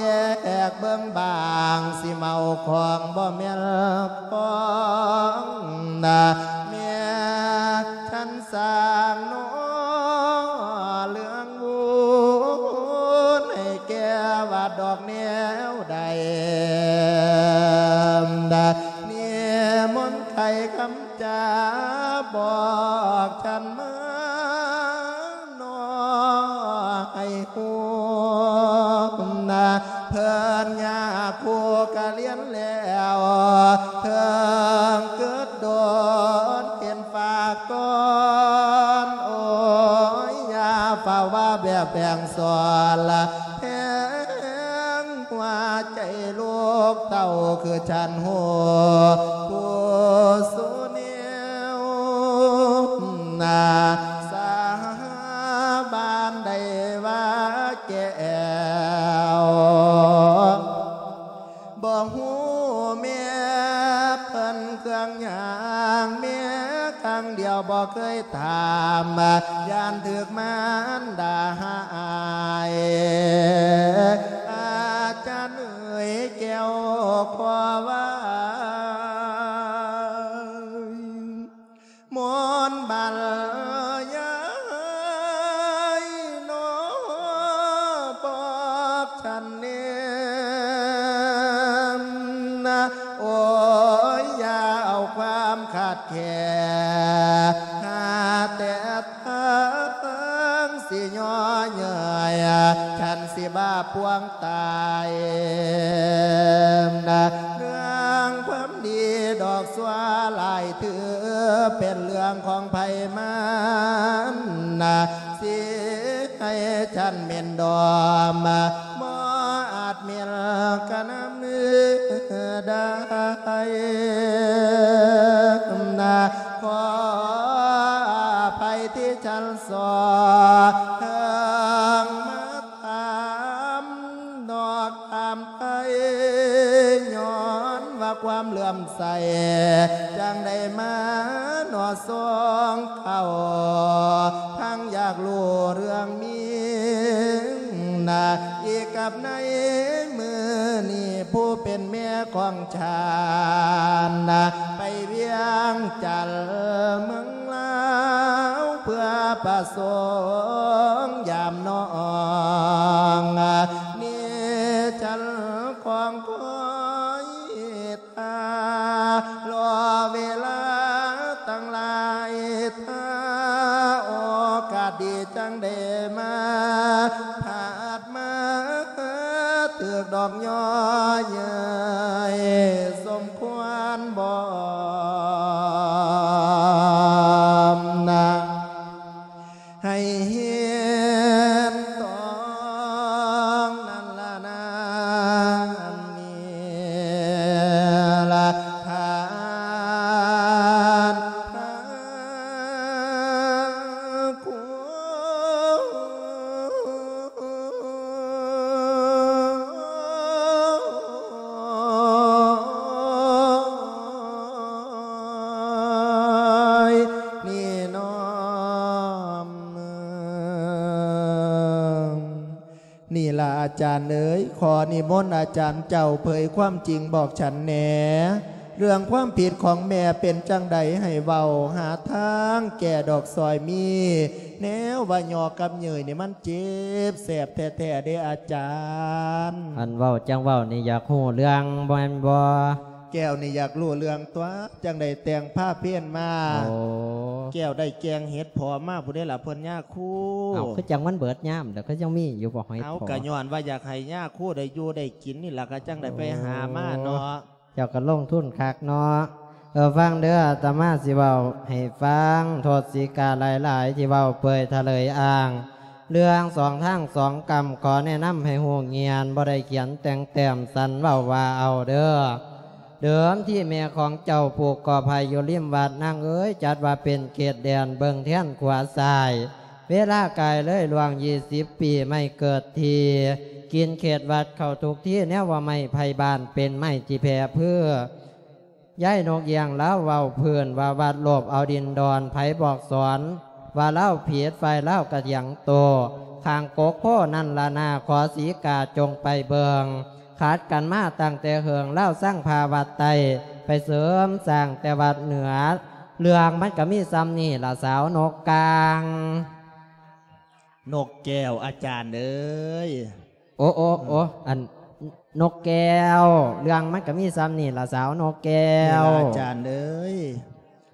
ກເບິ່ງບາງ ຊິເມົາຂອງບໍ່ແມ່ນຂອງນາ ແມ່ນ ສັນສ້າງໜໍ່ເລື່ອງວຸ່ນ ໃຫ້ແກ່ວັດດອກແນວໃດ ນິມົນໄຂຄຳຈາ ບອກສັນມາໜໍ່ໃຫ້ຮູ້ນາ ເພິ່ນຍາຄູກະລຽນແລ້ວ ເຖິງເກີດໂດນເປັນຝາກກ່ອນ ໂອ້ຍ ຢ່າຟ້າວວ່າແບບແບ່ງສອນລະ ແພງຫົວໃຈລູກເຕົ້າຄືສັນຮູ້ ຜູ້ສູ່ແນວນາ ສາບານໄດ້ວ່າແກ້ວ ບໍ່ ຖາມ ຢ້ານຖືກມານດາຫາຍ ອາຈານເອີຍແກ້ວຂໍວ່າ ມົນບັນຍາຍໜໍບອກ ໂອ້ຍ ຢ່າເອົາຄວາມຂາດແຄນ ຫາແຕ່ທາງຊິຍໍເຍີ້ຍ ສັນຊິບ້າປວງຕາຍ. ເລື່ອງຄວາມດີດອກຊົ່ວຫຼາຍ ຖືເປັນເລື່ອງຂອງໃຜມັນ ຊິໃຫ້ສັນເໝັນດອມ ບໍ່ອາດເໝັນກະນຳໄດ້ ຂໍອະໄພທີ່ສັນສໍ້ ເຖິງມາຖາມນອກຖາມໃຜ ຍ້ອນວ່າຄວາມເຫຼື້ອມໃສ ຈັ່ງໄດ້ມາໜໍ່ສົ່ງເຂົ້າ ທັງຢາກຮູ້ເລື່ອງມີ ນະ ອີກກັບໃນມື້ນີ້ ຜູ້ເປັນແມ່ຂອງທ່ານນະ ໄປວຽງຈັນເມືອງລາວ ເພື່ອປະສົງຢາມນ້ອງ ນີ້ຈັນຂອງຄອຍ ຖ້າລໍເວລາຕັ້ງຫຼາຍ ຖ້າໂອກາດດີຈັ່ງໄດ້ມາ ພາດມາຖືກດອກຍໍເຍີ້ຍ ສົມຄວນບໍມນາ ໃຫ້ເຫັນຕ້ອງນັ້ນລະນາ ອັນນີ້ລະທ່ານພະຄຸນ ນີ້ນ້ອມ ນີ້ລະອາຈານເອີຍ ຂໍນິມົນອາຈານເຈົ້າເຜີຍຄວາມຈິງບອກສັນແດ່ ເລື່ອງຄວາມຜິດຂອງແມ່ເປັນຈັ່ງໃດໃຫ້ເວົ້າ ຫາທາງແກ້ດອກ ຊ່ອຍມີແນວວ່າຍໍກັບເຍີ້ຍນີ້ ມັນເຈັບແສບແທ້ໆເດ້ອາຈານ. ອັນເວົ້າຈັ່ງເວົ້ານີ້ ຢາກຮູ້ເລື່ອງບໍ່ແມ່ນບໍ່? ແກ້ວນີ້ຢາກຮູ້ເລື່ອງຕົວະ ຈັ່ງໄດ້ແຕ່ງພາເພນມາ. ໂອ້ ແກ້ວໄດ້ແກງເຫັດເຜາະມາພຸ້ນເດ້ລະເພິ່ນຍາຄູ. ເອົ້າ ຄືຈັ່ງມັນເບິດຍາມແລ້ວ ຄືຍັງມີຢູ່ບໍ່ຫອຍເຜາະ? ເອົາ ກະຍ້ອນວ່າຢາກໃຫ້ຍາຄູໄດ້ຢູ່ໄດ້ກິນນີ້ລະ ກະຈັ່ງໄດ້ໄປຫາມາເນາະ. ໂອ້ ເຈົ້າກະລົງທຶນຄັກເນາະ. ເອີ ຟັງເດີ ອາດຕະມາຊິເວົ້າໃຫ້ຟັງ ໂທດສີກາຫຼາຍໆ ທີ່ເວົ້າເປີຍທະເລີຍອ້າງ ເລື່ອງສອງທາງສອງກຳ ຂໍແນະນຳໃຫ້ຮູ້ງຽນ ບໍ່ໄດ້ຂຽນແຕ່ງແຕ້ມ ສັນເວົ້າວ່າເອົາເດີ. ເດີມທີແມ່ຂອງເຈົ້າປູກກໍໄຜ່ຢູ່ລິມວັດ ນາງເອີຍ ຈັດວ່າເປັນເຂດແດນເບິ່ງແທນຂວາຊ້າຍ. ເວລາກາຍເລີຍລ່ວງຊາວປີ ໄມ້ເກີດທີ່ ກິນເຂດວັດເຂົ້າທຸກທີ ແນວວ່າໄມ້ໄຜ່ບ້ານ ເປັນໄມ້ທີ່ແຜ່ພື້ ຍາຍນົກເອີ່ງລາວເວົ້າພື້ນວ່າ ວັດໂລບເອົາດິນດອນ ໃຜບອກສອນວ່າລາວຜິດ ຝ່າຍລາວກະຖຽງໂຕ້ ຂ້າງກົກໂພນັ້ນລະນາ ຂໍສີກາຈົ່ງໄປເບິ່ງ ຂັດກັນມາຕັ້ງແຕ່ເຫິງ ລາວຊັງພະວັດໃຕ້ ໄປເສີມສ້າງແຕ່ວັດເໜືອ ເລື່ອງມັນກະມີສ່ຳນີ້ລະສາວນົກກາງ. ນົກແກ້ວ ອາຈານເອີຍ. ໂອ ໂອ ໂອ ອັນ ນົກແກ້ວ ເລື່ອງມັນກະມີສ່ຳນີ້ລະສາວນົກແກ້ວ ນີ້ລະອາຈານເອີຍ.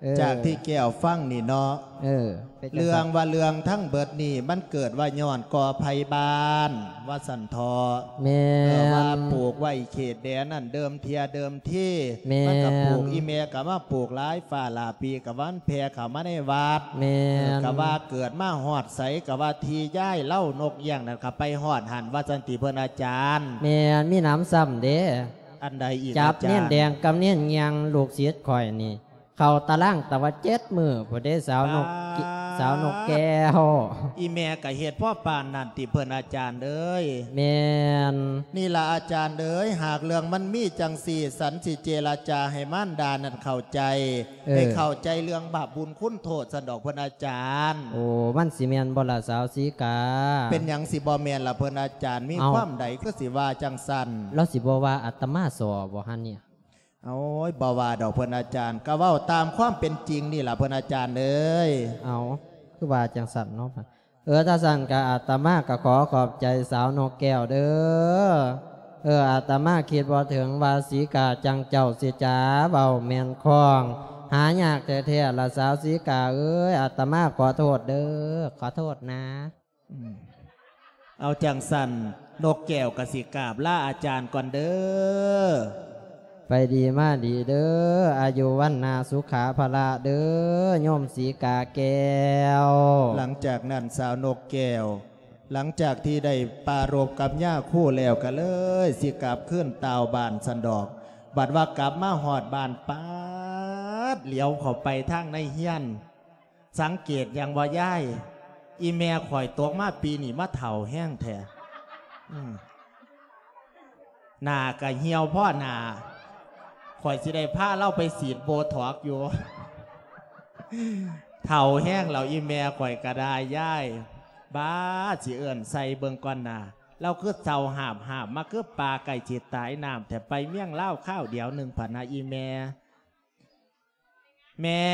ເອີ ຈາກທີ່ແກ້ວຟັງນີ້ເນາະ ເອີ ເປັນຈັ່ງຊັ້ນ ເລື່ອງວ່າເລື່ອງທັງເບິດນີ້ ມັນເກີດວ່າຍ້ອນກໍໄຜ່ບ້ານ ວ່າຊັ້ນເຖາະ. ແມ່ນ ເອີ ວ່າປູກໄວ້ເຂດແດນນັ້ນ ເດີມເທື່ອເດີມທີ ແມ່ນ ມັນກະປູກ ອີ່ແມ່ກະມາປູກຫຼາຍ ຟ້າຫຼາປີກະວ່າມັນແຜ່ເຂົ້າມາໃນວັດ. ແມ່ນ ເອີ ກະວ່າເກີດມາຮອດໃສ ກະວ່າທີ່ຍາຍລາວນົກເອີ່ງນັ້ນ ກະໄປຮອດຫັ້ນ ວ່າຊັ້ນຕິເພິ່ນອາຈານ. ແມ່ນ ມີໜຳຊ້ຳເດ້. ອັນໃດອີກ ຈັບ ອາຈານ ເນນແດງກັບເນນເຫງ່ຽງ ລູກສິດຂ້ອຍນີ້ ເຂົ້າຕາລາງຕະວັດເຈັດມື້ພຸ້ນເດ້ ສາວນົກ ປາດ ສາວນົກແກ້ວ. ອີແມ່ກໍເຮັດພໍປານນັ້ນຕິເພິ່ນ ອາຈານເອີຍ? ແມ່ນ. ນີ້ລະອາຈານເອີຍ, ຫາກເລື່ອງມັນມີຈັ່ງຊີ້ ສັນຊິເຈລະຈາໃຫ້ມານດານັ້ນເຂົ້າໃຈ, ເອີ ໃຫ້ເຂົ້າໃຈເລື່ອງບາບບຸນຄຸນໂທດຊັ້ນດອກເພິ່ນອາຈານ. ໂອ້ ມັນຊິແມ່ນບໍ່ລະສາວສີກາ? ເປັນຫຍັງຊິບໍ່ແມ່ນລະເພິ່ນອາຈານ? ມີ ເອົ້າ ຄວາມໃດຄືຊິວ່າຈັ່ງຊັ້ນ? ລາວຊິບໍ່ວ່າອາດຕະມາສໍ້ບໍ່ຫັ້ນເນຍ? ໂອ້ຍ ບໍ່ວ່າດອກເພິ່ນອາຈານ, ກໍເວົ້າຕາມຄວາມເປັນຈິງນີ້ລະເພິ່ນອາຈານເອີຍ. ເອົ້າ ຄືວ່າຈັ່ງຊັ້ນເນາະ? ເອີ ຖ້າຊັ້ນກໍອາດຕະມາກໍຂໍຂອບໃຈສາວນົກແກ້ວເດີ. ເອີ ອາດຕະມາຄິດບໍ່ເຖິງວ່າສີກາຈັ່ງເຈົ້າຊິຈາເວົ້າແມ່ນຄ່ອງ, ຫາຍາກແທ້ໆລະສາວສີກາເອີຍ. ອາດຕະມາຂໍໂທດເດີ, ຂໍໂທດນະ. ອືມ ເອົາຈັ່ງຊັ້ນ ນົກແກ້ວກໍຊິກາບລາອາຈານກ່ອນເດີ. ໄປດີມາດີເດີ, ອາຍຸວັນນະສຸຂະພະລະເດີ ໂຍມສີກາແກ້ວ. ຫຼັງຈາກນັ້ນສາວນົກແກ້ວ ຫຼັງຈາກທີ່ໄດ້ປາລົບກັບຍາຄູແລ້ວ ກໍເລີຍຊິກັບຄືນຕ່າວບ້ານຊັ້ນດອກ. ບັດວ່າກັບມາຮອດບ້ານປາດ ຫຼຽວເຂົ້າໄປທາງໃນເຮືອນ ສັງເກດຫຍັງບໍ່ຍາຍ? ອີແມ່ຂ້ອຍຕົກມາປີນີ້ມາເຖົ້າແຮງແທ້. ອືມ ໜ້າກະຫ່ຽວພໍໜ້າ, ຂ້ອຍຊິໄດ້ພາລາວໄປສີດໂບທັອກຢູ່. ເຖົ້າແຮງແລ້ວອີແມ່ຂ້ອຍກະໄດ້ຍາຍ. ບາດ ຊິເອີ້ນໃສ່ເບິ່ງກ່ອນໜ້າ, ລາວຄືເຊົາຫາບໆ ມາຄືປາໃກ້ຊິຕາຍນ້ຳແທ້. ໄປເມືອງລາວຄາວດຽວໜຶ່ງພະນະອີແມ່. ແມ່.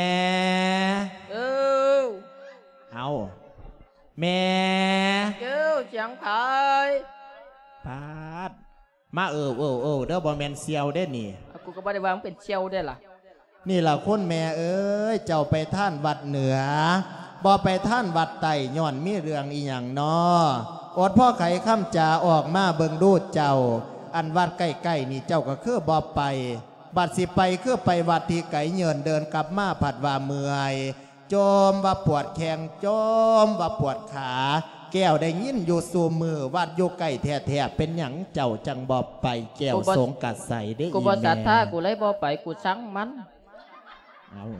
ເອີ. ເອົາ ແມ່. ເອີ ສຽງໃຜ? ປາດ ມາເອີໆໆ ເດີ ບໍ່ແມ່ນສ່ຽວເດ້ນີ້. ເອົາ ກູກໍບໍ່ໄດ້ວ່າມຶງເປັນສ່ຽວເດ້ລະ. ນີ້ລະຄຸນແມ່ເອີຍ, ເຈົ້າໄປທານວັດເໜືອ ບໍ່ໄປທານວັດໃຕ້ ຍ້ອນມີເລື່ອງອີ່ຫຍັງນໍ? ອົດພໍໄຂຄຳຈາອອກມາເບິ່ງດູເຈົ້າ, ອັນວັດໃກ້ໆນີ້ເຈົ້າກໍຄືບໍ່ໄປ. ບັດຊິໄປຄືໄປວັດທີ່ໄກເຍີນ, ເດີນກັບມາພັດວ່າເມື່ອຍ, ຈົ່ມວ່າປວດແຂ້ງ, ຈົ່ມວ່າປວດຂາ. ແກ້ວໄດ້ຍິນຢູ່ສູ່ມື້, ວັດຢູ່ໃກ້ແທ້ໆ, ເປັນຫຍັງເຈົ້າຈັ່ງບໍ່ໄປ? ແກ້ວ ກູບໍ່ ສົງກະໄສເດ້ ກູບໍ່ ອີແມ່ ສັດທາ, ກູເລີຍບໍ່ໄປ, ກູຊັງມັນ. ເອົາ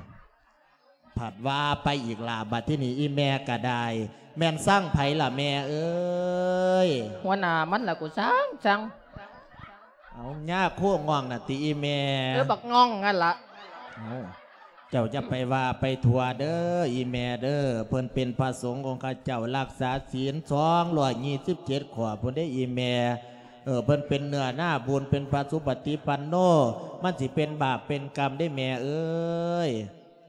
ພັດວ່າໄປອີກລະ ບັດທີນີ້ອີແມ່ກະໄດ້. ແມ່ນຊັງໃຜລະແມ່ເອີຍ? ຫົວໜ້າມັນລະ ກູຊັງຊັງ. ເອົາ ຍາຄູງ່ອງນະຕິອີແມ່? ເອີ ບັກງ່ອງຫັ້ນລະ. ເອົາ ເຈົ້າຢ່າໄປວ່າໄປທົ່ວເດີອີແມ່ເດີ, ເພິ່ນເປັນພະສົງອົງຄະເຈົ້າ ຮັກສາສິນສອງຮ້ອຍຊາວເຈັດຂໍ້ພຸ້ນເດ້ອີແມ່. ເອີ ເພິ່ນເປັນເນື້ອນາບຸນ, ເປັນພະສຸປະຕິປັນໂນ, ມັນຊິເປັນບາບເປັນກຳເດ້ແມ່ເອີຍ.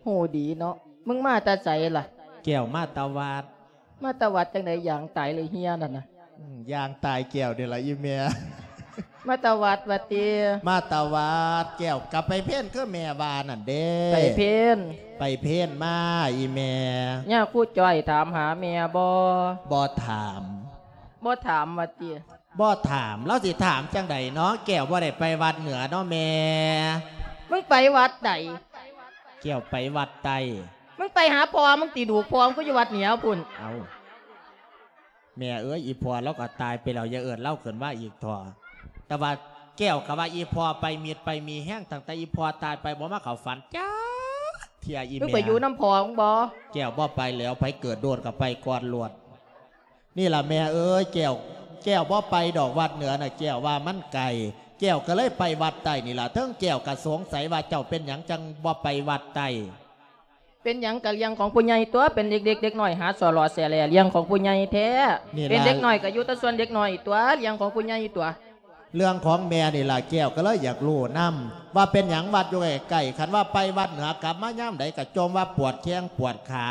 ຮູ້ດີເນາະ. ມຶງມາແຕ່ໃສລະ? ແກ້ວມາແຕ່ວັດ. ມາແຕ່ວັດຈັ່ງໃດ? ຢາງຕາຍເລີຍເຮຍນັ້ນນະ. ອືມ ຢາງຕາຍແກ້ວນີ້ລະອີແມ່. ມາແຕ່ວັດວ່າຕິ? ມາແຕ່ວັດ. ແກ້ວກະໄປເພນຄືແມ່ວ່ານັ້ນເດ້. ໄປເພນ? ໄປເພນມາອີແມ່. ຍາຄູຈ້ອຍຖາມຫາແມ່ບໍ່? ບໍ່ຖາມ. ບໍ່ຖາມວ່າຕິ? ບໍ່ຖາມ. ລາວຊິຖາມຈັ່ງໃດເນາະ? ແກ້ວບໍ່ໄດ້ໄປວັດເໜືອເນາະແມ່. ມຶງໄປວັດໃດ? ແກ້ວໄປວັດໃຕ້. ມຶງໄປຫາພໍ່ມຶງຕິ? ດູກພໍ່ມຶງກໍຢູ່ວັດເໜືອພຸ້ນ. ເອົ້າ ແມ່ເອີຍ, ອີພໍ່ລາວກໍຕາຍໄປແລ້ວ, ຢ່າເອີ້ນລາວຂຶ້ນມາອີກເຖາະ. ແຕ່ວ່າແກ້ວກໍວ່າອີພໍ່ໄປມິດໄປມີແຮງ, ຕັ້ງແຕ່ອີພໍ່ຕາຍໄປບໍ່ມາເຂົ້າຝັນຈັກເທື່ອອີແມ່. ມຶງໄປຢູ່ນຳພໍ່ມຶງບໍ່? ແກ້ວບໍ່ໄປແລ້ວ, ໃຜເກີດໂດນກໍໄປກ່ອນໂລດ. ນີ້ລະແມ່ເອີຍ, ແກ້ວ ແກ້ວບໍ່ໄປດອກວັດເໜືອນະ, ແກ້ວວ່າມັນໄກ, ແກ້ວກໍເລີຍໄປວັດໃຕ້ນີ້ລະ. ເຖິງແກ້ວກໍສົງໄສວ່າເຈົ້າເປັນຫຍັງຈັ່ງບໍ່ໄປວັດໃຕ້. ເປັນຫຍັງກະເລື່ອງຂອງຜູ້ໃຫຍ່ຕົວະ, ເປັນເດັກໆ ເດັກນ້ອຍຫາສໍ້ຫຼໍ່ແຊແຫຼ, ເລື່ອງຂອງຜູ້ໃຫຍ່ແທ້. ນີ້ລະ ເປັນເດັກນ້ອຍກະຢູ່ແຕ່ສ່ວນເດັກນ້ອຍຕົວະ, ເລື່ອງຂອງຜູ້ໃຫຍ່ຕົວະ. ເລື່ອງຂອງແມ່ນີ້ລະ ແກ້ວກໍເລີຍຢາກຮູ້ນຳ ວ່າເປັນຫຍັງວັດຢູ່ໃກ້ໆ, ຄັນວ່າໄປວັດເໜືອກັບມາຍາມໃດກໍຈົ່ມວ່າປວດແຂ້ງປວດຂາ.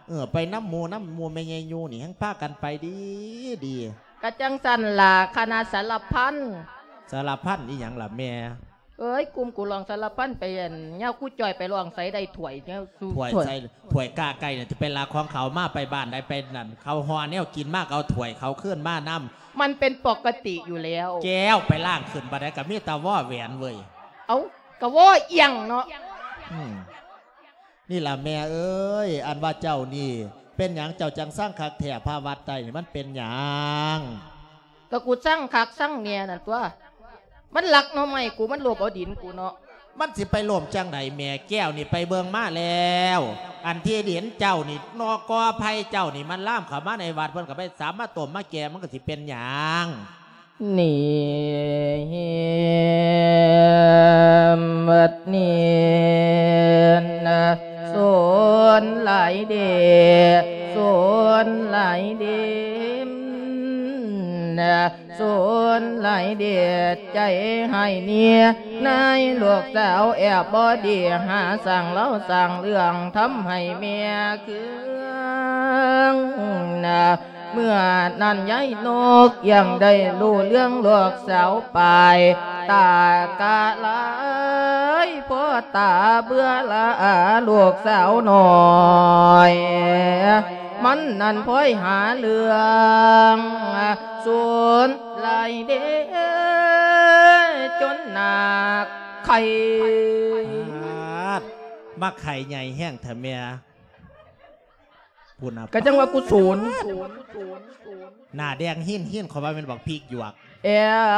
ເອີ ໄປນຳໝູ່ນຳໝູ່, ແມ່ໃຫຍ່ຢູ່ນີ້ແຮ່ງພາກັນໄປດີໆ. ກະຈັ່ງຊັ້ນລະ ຄະນະສາລະພັນ. ສາລະພັນອີ່ຫຍັງລະແມ່? ເອີຍ ກຸ່ມກູຮ້ອງສາລະພັນໄປ ອັນ ຍາຄູຈ້ອຍໄປຮ້ອງໃສໄດ້ຖ້ວຍ ແນວສູ່ ຖ້ວຍ ຖ້ວຍ ໃສ່ ຖ້ວຍກ້າໄກ່ນີ້ ຈະເປັນລັກຂອງເຂົາ ມາໄປບ້ານໃດໄປນັ້ນ ເຂົາຫໍ່ແນວກິນມາ ກໍເອົາຖ້ວຍເຂົາຄືນມານຳ. ມັນເປັນປົກກະຕິຢູ່ແລ້ວ. ແກ້ວໄປລ້າງຂຶ້ນບາດໃດກໍມີແຕ່ວໍແຫວນເວີຍ. ເອົ້າ ກໍວໍອີ່ຫຍັງເນາະ. ອືມ ນີ້ລະແມ່ເອີຍ ອັນວ່າເຈົ້ານີ້ ເປັນຫຍັງເຈົ້າຈັ່ງຊັງຄັກແທ້ ພະວັດໃຕ້ນີ້ ມັນເປັນຫຍັງ? ກໍກູຊັງຄັກຊັງແນ່ນັ້ນຕົວະ ມັນລັກໜໍ່ໄມ້ກູ ມັນລົບເອົາດິນກູເນາະ. ມັນຊິໄປລົ້ມຈັ່ງໃດແມ່ ແກ້ວນີ້ໄປເບິ່ງມາແລ້ວ ອັນທີ່ເຫັນເຈົ້ານີ້ ນອກກໍໄຜ່ເຈົ້ານີ້ ມັນລາມເຂົ້າມາໃນວັດ ເພິ່ນກໍໄປສາມມາຕົ້ມມາແກ່ ມັນກໍຊິເປັນຫຍັງ? ນີ້ ວັດນີ້ນະ ສູນຫຼາຍເດ ສູນຫຼາຍເດ ນະ ສູນຫຼາຍເດ ໃຈຮ້າຍເນຍ ນາຍລູກສາວແອບບໍ່ດີ ຫາສ້າງລາວສ້າງເລື່ອງ ທຳໃຫ້ແມ່ເຄືອງນະ ເມື່ອນັ້ນຍາຍນົກຍັງໄດ້ຮູ້ເລື່ອງລູກສາວໄປ ຕາກະລາຍ ພໍ່ຕາເບື່ອລະອາລູກສາວນ້ອຍ ມັນນັ້ນພອຍຫາເລື່ອງ ສູນຫຼາຍເດ ຈົນໜາກໄຂ່ ປາດ ມາໄຂ່ໃຫຍ່ແຮງແທ້ແມ່. ພຸ້ນນະ ກະຈັ່ງວ່າກູສູນ ໜ້າແດງຮີນໆ ເຂົາວ່າແມ່ນບັກພິກຫຍວກ ແອ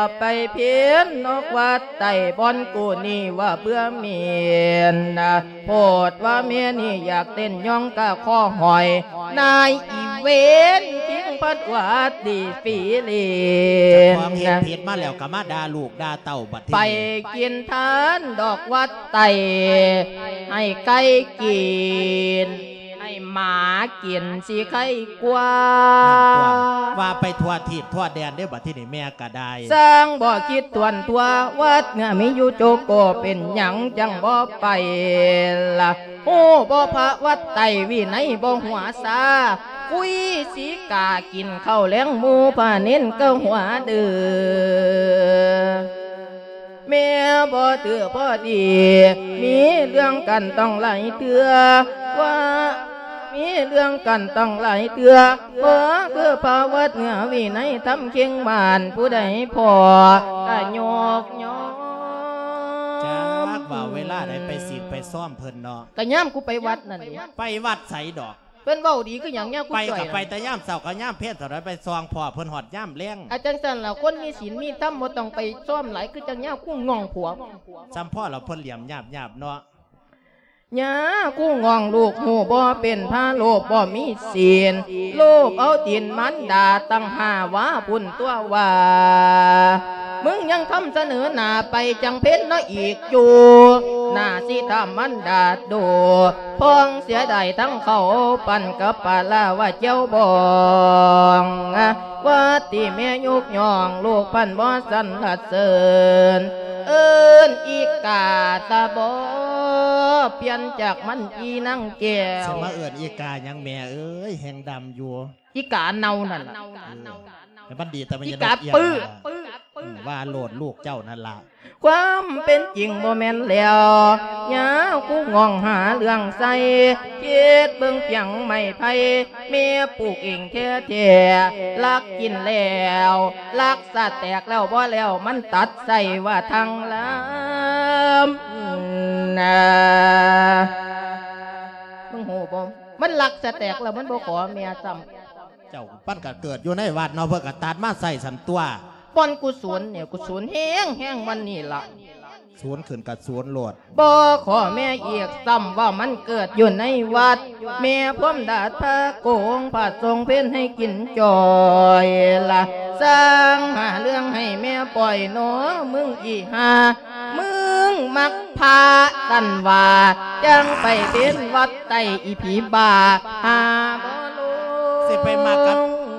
ບໄປເພນນອກວັດໃຕ້ບ່ອນກູນີ້ວ່າເບື່ອເມນນະ ໂພດວ່າແມ່ນີ້ຢາກເຕັ້ນຍ້ອງກະຄໍຫ້ອຍ ນາຍອີເວນ ພິງພັດຫວັດດີຟີລີນ ເຈົ້າຂອງເຮັດຜິດມາແລ້ວກະມາດ່າລູກດ່າເຕົ້າບັດທີນີ້ ໄປກິນທານດອກວັດໃຕ້ ໃຫ້ໄກ່ກິນ ໃຫ້ໝາກິນຊິໄຄກວ່າ ນັ້ນຕົວະ ວ່າໄປທົ່ວທີບທົ່ວແດນເດ້ ບັດທີນີ້ແມ່ກະໄດ້ ຊ່າງບໍ່ຄິດຖ້ວນທົ່ວ ວັດເໜືອມີຢູ່ໂຈໂກ ເປັນຫຍັງຈັ່ງບໍ່ໄປລະ ຮູ້ບໍ່ພະວັດໃຕ້ ວິໄນບໍ່ຫົວຊາ ກຸຍສີກາກິນເຂົ້າແລງ ໝູ່ພະເນນກໍຫົວເດີ. ແມ່ບໍ່ຖືພໍດີ ມີເລື່ອງກັນຕ້ອງຫຼາຍເທື່ອ ວ່າມີເລື່ອງກັນຕ້ອງຫຼາຍເທື່ອ ເພາະຄືພະວັດເໜືອວິໄນທຳເຄັງບ້ານ ຜູ້ໃດພໍກະຍົກຍ້ອງ ຈັກວ່າເວລາໃດໄປສິນໄປຊ້ອມເພິ່ນເນາະ ກະຍາມກູໄປວັດນັ້ນເດ ໄປວັດໃສດອກ ເພິ່ນເວົ້າດີຄືຫຍັງຍາມກູ ໄປກໍໄປແຕ່ຍາມເຊົ້າກັບຍາມເພນ ເທົ່າໃດໄປສ່ອງພໍ້ເພິ່ນຮອດຍາມແລງ ອາ ຈັ່ງຊັ້ນລະ ຄົນມີສິນມີທຳບໍ່ຕ້ອງໄປຊ້ອມຫຼາຍ ຄືຈັ່ງຍາມກູງອງຜົວ ຊ່ຳພໍ້ລະເພິ່ນຫຼຽມຍາບໆເນາະ ຍາກູງອງລູກຮູ້ບໍ່ເປັນ ພາລູກບໍ່ມີສິນ ລູບເອົາຕີນມານດາຕັ້ງຫ້າວາພຸ້ນຕົວະວ່າ ມຶງຍັງທຳສະເໜີໜ້າໄປຈັງເພັນເນາະອີກຢູ່ ໜ້າຊິຖາມມັນດາໂດ ພ້ອງເສຍດາຍທັງເຂົ້າປັ້ນກັບປາລາວ່າແຈ່ວບອງ ວ່າຕິແມ່ຍົກຍ້ອງລູກພັນບໍ່ສັນລະເສີນ ເອີ້ນອີກາຕາບໍ່ປ່ຽນຈາກມັນອີນາງແກ້ວ ຊິມາເອີ້ນອີກາຫຍັງແມ່ເອີຍ ແຮງດຳຢູ່ ອີກາເນົ່ານັ້ນລະ ເອີ ໃຫ້ມັນດີແຕ່ມັນຢ່າ ອີກາປຶ້ ອືມ ວ່າໂລດລູກເຈົ້ານັ້ນລະ ຄວາມເປັນຈິງບໍ່ແມ່ນແລ້ວ ຍາຄູງອງຫາເລື່ອງໃສ່ ຄິດເບິ່ງພຽງໄມ້ໄຜ່ ແມ່ປູກເອງແທ້ໆ ລັກກິນແລ້ວ ລັກສະແຕກແລ້ວບໍ່ແລ້ວ ມັນຕັດໃສ່ວ່າທາງລາມນະ ມຶງຮູ້ບໍ່ ມັນລັກສະແຕກແລ້ວມັນບໍ່ຂໍແມ່ຊ້ຳ ເຈົ້າ ມັນກະເກີດຢູ່ໃນວັດເນາະ ເພິ່ນກະຕັດມາໃສ່ຊັ້ນຕົວະ ບ່ອນກູສູນນີ້ ກູສູນແຮງໆ ມັນນີ້ລະ ສູນຂຶ້ນກະສູນໂລດ ບໍ່ຂໍແມ່ອີກຊ້ຳວ່າມັນເກີດຢູ່ໃນວັດ ແມ່ພວມດາດພະໂກງ ພະຊົງເພັນໃຫ້ກິນຈ່ອຍລະ ສ້າງຫາເລື່ອງໃຫ້ແມ່ປ່ອຍໜໍ ມຶງອີ່ຫ່າ ມຶງມັກພະຊັ້ນວ່າ ຈັ່ງໄປເປັນວັດໃຕ້ອີຜີບ້າ ຫາບໍ່ລົງ ຊິໄປມັກກັບ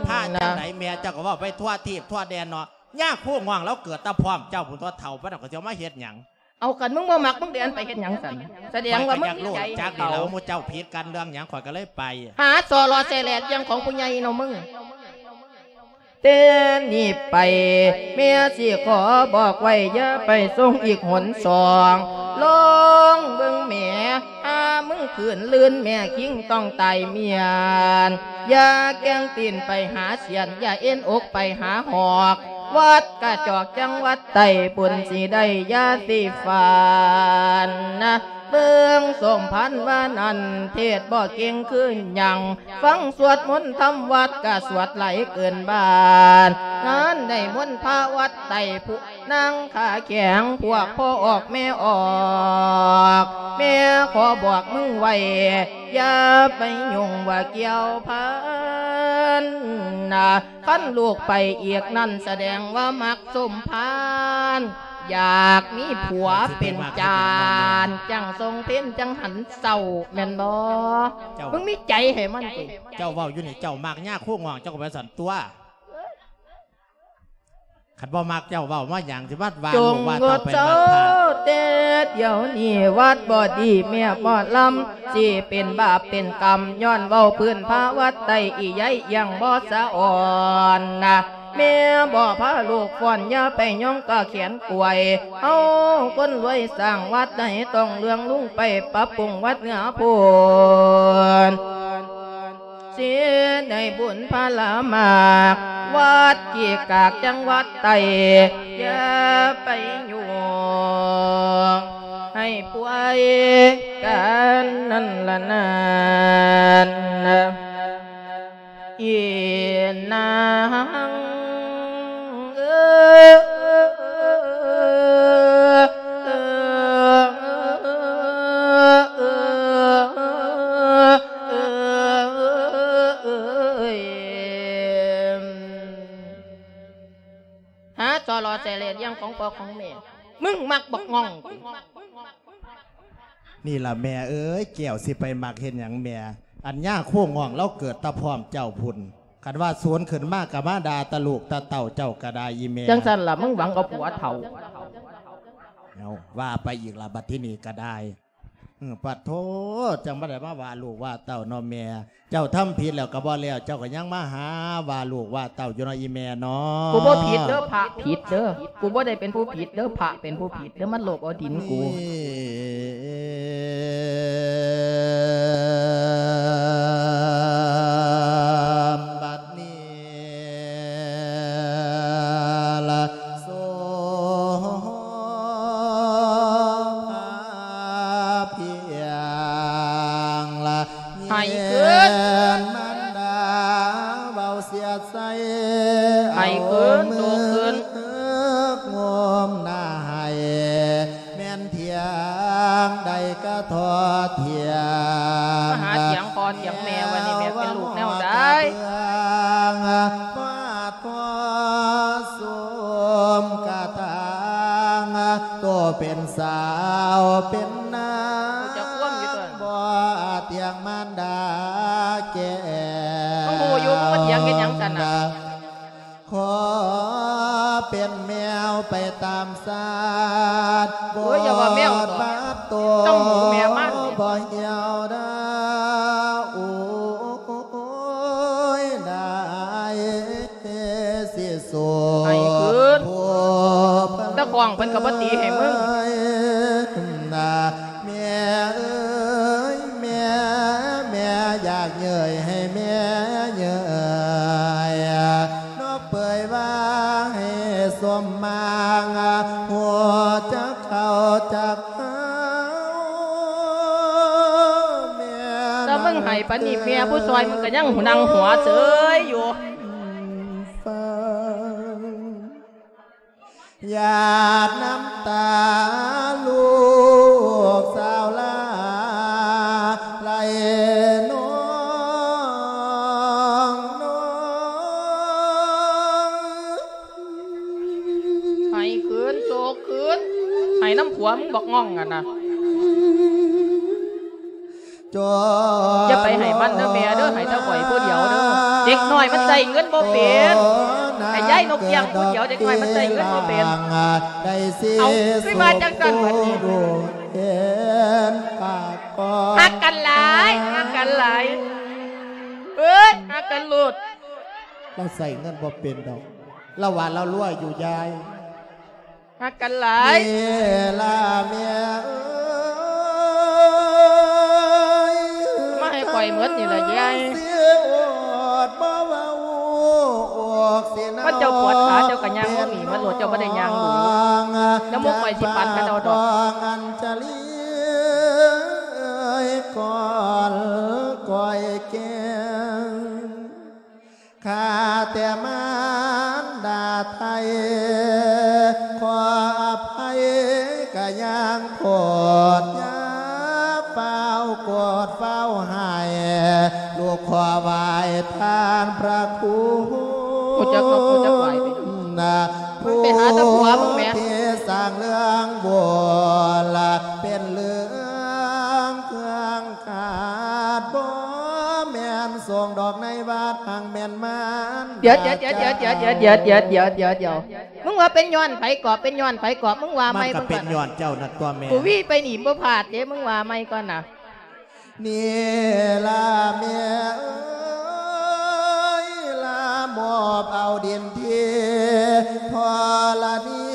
ພະຈັ່ງໃດແມ່ ເຈົ້າກໍເວົ້າໄປທົ່ວທີບທົ່ວແດນເນາະ ຍາຄູງອງລາວເກີດແຕ່ພ້ອມເຈົ້າພຸ້ນຕົວະ ເຖົ້າປານນັ້ນກໍຊິເອົາມາເຮັດຫຍັງ ເອົາ ຄັນມຶງບໍ່ມັກ ມຶງຊິອັນໄປເຮັດຫຍັງຊັ້ນ ສະແດງວ່າມຶງມີໃຈ ຂ້ອຍກໍຢາກຮູ້ຈັກນີ້ແຫຼະ ໝູ່ເຈົ້າຜິດກັນເລື່ອງຫຍັງ ຂ້ອຍກໍເລີຍໄປ ຫາສໍ້ເລາະແຊແຫຼດຢ່າງຂອງຜູ້ໃຫຍ່ເນາະມຶງ ແຕ່ນີ້ໄປ ແມ່ຊິຂໍບອກໄວ້ ຢ່າໄປສົ່ງອີກຫົນສອງ ລອງເບິ່ງແໝ ຫາມຶງຄືນລື່ນ ແມ່ຄິງຕ້ອງຕາຍມ້ຽນ ຢ່າແກ່ງຕີນໄປຫາສຽນ ຢ່າເອັນອົກໄປຫາຫອກ ວັດກະຈອກຈັງຫວັດໃຕ້ພຸ້ນ ຊິໄດ້ຢາສີຟັນນະ ເບິ່ງສົມພັນວ່ານັ້ນ ເທດບໍ່ເກັ່ງຄືຫຍັງ ຟັງສວດມົນທຳວັດກະສວດຫຼາຍເກີນບ້ານ ງານໄດ້ມົນພະວັດໃຕ້ຜູ້ ນາງຂາແຂງ ພວກພໍ່ອອກແມ່ອອກ ແມ່ຂໍບອກມຶງໄວ້ ຢ່າໄປຫຍຸ້ງວ່າກ່ຽວພັນນະ ຄັນລູກໄປອີກນັ້ນ ສະແດງວ່າມັກສົມພານ ຢາກມີຜົວເປັນຈານ ຈັ່ງສົ່ງເພັນ ຈັ່ງຫັນເສົ້າ ແມ່ນບໍ່? ເຈົ້າ ມຶງມີໃຈໃຫ້ມັນຕິ? ເຈົ້າເວົ້າຢູ່ນີ້ ເຈົ້າມັກຍາໂຄງອງ ເຈົ້າກໍໄປຊັ້ນຕົວະ. ຄັນບໍ່ມັກເຈົ້າເວົ້າມາຫຍັງ ຊິມາວ່າລູກວ່າເຕົ້າໄປມັກພະ. ແຕ່ດຽວນີ້ວັດບໍ່ດີແມ່ໝໍລຳ ຊິເປັນບາບເປັນກຳ ຍ້ອນເວົ້າພື້ນພາວັດໄດ້ອີໃຍ ຍັງບໍ່ສະອອນນະ ແມ່ບໍ່ພາລູກຟ້ອນ ຢ່າໄປຍ້ອງກະແຂນກວຍ ເຮົາຄົນລວຍສ້າງວັດໃດ ຕ້ອງເລື່ອງລຸງໄປປັບປຸງວັດເໜືອໂພນ. ສິໄດ້ບຸນພະລາມາກ ວັດຂີ້ກາກຈັງຫວັດໄຕ້ ຢ່າໄປຫຍຸ້ງໃຫ້ປ່ວຍກັນນັ້ນລະນັ້ນ ອີນາງເອີຍ. ຫາສໍ່ລໍແສເລດຫຍັງຂອງພໍ່ຂອງແມ່ ມຶງມັກບັກງ່ອງ. ນີ້ລະແມ່ເອີຍ ແກ້ວຊິໄປມັກເຮັດຫຍັງແມ່? ອັນຍາໂຄງອງລາວເກີດແຕ່ພ້ອມເຈົ້າພຸ້ນ ຄັນວ່າສູນຂຶ້ນມາກໍມາດ່າແຕ່ລູກແຕ່ເຕົ້າເຈົ້າກໍໄດ້ອີແມ່. ຈັ່ງຊັ້ນລະ ມຶງຫວັງເອົາຜົວເຖົ້າ. ເອົາ ວ່າໄປອີກລະ ບັດທີນີ້ກໍໄດ້. ອື ປະໂທ ຈັ່ງບໍ່ໄດ້ມາວ່າລູກວ່າເຕົ້າເນາະແມ່. ເຈົ້າທຳຜິດແລ້ວກໍບໍ່ແລ້ວ ເຈົ້າກໍຍັງມາຫາວ່າລູກວ່າເຕົ້າຢູ່ເນາະອີແມ່ເນາະ. ກູບໍ່ຜິດເດີ ພະຜິດເດີ ກູບໍ່ໄດ້ເປັນຜູ້ຜິດເດີ ພະເປັນຜູ້ຜິດເດີ ມັນໂລບເອົາດິນກູ. ນີ້ ບັດນີ້ລະ ໂສພາພຽງລະ ໃຫ້ຄືນ ແມ່ນມານດາເວົ້າສຽດໃສ່ ໃຫ້ຄືນ ເອົາມືໂຕຄືນ ງຸ້ມໜ້າໃຫ້ ແມ່ນຖຽງໃດກະທອດຖຽງ ມາຫາຖຽງພໍ່ຖຽງແມ່ ວ່ານີ້ແມ່ເປັນລູກແນວໃດ ຟາດພໍ້ຊຸມກະຖາງ ໂຕເປັນສາວເປັນນາງ ຮູ້ຈັກຄວາມຢູ່ຕົວ ບໍ່ຖຽງມານດາແກ່ ເຮົາຮູ້ຢູ່ ມັນບໍ່ຖຽງເຮັດຫຍັງຊັ້ນນະ? ຂໍເປັນແມວໄປຕາມຊາດ ໂອ້ຍ ຢ່າວ່າແມວ ບົດບາດໂຕ ຕ້ອງໝູແມ່ມັນ ບໍ່ຫ່ຽວດາ ໂອ້ຍ ໄດ້ຊິສູ້ ໃຫ້ຄືນ ຜູ້ພັນ ຕາຂອງເພິ່ນກໍບໍ່ຕີໃຫ້ມຶງ ນະ ແມ່ເອີຍ ແມ່ ແມ່ຢາກເຍີ້ຍໃຫ້ແມ່ເຍີ້ຍ ນອກເປີຍວ່າໃຫ້ສົມມາງ ຮູ້ຈັກເຂົ້າຈັກຫາວ ແມ່ ຖ້າມຶງໃຫ້ປານນີ້ ແມ່ຜູ້ຊ່ອຍມຶງກໍຍັງນັ່ງຫົວເຊີຍຢູ່ ຟັງ ຫຍາດນ້ຳຕາລູກສາວລາໄຫຼນອງ ນອງ ໃຫ້ຄືນ ໂຈກຄືນ ໃຫ້ນຳຜົວມຶງບັກງ່ອງຫັ້ນນະ. ຢ່າໄປໃຫ້ມັນເດີແມ່ເດີ ໃຫ້ແຕ່ຂ້ອຍຜູ້ດຽວເດີ ເດັກນ້ອຍມັນໃຊ້ເງິນບໍ່ເປັນ ໃຫ້ຍາຍນົກກ້ຽງຜູ້ດຽວ ເດັກນ້ອຍມັນໃຊ້ເງິນບໍ່ເປັນ ເອົາ ຄືວ່າຈັ່ງຊັ້ນບັດນີ້ ຮັກກັນຫຼາຍ ຮັກກັນຫຼາຍ ເອີຍ ຮັກກັນໂລດ ລາວໃຊ້ເງິນບໍ່ເປັນດອກ ລາວວ່າລາວລວຍຢູ່ຍາຍ ຮັກກັນຫຼາຍ ເວລາແມ່ເອີຍ ມາໃຫ້ຂ້ອຍໝົດນີ້ລະຍາຍ ຊິອດບໍ່ເວົ້າອອກຊິນາວ ຄັນເຈົ້າປວດຂາເຈົ້າກໍຍ່າງລົງນີ້ມາໂລດ ເຈົ້າບໍ່ໄດ້ຍ່າງດູ ແລ້ວໝູ່ຂ້ອຍຊິປັນກັນເອົາດອກ ອັນຈະລີກ່ອນກ້ອຍແກ້ງ ຂ້າແຕ່ມານດາໄທ ຂໍ ຍັງໂພດ ຢ່າຟ້າວໂກດຟ້າວຮ້າຍ ລູກຂໍໄຫວ້ທ່ານພະຄູ ຮູ້ຈັກເນາະ ຮູ້ຈັກໄຫວ້ໄປເນາະ ນະ ມັນໄປຫາແຕ່ຜົວມຶງແໝ່ ຜູ້ທີ່ສ້າງເລື່ອງໂວລະ ເປັນເລື່ອງເຄື່ອງ ຂາດບໍ່ແມ່ນສົງດອກໃນວັດ ຫາກແມ່ນມານ ດຽວ ດຽວ ດຽວ ດຽວ ມຶງວ່າເປັນຍ້ອນໃຜເກາະ ເປັນຍ້ອນໃຜເກາະ ມຶງວ່າໃໝ່ ມັນກໍເປັນຍ້ອນເຈົ້ານັ້ນຕົວະແມ່ ກູວີໄປນີ້ບໍ່ພາດເດ້ ມຶງວ່າໃໝ່ກ່ອນນະ ນີ້ລະແມ່ເອີຍ ລະມອບເອົາດິນທີ່ທໍລະນີ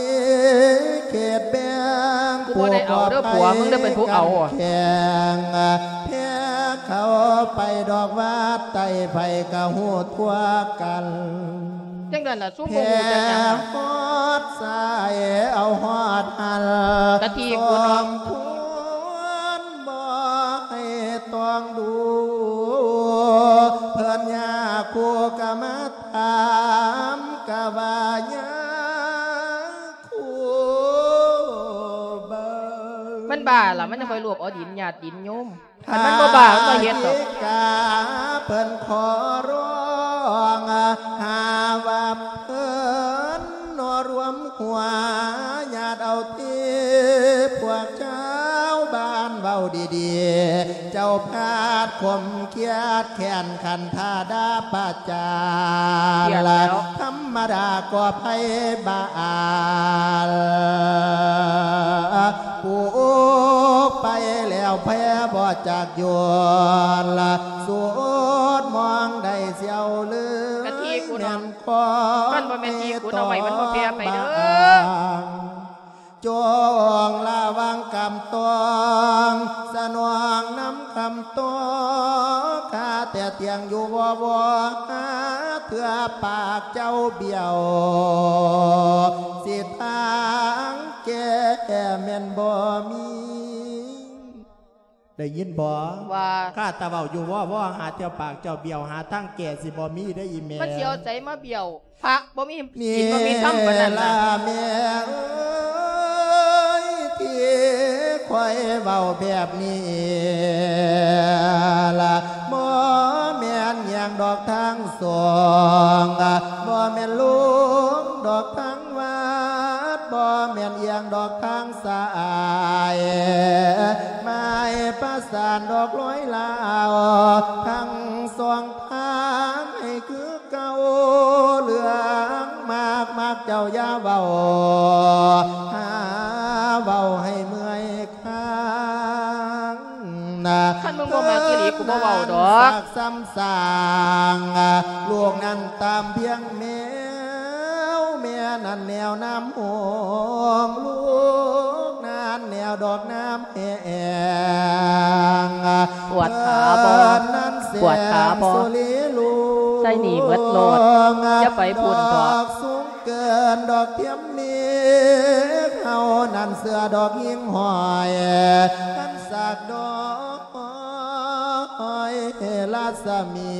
ເຂດແບ່ງ ກູບໍ່ໄດ້ເອົາເດີ ຜົວມຶງເດີເປັນຜູ້ເອົາ ແຂງແພ້ເຂົາໄປດອກວັດໃຕ້ ໃຜກະຮູ້ທົ່ວກັນ ຈັ່ງນັ້ນລະ ຊຸມບໍ່ຮູ້ຈັກຫຍັງ ແພ້ຮອດສາຍເອົາຮອດຫັ້ນ ກະທີກູເນາະ ສົມຄວນບໍ່ໃຫ້ຕ້ອງດູ ເພິ່ນຍາຄູກະມາ ຖາມກະວ່າຍາຄູເບິ່ງ ມັນບ້າລະ ມັນຍັງຄ່ອຍລວບເອົາດິນຍາດດິນໂຍມ ຄັນມັນບໍ່ບ້າ ມັນບໍ່ເຮັດດອກ ກາເພິ່ນຂໍຮ້ອງ ຫາວ່າເພິ່ນນອລວມຫົວ ຍາດເອົາທີ່ພວກຊາວບ້ານເວົ້າດີໆ ເຈົ້າພາດຂົມຄຽດແຄ້ນຂັນທາດາປະຈານ ທຳມະດາກໍໄພບານ ປູກໄປແລ້ວແຜ່ບໍ່ຈັກຢວນ ສູດມອງໄດ້ສ່ຽວເລີຍ ກະທີກູເນາະ ແມ່ນຂອງ ມັນບໍ່ແມ່ນທີ່ກູເນາະ ໄວ້ມັນບໍ່ແຜ່ໄປເດີ ຈົ່ງລະວັງຄຳຕ້ອງ ສະໜອງນຳຄຳຕ້ອງ ຂ້າແຕ່ຕຽງຢູ່ວໍວໍ ຫາເທື່ອປາກເຈົ້າບ້ຽວ ສິທາງແກ້ແມ່ນບໍ່ມີ ໄດ້ຍິນບໍ່? ວ່າ ຂ້າແຕ່ເວົ້າຢູ່ວໍວໍ ຫາເທື່ອປາກເຈົ້າບ້ຽວ ຫາທາງແກ້ຊິບໍ່ມີເດ້ອີ່ແມ່ ມັນຊິເອົາໃສມາບ້ຽວ? ພະບໍ່ມີສິນບໍ່ມີທຳປານນັ້ນນະ ແມ່ເອີຍ ທີ່ຂ້ອຍເວົ້າແບບນີ້ລະ ບໍ່ແມ່ນຫຍັງດອກທາງສອງ ບໍ່ແມ່ນລົງດອກທາງວັດ ບໍ່ແມ່ນອຽງດອກທາງສາຍ ໝາຍປະສານດອກລອຍລາວ ທັງສອງທາງໃຫ້ຄື ເກົ່າເລື່ອງມາກ ມັກເຈົ້າຢ່າເວົ້າ ຫາເວົ້າໃຫ້ເມື່ອຍຄາງນະ ຄັນມຶງບໍ່ມັກອີ່ຫຼີ ກູບໍ່ເວົ້າດອກ ຊາກຊ້ຳສ້າງ ລູກນັ້ນຕາມພຽງແມວ ແມ່ນັ້ນແນວນ້ຳຫົງ ລູກນັ້ນແນວດອກນ້ຳ ແຮງ ປວດຂາບໍ່? ປວດຂາບໍ່? ໃສ່ໜີ່ໝົດໂລດ ຢ່າໄປພຸ້ນເຖາະ ດອກສູງເກີນດອກທຽມເມກ ເຮົານັ້ນເສື້ອດອກຫິ້ງຫ້ອຍ ຄັນສາກດອກ ອຍລາສະໝີ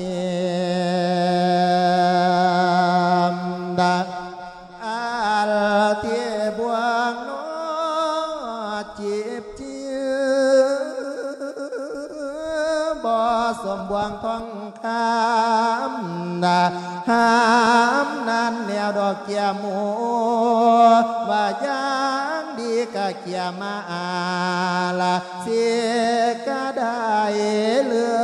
ດາ ອັນທີ່ບວງນອດຈີບຈີ ບໍ່ສົມບວງທອງຄຳ ຫາມນັ້ນແນວດອກເກຍໝູ ວ່າຢ່າງດີກະເກຍມາອາລະ ຊິກະໄດ້ເລື່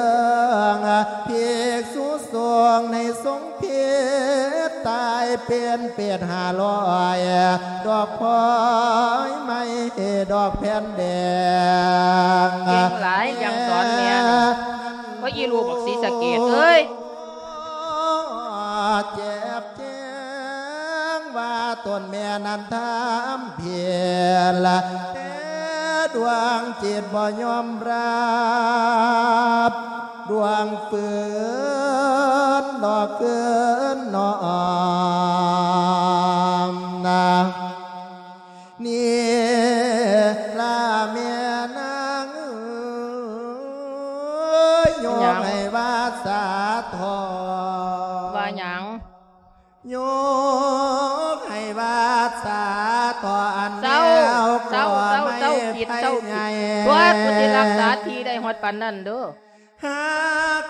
ອງ ພິກສຸສົງໃນສົງ ເພັດຕາຍເປັນເປດຫ້າຮ້ອຍ ດອກພອຍໄມ້ດອກແຜ່ນແດງ ເກັ່ງຫຼາຍ ຍັງສອນແມ່ນະ ໂອ້ຍ ອີລູກບັກສີສະເກດເອີຍ ແຈບແຈງວ່າຕົນແມ່ນັ້ນທຳຜິດ ແຕ່ດວງຈິດບໍ່ຍອມຮັບ ດວງຟື້ນດອກຄືນນ້ອມນາ ນີ້ລະແມ່ນາງເອີຍ ໂຍມໃຫ້ວາດສາເຖາະ ວ່າຫຍັງ? ໂຍມໃຫ້ວາດສາເຖາະ ອັນແນວກໍໄມ້ ເຈົ້າໃຫຍ່ ຕົວະ ຜູ້ທີ່ຮັກສາທີ່ໄດ້ຮອດປານນັ້ນເດີ້. ຫາ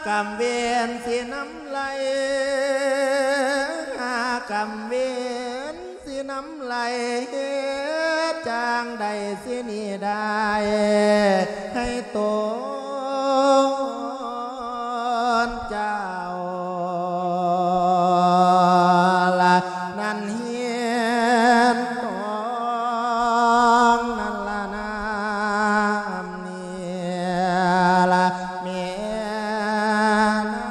ກຳເວນຊິນຳໄຫຼ ຫາກຳເວນຊິນຳໄຫຼ ເຮັດຈັ່ງໃດຊິໜີໄດ້ ໃຫ້ຕົນເຈົ້າລະນັ້ນ ເຮັດຕ້ອງນັ້ນລະນາ ນີ້ລະແມ່ນາງ ໂອ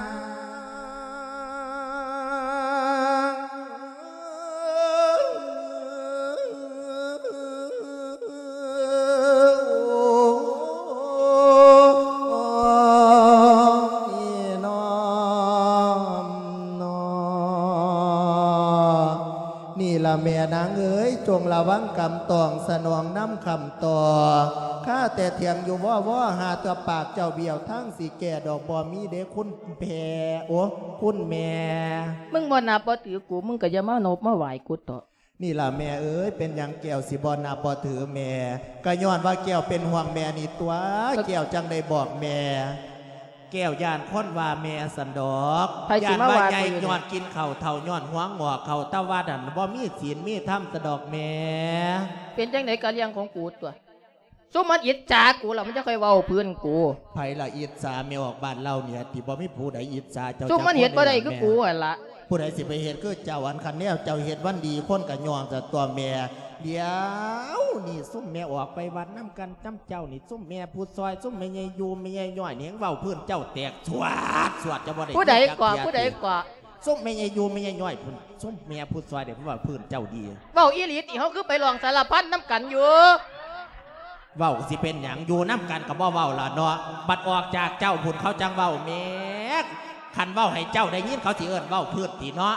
້ຍ ນ້ອມ ນ້ອມ ນີ້ລະແມ່ນາງເອີຍ ຈົ່ງລະວັງກຳຕອງ ສະໜອງນຳຄຳຕໍ່ ຄາແຕ່ຖຽງຢູ່ວໍໆ ຫາແຕ່ປາກເຈົ້າບ້ຽວ ທາງຊິແກ້ດອກບໍ່ມີເດ້ຄຸນແພ ໂອ້ ຄຸນແມ່. ມຶງບໍ່ນັບບໍ່ຖືກູ ມຶງກໍຢ່າມານົບມາໄຫວ້ກູເຖາະ. ນີ້ລະແມ່ເອີຍ ເປັນຫຍັງແກ້ວຊິບໍ່ນັບບໍ່ຖືແມ່? ກໍຍ້ອນວ່າແກ້ວເປັນຫ່ວງແມ່ນີ້ຕົວະ ແກ້ວຈັ່ງໄດ້ບອກແມ່. ແກ້ວຢ້ານຄົນວ່າແມ່ຊັ້ນດອກ ໃຜຊິມາວ່າ ຢ້ານວ່າໃຫຍ່ ຂ້ອຍຢູ່ນີ້ ຍ້ອນກິນເຂົ້າເຖົ້າ ຍ້ອນຫົວງອກເຂົ້າ ແຕ່ວ່ານັ້ນບໍ່ມີສິນມີທຳຊັ້ນດອກແມ່. ເປັນຈັ່ງໃດກໍເລື່ອງຂອງກູຕົວະ ຊຸມມັນອິດສາກູລະ ມັນຈະຄ່ອຍເວົ້າພື້ນກູ. ໃຜລະອິດສາແມ່ອອກບ້ານເລົ່ານີ້ ທີ່ບໍ່ມີຜູ້ໃດອິດສາເຈົ້າ ຊຸມມັນເຮັດບໍ່ໄດ້ຄືກູຫັ້ນລະ. ຜູ້ໃດຊິໄປເຮັດຄືເຈົ້າ? ອັນຄັນແນວເຈົ້າເຮັດມັນດີ ຄົນກໍຍ້ອງຈະຕົວະແມ່. ດຽວນີ້ຊຸມແມ່ອອກໄປວັດນຳກັນນຳເຈົ້ານີ້ ຊຸມແມ່ຜູ້ຊ່ອຍ ຊຸມແມ່ໃຫຍ່ຢູ່ ແມ່ໃຫຍ່ຍ້ອຍນີ້ ແຮ່ງເວົ້າພື້ນເຈົ້າແຕກສວດສວດ ເຈົ້າບໍ່ໄດ້ ຜູ້ໃດເກາະ ຜູ້ໃດເກາະ? ຊຸມແມ່ໃຫຍ່ຢູ່ ແມ່ໃຫຍ່ຍ້ອຍພຸ້ນ ຊຸມແມ່ຜູ້ຊ່ອຍເດ້ ເວົ້າພື້ນເຈົ້າດີ. ເວົ້າອີ່ຫຼີຕິ ເຮົາຄືໄປຮ້ອງສາລະພັນນຳກັນຢູ່. ເວົ້າຊິເປັນຫຍັງ ຢູ່ນຳກັນກໍບໍ່ເວົ້າລະເນາະ ບັດອອກຈາກເຈົ້າພຸ້ນເຂົາຈັ່ງເວົ້າແໝ. ຄັນເວົ້າໃຫ້ເຈົ້າໄດ້ຍິນ ເຂົາຊິເອີ້ນເວົ້າພື້ນຕິເນາະ.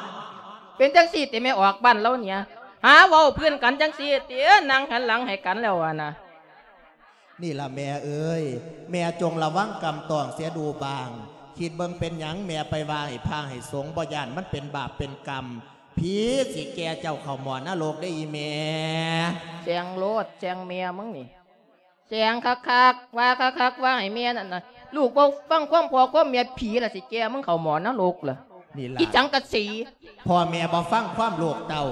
ເປັນຈັ່ງຊີ້ຕິ ແມ່ອອກບ້ານລາວເນຍ ຫາເວົ້າພື້ນກັນຈັ່ງຊີ້ຕິ ນັ່ງຫັນຫຼັງໃຫ້ກັນແລ້ວຫັ້ນນະ. ນີ້ລະແມ່ເອີຍ ແມ່ຈົ່ງລະວັງກຳຕອງເສຍດູບາງ ຄິດເບິ່ງເປັນຫຍັງແມ່ໄປວ່າໃຫ້ພະໃຫ້ສົງ ບໍ່ຢ້ານມັນເປັນບາບເປັນກຳ ຜີຊິແກ່ເຈົ້າເຂົ້າໝໍນະລົກເດ້ອີ່ແມ່. ແຊງໂລດ ແຊງແມ່ມຶງນີ້ ແຊງຄັກໆ ວ່າຄັກໆ ວ່າໃຫ້ແມ່ນັ້ນນະ ລູກບໍ່ຟັງຄວາມພໍ່ຄວາມແມ່ ຜີລະຊິແກ່ມຶງເຂົ້າໝໍນະລົກລະ. ນີ້ລະ ອີສັງກະສີ ພໍ່ແມ່ບໍ່ຟັງຄວາມລູກເຕົ້າ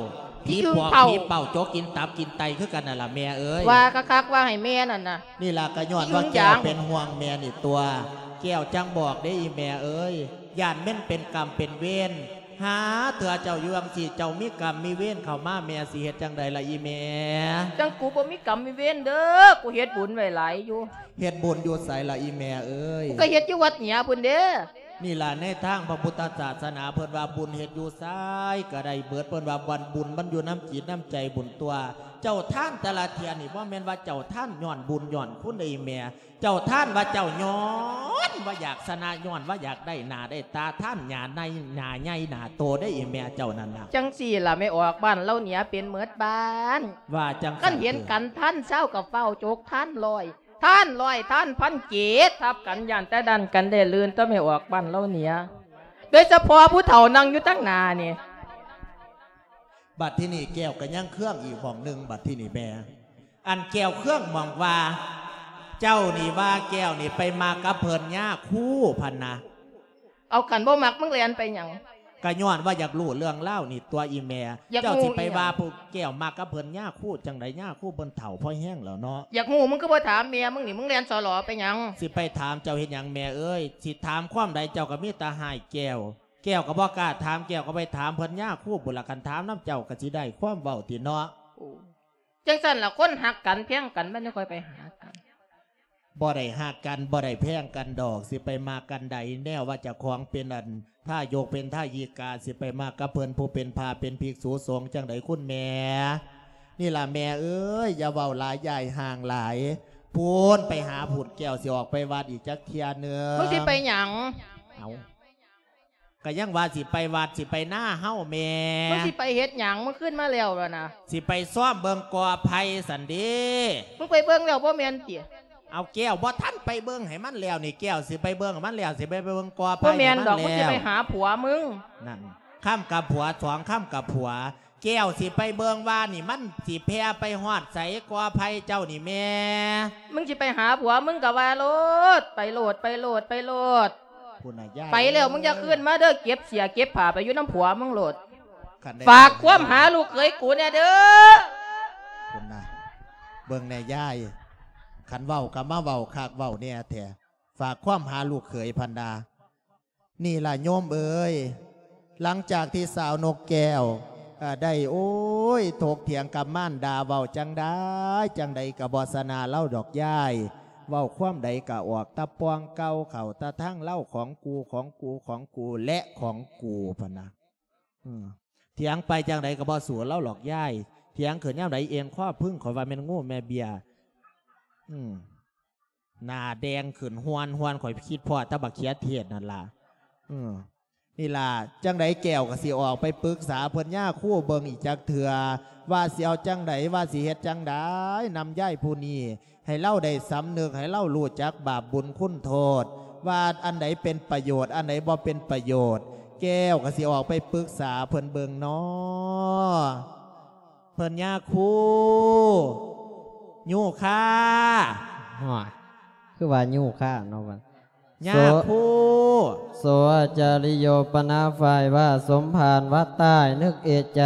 ຜີ ຜີ ພວກ ເຜົາ ຜີເປົ່າ ຈົກກິນຕັບກິນໄຕຄືກັນນັ້ນລະແມ່ເອີຍ. ວ່າຄັກໆ ວ່າໃຫ້ແມ່ນັ້ນນະ. ນີ້ລະ ກະຍ້ອນວ່າແກ້ວເປັນຫ່ວງແມ່ນີ້ຕົວະ ແກ້ວຈັ່ງບອກເດ້ອີ່ແມ່ເອີຍ ຢ້ານແມ່ນເປັນກຳເປັນເວນ. ຫາເທື່ອເຈົ້າຢູ່ຈັ່ງຊີ້ ເຈົ້າມີກຳມີເວນເຂົ້າມາ ແມ່ຊິເຮັດຈັ່ງໃດລະອີ່ແມ່? ຈັ່ງກູບໍ່ມີກຳມີເວນເດີ້ ກູເຮັດບຸນໄວ້ຫຼາຍຢູ່. ເຮັດບຸນຢູ່ໃສລະອີ່ແມ່ເອີຍ? ກູກໍເຮັດຢູ່ວັດເໜືອພຸ້ນເດ້. ນີ້ລະ ໃນທາງພະພຸດທະສາສະໜາເພິ່ນວ່າ ບຸນເຮັດຢູ່ໃສກໍໄດ້ເບີດ ເພິ່ນວ່າ ວັນບຸນມັນຢູ່ນຳຈິດນຳໃຈບຸນຕົວະ. ເຈົ້າທານແຕ່ລະເທື່ອນີ້ ບໍ່ແມ່ນວ່າເຈົ້າທານຍ້ອນບຸນຍ້ອນຄຸນເດ້ອີ່ແມ່ ເຈົ້າທານວ່າເຈົ້າຍ້ອນວ່າຢາກຊະນະ ຍ້ອນວ່າຢາກໄດ້ໜ້າໄດ້ຕາ ທານໜ້າໃຫຍ່ ໜ້າໃຫຍ່ໜ້າໂຕເດ້ອີ່ແມ່ເຈົ້ານັ້ນນະ. ຈັ່ງຊີ້ລະ ແມ່ອອກບ້ານລາວເນຍເປັນເໝິດບ້ານ ວ່າຈັ່ງຊັ້ນ ຄັນເຫັນກັນທານຊາວກໍຟ້າວຈົກທານຮ້ອຍ ທານຮ້ອຍ ທານພັນເກດທັບກັນ ຢ້ານແຕ່ດັນກັນໄດ້ລື່ນ ຕົວະແມ່ອອກບ້ານລາວເນຍ ໂດຍສະເພາະຜູ້ເຖົ້ານັ່ງຢູ່ທາງໜ້ານີ້. ບັດທີນີ້ແກ້ວກໍຍັງເຄືອງອີກໝ່ອງໜຶ່ງ ບັດທີນີ້ແມ່ ອັນແກ້ວເຄືອງໝ່ອງວ່າ ເຈົ້ານີ້ວ່າແກ້ວນີ້ໄປມັກກັບເພິ່ນຍາຄູພັນນະ. ເອົາ ຄັນບໍ່ມັກ ມຶງແລ່ນໄປຫຍັງ? ກະຍ້ອນວ່າຢາກຮູ້ເລື່ອງລາວນີ້ຕົວະອີ່ແມ່. ຢາກຮູ້ ເຈົ້າຊິໄປວ່າ ອີ່ຫຍັງ? ຜູ້ແກ້ວມັກກັບເພິ່ນຍາຄູຈັ່ງໃດ? ຍາຄູເພິ່ນເຖົ້າພໍແຮງແລ້ວເນາະ. ຢາກຮູ້ ມຶງຄືບໍ່ຖາມແມ່ມຶງນີ້ ມຶງແລ່ນສໍຫຼໍໄປຫຍັງ? ຊິໄປຖາມເຈົ້າເຮັດຫຍັງແມ່ເອີຍ? ຊິຖາມຄວາມໃດ ເຈົ້າກໍມີແຕ່ຮ້າຍແກ້ວ. ແກ້ວກໍບໍ່ກ້າຖາມ ແກ້ວກໍໄປຖາມເພິ່ນຍາຄູພຸ້ນລະ ຄັນຖາມນຳເຈົ້າກໍຊິໄດ້ຄວາມເວົ້າຕິເນາະ. ໂອ້ ຈັ່ງຊັ້ນລະ ຄົນຮັກກັນແພງກັນ ມັນຈະຄ່ອຍໄປຫາກັນ. ບໍ່ໄດ້ຮັກກັນ ບໍ່ໄດ້ແພງກັນດອກ ຊິໄປມັກກັນໃດ ແນວວ່າເຈົ້າຂອງເປັນອັນທາຍົກເປັນທາຍິກາ ຊິໄປມັກກັບເພິ່ນຜູ້ເປັນພະເປັນພິກສຸສົງຈັ່ງໃດຄຸນແມ່? ນີ້ລະແມ່ເອີຍ ຢ່າເວົ້າຫຼາຍ ຢ່າໃຫ້ຫ່າງຫຼາຍ ພຸ້ນໄປຫາພຸ້ນ ແກ້ວຊິອອກໄປວັດອີກຈັກເທື່ອໜຶ່ງ. ມຶງຊິໄປຫຍັງ? ເອົາ ກະຍັງວ່າຊິໄປວັດ ຊິໄປນາເຮົາແມ່. ມຶງຊິໄປເຮັດຫຍັງ? ມຶງຄືນມາແລ້ວລະນະ. ຊິໄປຊອມເບິ່ງກໍໄຜ່ຊັ້ນເດ. ມຶງໄປເບິ່ງແລ້ວບໍ່ແມ່ນຕິ? ເອົາ ແກ້ວບໍ່ທັນໄປເບິ່ງໃຫ້ມັນແລ້ວນີ້ ແກ້ວຊິໄປເບິ່ງໃຫ້ມັນແລ້ວ ຊິໄປເບິ່ງກໍໄຜ່ໃຫ້ມັນແລ້ວ. ບໍ່ແມ່ນດອກ ມຶງຊິໄປຫາຜົວມຶງ. ນັ້ນ ຄຳກັບຜົວ ສອງຄຳກັບຜົວ. ແກ້ວຊິໄປເບິ່ງວ່ານີ້ມັນຊິແຜ່ໄປຮອດໃສ ກໍໄຜ່ເຈົ້ານີ້ແມ່. ມຶງຊິໄປຫາຜົວມຶງກໍວ່າໂລດ ໄປໂລດ ໄປໂລດ ໄປໂລດ. ພຸ້ນນະຍາຍ ໄປແລ້ວມຶງຢ່າຄືນມາເດີ ເກັບເສື້ອເກັບຜ້າໄປຢູ່ນຳຜົວມຶງໂລດ. ຄັນໄດ້ ຝາກຄວາມຫາລູກເຂີຍກູແດ່ເດີ. ພຸ້ນນະ ເບິ່ງແດ່ຍາຍ ຄັນເວົ້າກໍມາເວົ້າຄັກເວົ້າແນ່ແທ້ ຝາກຄວາມຫາລູກເຂີຍ ພັນດາ. ນີ້ລະໂຍມເອີຍ ຫຼັງຈາກທີ່ສາວນົກແກ້ວ ເອີ ໄດ້ ໂອ້ຍ ຖົກຖຽງກັບມານດາ ເວົ້າຈັ່ງໃດຈັ່ງໃດກໍບໍ່ຊະນະລາວດອກຍາຍ ເວົ້າຄວາມໃດກໍອອກແຕ່ປ່ອງເກົ່າ ເຂົ້າແຕ່ທາງລາວ ຂອງກູ ຂອງກູ ຂອງກູ ແລະ ຂອງກູ ພັນນະ. ອືມ ຖຽງໄປຈັ່ງໃດກໍບໍ່ສູ້ລາວດອກຍາຍ ຖຽງຂຶ້ນຍາມໃດເອັນຄໍພຶ້ງ ຂ້ອຍວ່າແມ່ນງູແມ່ເບ້ຍ. ອືມ ໜ້າແດງຂຶ້ນຮວນໆ ຂ້ອຍຄິດພໍ້ແຕ່ບັກເຂືອເທດນັ້ນລະ. ເອີ ນີ້ລະ ຈັ່ງໃດແກ້ວກໍຊິອອກໄປປຶກສາເພິ່ນຍາຄູເບິ່ງອີກຈັກເທື່ອ ວ່າຊິເອົາຈັ່ງໃດ ວ່າຊິເຮັດຈັ່ງໃດນຳຍາຍຜູ້ນີ້ ໃຫ້ລາວໄດ້ສຳນຶກ ໃຫ້ລາວຮູ້ຈັກບາບບຸນຄຸນໂທດ ວ່າອັນໃດເປັນປະໂຫຍດ ອັນໃດບໍ່ເປັນປະໂຫຍດ ແກ້ວກໍຊິອອກໄປປຶກສາເພິ່ນເບິ່ງເນາະ. ເພິ່ນຍາຄູ ຍາຄູ ໂຫຍ ຄືວ່າຍາຄູເນາະ ຍາຄູ. ໂສຈະລິໂຍປະນາ ຝ່າຍວ່າສົມພານວັດໃຕ້ ນຶກເອະໃຈ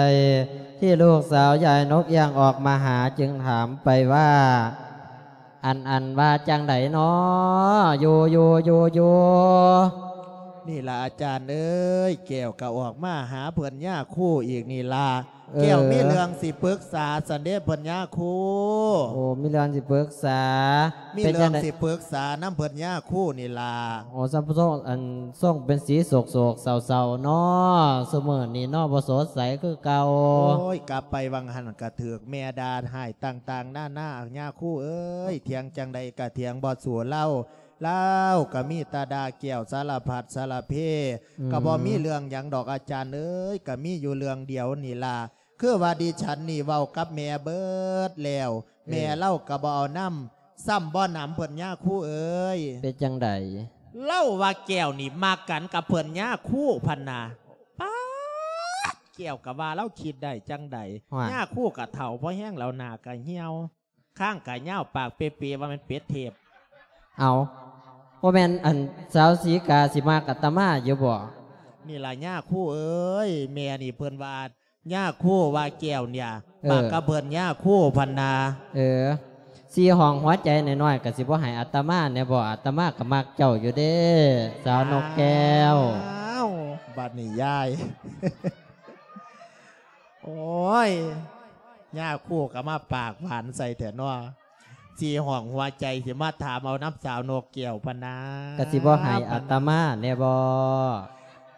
ທີ່ລູກສາວຍາຍນົກຍ່າງອອກມາຫາ ຈຶ່ງຖາມໄປວ່າ ອັນ ອັນວ່າຈັ່ງໃດນໍ ຢູ່ ຢູ່ ຢູ່ ຢູ່? ນີ້ລະອາຈານເອີຍ ແກ້ວກໍອອກມາຫາເພິ່ນຍາຄູອີກນີ້ລະ. ເອີ ແກ້ວມີເລື່ອງຊິປຶກສາຊັ້ນເດ້ເພິ່ນຍາຄູ. ໂອ້ ມີເລື່ອງຊິປຶກສາ. ມີເລື່ອງຊິປຶກສານຳເພິ່ນຍາຄູນີ້ລະ. ໂອ້ ຊ່ຳຊົງ ອັນຊົງເປັນສີໂສກໆເສົ້າໆເນາະ ຊຸມື້ນີ້ເນາະ ບໍ່ສົດໃສຄືເກົ່າ. ໂອ້ຍ ກັບໄປຫວ່າງຫັ້ນກະຖືກແມ່ດ່າຮ້າຍຕ່າງໆນານາ ຍາຄູເອີຍ ຖຽງຈັ່ງໃດກະຖຽງບໍ່ສູ້ລາວ ລາວກໍມີແຕ່ດ່າແກ້ວສາລະພັດສາລະເພ. ອືມ ກໍບໍ່ມີເລື່ອງຫຍັງດອກອາຈານເອີຍ ກໍມີຢູ່ເລື່ອງດຽວນີ້ລະ ຄືວ່າດິສັນນີ້ເວົ້າກັບແມ່ເບິດແລ້ວ ເອີ ແມ່ລາວກໍບໍ່ເອົານຳ ຊ້ຳບໍ່ນຳເພິ່ນຍາຄູເອີຍ. ເປັນຈັ່ງໃດ? ລາວວ່າແກ້ວນີ້ມັກກັນກັບເພິ່ນຍາຄູ ພັນນາ. ປາດ ແກ້ວກໍວ່າລາວຄິດໄດ້ຈັ່ງໃດ? ຍາຄູກໍເຖົ້າພໍແຮງແລ້ວ ໜ້າກໍຫ່ຽວ ຄາງກະຍາວ ປາກເປເປ ວ່າແມ່ນເປັດເທບ. ເອົາ ບໍ່ແມ່ນອັນສາວສີກາຊິມັກອາດຕະມາຢູ່ບໍ່? ນີ້ລະຍາຄູເອີຍ ແມ່ນີ້ເພິ່ນວ່າ ຍາຄູວ່າແກ້ວເນ່ຍ ເອີ ມັກກັບເພິ່ນຍາຄູ ພັນນາ. ເອີ ສີຫ້ອງຫົວໃຈນ້ອຍໆ ກໍຊິບໍ່ໃຫ້ອາດຕະມາແດ່ບໍ່? ອາດຕະມາກໍມັກເຈົ້າຢູ່ເດ້ ສາວນົກແກ້ວ. ອ້າວ ບັດນີ້ຍາຍ ໂອ້ຍ ຍາຄູກໍມາປາກຫວານໃສ່ແທ້ເນາະ ສີຫ້ອງຫົວໃຈ ຊິມາຖາມເອົານຳສາວນົກແກ້ວ ພັນນາ ກໍຊິບໍ່ໃຫ້ອາດຕະມາແດ່ບໍ່?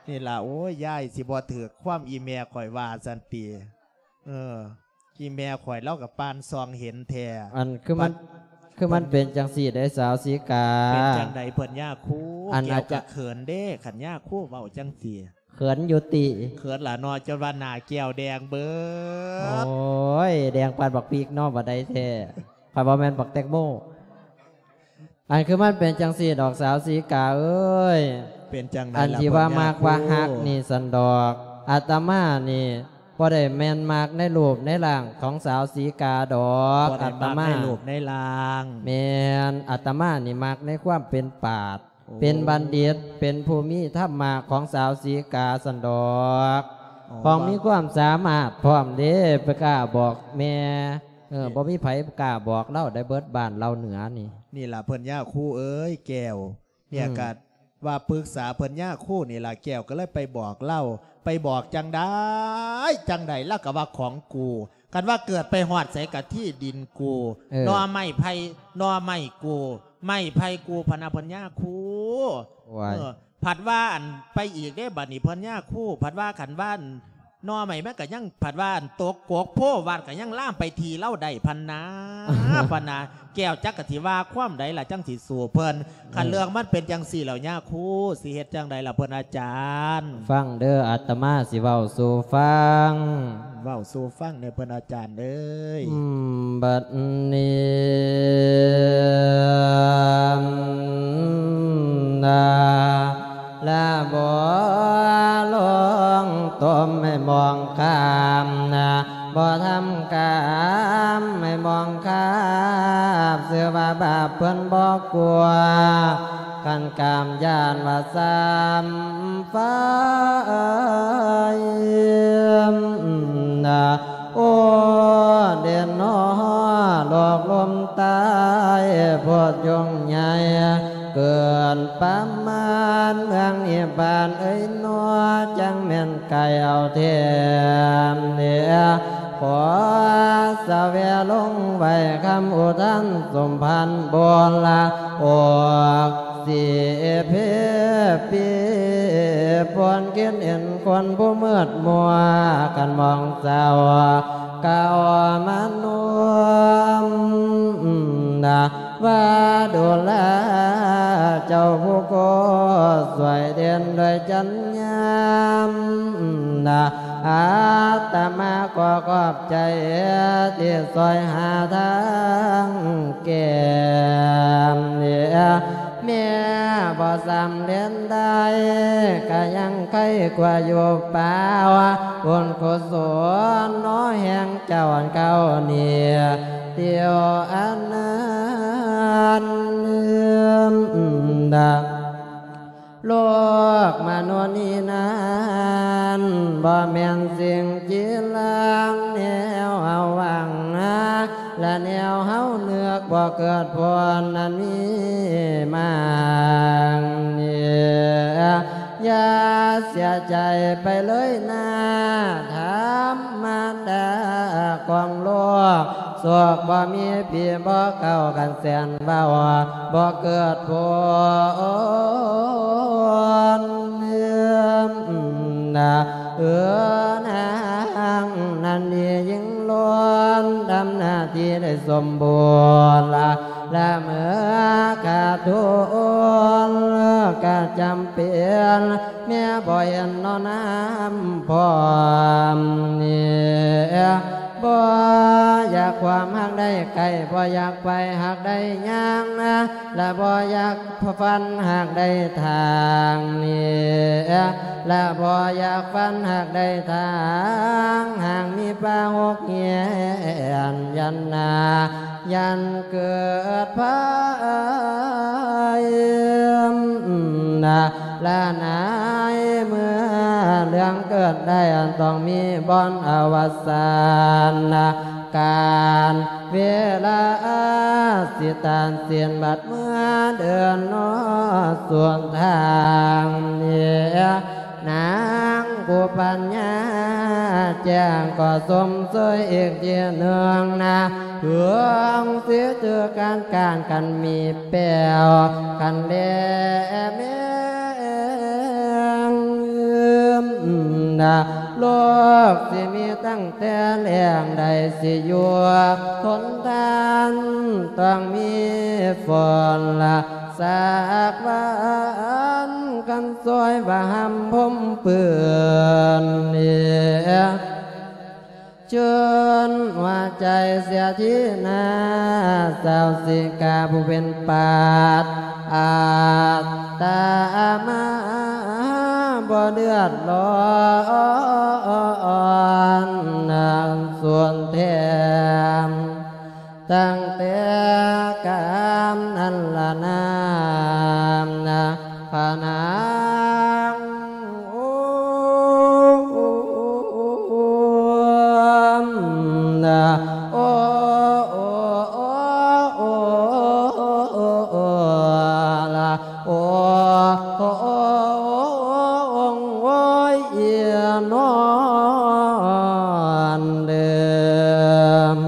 ນີ້ລະ ໂອ້ຍ ຍາຍຊິບໍ່ຖືກຄວາມອີ່ແມ່ຂ້ອຍວ່າຊັ້ນຕິ. ເອີ ອີ່ແມ່ຂ້ອຍລາວກໍປານສ່ອງເຫັນແທ້. ອັນຄືມັນ ບັດ ຄືມັນເປັນຈັ່ງຊີ້ເດ້ສາວສີກາ. ເປັນຈັ່ງໃດເພິ່ນຍາຄູ? ອັນ ແກ້ວກໍເຂີນເດ້ ອາຈານ ຄັນຍາຄູເວົ້າຈັ່ງຊີ້. ເຂີນຢູ່ຕິ? ເຂີນລະເນາະ ຈົນວ່າໜ້າແກ້ວແດງເບີດ. ໂອ້ຍ ແດງປານບັກພິກເນາະ ບໍ່ໄດ້ແທ້ ຂ້ອຍວ່າແມ່ນບັກແຕງໂມ. ອັນຄືມັນເປັນຈັ່ງຊີ້ດອກສາວສີກາເອີຍ. ເປັນຈັ່ງໃດລະ ອັນທີ່ວ່າມັກວ່າຮັກນີ້ຊັ້ນດອກ ອາດຕະມານີ້ບໍ່ໄດ້ແມ່ນມັກໃນຮູບໃນຮ່າງຂອງສາວສີກາດອກ. ອາດຕະມາ ໃນຮູບໃນຮ່າງ. ແມ່ນ ອາດຕະມານີ້ມັກໃນຄວາມເປັນປາດ ໂອ້ ເປັນບັນດິດ ເປັນຜູ້ມີທຳມະຂອງສາວສີກາຊັ້ນດອກ. ອໍ ຂອງມີຄວາມສາມາດພ້ອມເດ້ ໄປກ້າບອກແມ່. ເອີ ນີ້ ບໍ່ມີໃຜກ້າບອກລາວໄດ້ເບິດ ບ້ານລາວເໜືອນີ້. ນີ້ລະເພິ່ນຍາຄູເອີຍແກ້ວ ເນຍ ອືມ ກະວ່າປຶກສາເພິ່ນຍາຄູນີ້ລະ ແກ້ວກໍເລີຍໄປບອກລາວ ໄປບອກຈັ່ງໃດ ຈັ່ງໃດ ລາວກໍວ່າຂອງກູ ຄັນວ່າເກີດໄປຮອດໃສກະທີ່ດິນກູ. ເອີ ໜໍ່ໄມ້ໄຜ່ ໜໍ່ໄມ້ກູ ໄມ້ໄຜ່ກູ ພະນະເພິ່ນຍາຄູ. ໂອ້ຍ ເອີ ພັດວ່າອັນໄປອີກເດ້ ບັດນີ້ເພິ່ນຍາຄູ ພັດວ່າຄັນວ່າອັນໜໍ່ໄມ້ມັນກໍຍັງ ພັດວ່າອັນຕົກກົກໂພວັດກໍຍັງລາມໄປທີ່ລາວໄດ້ ພັນນາ ພັນນາ. ແກ້ວຈັກກະຊິວ່າຄວາມໃດລະ ຈັ່ງຊິສູ້ເພິ່ນ. ຄັນເລື່ອງມັນເປັນຈັ່ງຊີ້ແລ້ວ ຍາຄູຊິເຮັດຈັ່ງໃດລະເພິ່ນອາຈານ? ຟັງເດີ ອາດຕະມາຊິເວົ້າສູ່ຟັງ. ເວົ້າສູ່ຟັງແດ່ເພິ່ນອາຈານເອີຍ. ບັດນີ້ນາ ລະບໍ່ລົງ ຕົມໃຫ້ມອງຂ້າມນະ ບໍ່ທຳກາມໃຫ້ມອງຄາບ ຊື່ວ່າບາບເພິ່ນບໍ່ກົວ ຄັນກາມຢ້ານວ່າຊ້ຳໄຟນະ ໂອ້ ເດນນໍ ໂລກລົມຕາຍ ໂພດຍົງໃຫຍ່ເກີນປະມານ ເມືອງນິບບານເອີຍນໍ ຈັ່ງແມ່ນໄກເອົາແທ້ເນ ຂໍສະແວລົງໄວ້ຄຳອຸທານສົມພັນ ໂບລາອອກ ສີເພປີ ປວນກິນເອັນຄົນຜູ້ມືດມົວ ຄັນມອງເຈົ້າ ກາວມະນຸມນະ ວ່າດູລາເຈົ້າຜູ້ໂກ ຊ່ວຍເດັ່ນດ້ວຍຈັນຍາມນະ ອາດຕະມາຂໍຂອບໃຈ ທີ່ຊ່ວຍຫາທາງແກ້ ແມ້ບໍ່ສຳເລັດໄດ້ ກະຍັງໄຄກວ່າຢູ່ປ່າວ ບຸນກຸສົນໜໍແຫ່ງເຈົ້າອັນເກົ່ານີ້ ດຽວອັນນັ້ນ ໂລກມະນຸດນີ້ນັ້ນ ບໍ່ແມ່ນສິ່ງຈີລັງ ແນວເຮົາຫວັງນາ ແລະແນວເຮົານຶກ ບໍ່ເກີດຜົນອັນມີມາງນີ້ ຢ່າເສຍໃຈໄປເລີຍນາ ທຳມະດາຂອງໂລກ ໂຊກບໍ່ມີ ຜີບໍ່ເຂົ້າ ຄັນແຊນເວົ້າ ບໍ່ເກີດຜົນນາ ເອີ ນາງນັ້ນດີຍິ່ງລ້ນ ທຳໜ້າທີ່ໄດ້ສົມບູນລະ ລະເມື່ອຂາດທຸນກະຈຳເປັນ ແມ່ບໍ່ເຫັນໜໍນ້ຳພ້ອມນີ້ ບໍ່ຢາກຄວາມຫາກໄດ້ໃກ້ ບໍ່ຢາກໄປຫາກໄດ້ຍ່າງ ລະບໍ່ຢາກຝັນຫາກໄດ້ທາງນີ້ ລະບໍ່ຢາກຝັນຫາກໄດ້ທາງ ຫາກມີປາຫົກແຫນ ຢ້ານນາ ຢ້ານເກີດໄພນະ ລະນາຍ ເມື່ອເລື່ອງເກີດໄດ້ ອັນຕ້ອງມີບ່ອນອະວະສານນະ ການເວລາສິຕັດສິນ ບັດເມື່ອເດີນນອດສວນທາງນີ້ ນາງຜູ້ປັນຍາແຈ້ງ ຂໍຊົມເຊີຍອີກທີໜຶ່ງນະ ເຮືອງສິຖືການການ ຄັນມີແປ້ວ ຄັນແລແມງນະ ໂລກຊິມີຕັ້ງແຕ່ແລ້ງ ໄດ້ຊິຢູ່ທົນທານ ຕ້ອງມີຝົນລະ ສາກວານກັນຊ່ອຍວ່າຫ້ຳພົມປືນເອ ເຊີນຫົວໃຈເສຍທີໜ້າ ສາວສີກາຜູ້ເປັນປາດ ອາດຕະມາບໍ່ເດືອດຮ້ອນ ສ່ວນແຖມ ຕັ້ງແຕ່ການນັ້ນລະນາ ພະນາງ ໂອ ໂອ ລະ ໂອ ໂອ ໂອ ໂອ ໂອຍ ນອນເດີມ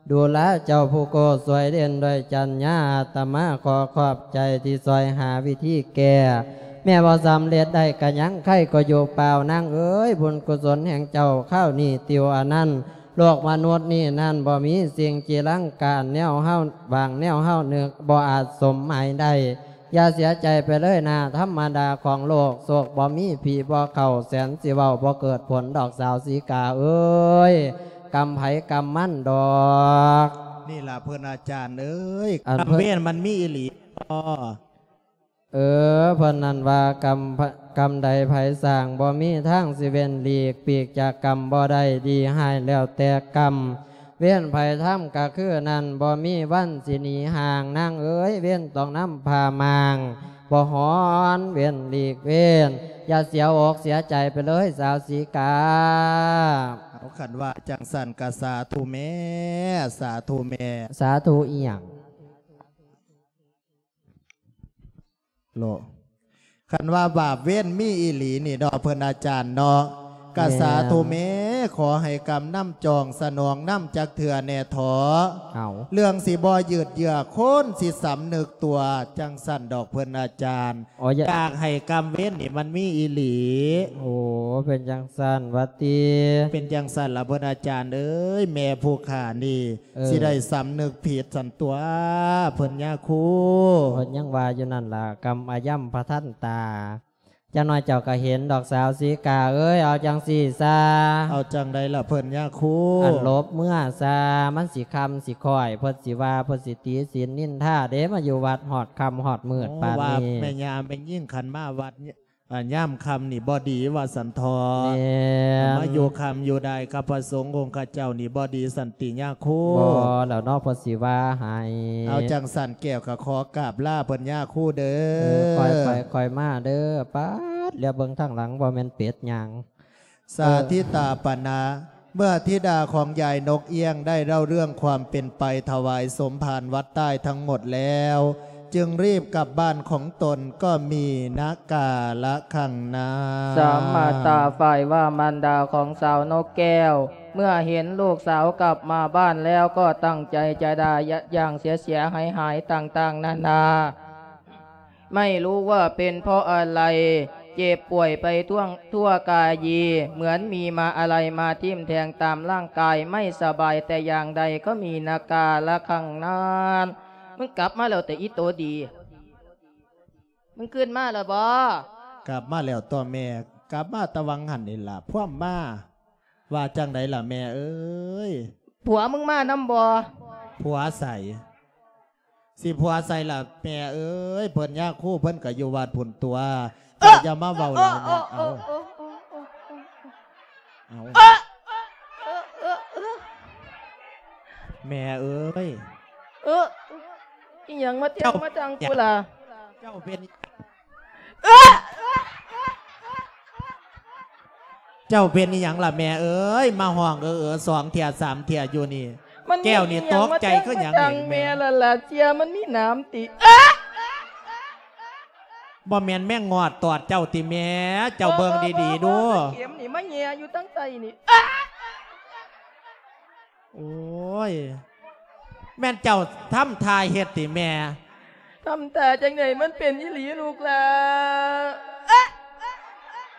ດູລາເຈົ້າຜູ້ໂກ ຊ່ວຍເດັ່ນດ້ວຍຈັນຍາ ອາດຕະມາຂໍຂອບໃຈທີ່ຊ່ວຍຫາວິທີແກ້ ແມ້ບໍ່ສຳເລັດໄດ້ກະຍັງໄຄກໍຢູ່ປ່າວ ນາງເອີຍ ບຸນກຸສົນແຫ່ງເຈົ້າຄາວນີ້ຕິວອານັນ ໂລກມະນຸດນີ້ນັ້ນບໍ່ມີສິ່ງຈີລັງການ ແນວເຮົາຫວັງ ແນວເຮົານຶກ ບໍ່ອາດສົມໝາຍໄດ້ ຢ່າເສຍໃຈໄປເລີຍນາ ທຳມະດາຂອງໂລກ ໂຊກບໍ່ມີ ຜີບໍ່ເຂົ້າ ແສນຊິເວົ້າ ບໍ່ເກີດຜົນດອກ ສາວສີກາເອີຍ ກຳໃຜກຳມັນດອກ. ນີ້ລະເພິ່ນອາຈານເອີຍ ອັນ ກຳເວນມັນມີອີ່ຫຼີ. ເອີ ເພິ່ນນັ້ນວ່າ ກຳ ກຳໃດໃຜສ້າງ ບໍ່ມີທາງຊິເວັ້ນຫຼີກ ປີກຈາກກຳບໍ່ໄດ້ ດີຮ້າຍແລ້ວແຕ່ກຳ ເວນໃຜທຳກະຄືນັ້ນ ບໍ່ມີວັນຊິໜີຫ່າງ ນາງເອີຍ ເວນຕ້ອງນຳພາມາງ ບໍ່ຮ້ອນເວນຫຼີກເວນ ຢ່າເສຍອົກເສຍໃຈໄປເລີຍ ສາວສີກາ. ເອົາ ຄັນວ່າຈັ່ງຊັ້ນກະສາທຸແມ່ ສາທຸແມ່. ສາທຸອີ່ຫຍັງ? ໂລະ ຄັນວ່າບາບເວນມີອີ່ຫຼີນີ້ເນາະ ເພິ່ນອາຈານເນາະ ກະ ແມ່ນ ສາທຸແມ້ ຂໍໃຫ້ກຳນຳຈອງສະໜອງນຳຈັກເທື່ອແດ່ເທາະ. ເອົາ ເລື່ອງຊິບໍ່ຍືດເຍື້ອ ຄົນຊິສຳນຶກຕົວ ຈັ່ງຊັ້ນດອກເພິ່ນອາຈານ. ອໍ ຢາ ຢາກໃຫ້ກຳເວນນີ້ມັນມີອີ່ຫຼີ. ໂອ້ ເປັນຈັ່ງຊັ້ນຫວາຕິ? ເປັນຈັ່ງຊັ້ນລະເພິ່ນອາຈານເອີຍ ແມ່ຜູ້ຂ້ານີ້ ເອີ ຊິໄດ້ສຳນຶກຜິດຊັ້ນຕົວະ ເພິ່ນຍາຄູ. ເພິ່ນຍັງວ່າຢູ່ນັ້ນລະ ກຳອະຍຳພະທັນຕາ ຈັກໜ້ອຍເຈົ້າກະເຫັນດອກສາວສີກາເອີຍ. ເອົາຈັ່ງຊີ້ຊະ. ເອົາຈັ່ງໃດລະເພິ່ນຍາຄູ? ອັນຫຼົບເມືອຊະ ມັນຊິຄ່ຳຊິຄ້ອຍ ເພິ່ນຊິວ່າ ເພິ່ນຊິຕິສິນນິນທາເດ້ ມາຢູ່ວັດຮອດຄ່ຳຮອດມືດປານນີ້. ໂອ້ ວ່າແມ່ຍ່າແມ່ຍິງຄັນມາວັດ ອາ ຍາມຄ່ຳນີ້ບໍ່ດີວ່າຊັ້ນເທາະ. ແມ່ນ ມາຢູ່ຄ່ຳຢູ່ດາຍກັບພະສົງອົງຄະເຈົ້ານີ້ບໍ່ດີຊັ້ນຕິຍາຄູ? ບໍ່ແລ້ວເນາະ ເພິ່ນຊິວ່າໃຫ້. ເອົາຈັ່ງຊັ້ນແກ້ວກະຂໍກາບລາເພິ່ນຍາຄູເດີ. ເອີ ຄ່ອຍໄປຄ່ອຍມາເດີ. ປາດ ຫຼຽວເບິ່ງທາງຫຼັງ ບໍ່ແມ່ນເປັດຍ່າງ. ສາທິຕາປະນະ ເມື່ອທິດາຂອງຍາຍນົກເອຍງໄດ້ເລົ່າເລື່ອງຄວາມເປັນໄປຖວາຍສົມພານວັດໃຕ້ທັງໝົດແລ້ວ ຈຶ່ງຣີບກັບບ້ານຂອງຕົນ ກໍມີນະກາລະຄັງນາ. ສາມາຕາ ຝ່າຍວ່າມານດາຂອງສາວນົກແກ້ວ ເມື່ອເຫັນລູກສາວກັບມາບ້ານແລ້ວ ກໍຕັ້ງໃຈຈະດ່າຢະຢ່າງເສຍຫາຍໆຕ່າງໆນານາ. ไม่รู้ว่าเป็นเพราะอะไร เจ็บป่วยไปทั่ว ทั่วกาย เหมือนมีมาอะไรมาทิ่มแทงตามร่างกาย ไม่สบายแต่อย่างใด ก็มีนากาละคังนาน มึงกลับมาแล้วแต่อีโตดี มึงขึ้นมาแล้วบ่? กลับมาแล้วตั๊วแม่ กลับมาแต่วังหั่นนี่ล่ะ พวมมา ว่าจั่งใดล่ะแม่เอ้ย ผัวมึงมานำบ่? ผัวใส สิผัวใสล่ะแม่เอ้ย เพิ่นยาคูเพิ่นก็อยู่วัดพุ้นตั๊ว เจ้าอย่ามาเว้าหลายแม่ เอ้า เอ้า เอ้า แม่เอ้ย เอ้อ อีหยังมาเตียงมาจังกูล่ะ เจ้าเป็น เจ้าเป็นอีหยังล่ะแม่เอ้ย มาฮ้องเออๆ สองเทื่อสามเทื่ออยู่นี่ แก้วนี่ตกใจคือหยังนี่ แม่ล่ะล่ะ เสียมันมีหนามติ บ่แม่นแมงงอดตอดเจ้าติแม่ เจ้าเบิ่งดีๆดู เข็มนี่มาแหย่อยู่ตั้งใต้นี่ โอ้ย แม่นเจ้าทำท่าเฮ็ดติแม่ ทำท่าจั่งใด มันเป็นอีหลีลูกหล่า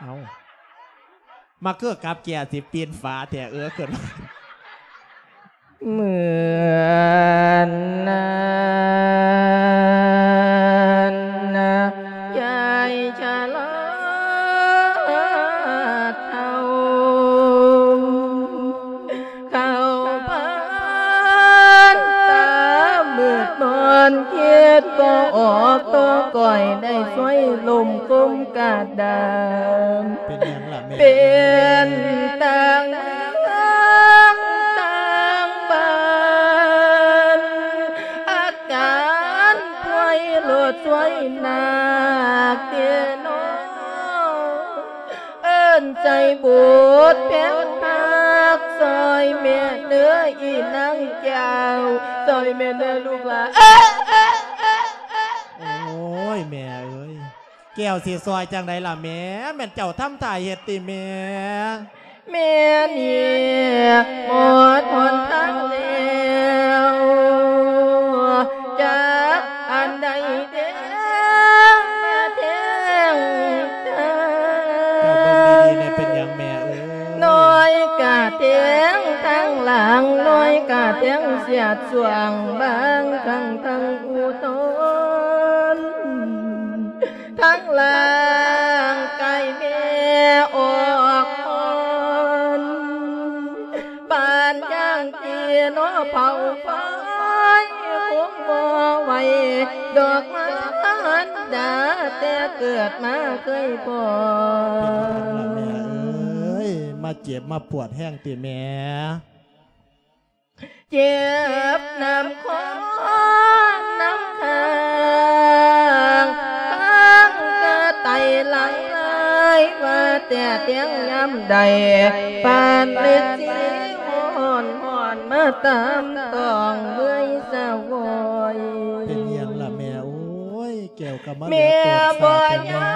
เอ้า มาคือกับแก้วสิปีนฝาแท้ เออ ขึ้น เหมือนนานนะ ยายชะลาเฒ่า เข้าพรรษามืดมนคิดบ่ออก ตัวก้อยได้สวยลมคมกระดาน เป็นหยังล่ะแม่ เป็นต่างเมืองต่างบ้าน อาการป่วยโลดช่วยหนักเด้อน้อ เอิ้นใจบุญแพงฮัก ซอยแม่เด้ออีนางแก้ว ซอยแม่เด้อลูกหล่า โอ้ย แม่เอ้ย แก้วสิซอยจั่งใดล่ะแม่ แม่นเจ้าทำท่าเฮ็ดติแม่ แม่นี่หมดหนทางแล้ว จักอันใดแท้ แท้ เจ้าเบิ่งดีๆ แน่ เป็นหยังแม่เอ้ย น้อยกะแทงทางหลัง น้อยกะแทงเสียดส่วง บางครั้งทั้งอุทธรณ์ ทั้งร่างกายแม่ออกอ่อน ปานอย่างที่นอเผาไฟ คงบ่ไหวดอกไม้อันใด າແຕ່ເກີດມາເຄີຍພໍ້. ເປັນຫຍັງລະແມ່ເອີຍ ມາເຈັບມາປວດແຮງຕິແມ່? ເຈັບນຳຄໍນຳຄາງ ຄາງກະໄຕຫຼັງລາຍ ວ່າແຕ່ແຕ່ງຍາມໃດ ປານເລັດສີຮ້ອນ ຮ້ອນມາຕາມຕ້ອງເມື່ອຍສະຫວອຍ. ເປັນຫຍັງລະແມ່ເອີຍ? ແກ້ວກໍມາເຫຼືອໂຕນຊາດແທ້ແມ່. ແມ່ບໍ່ຍັ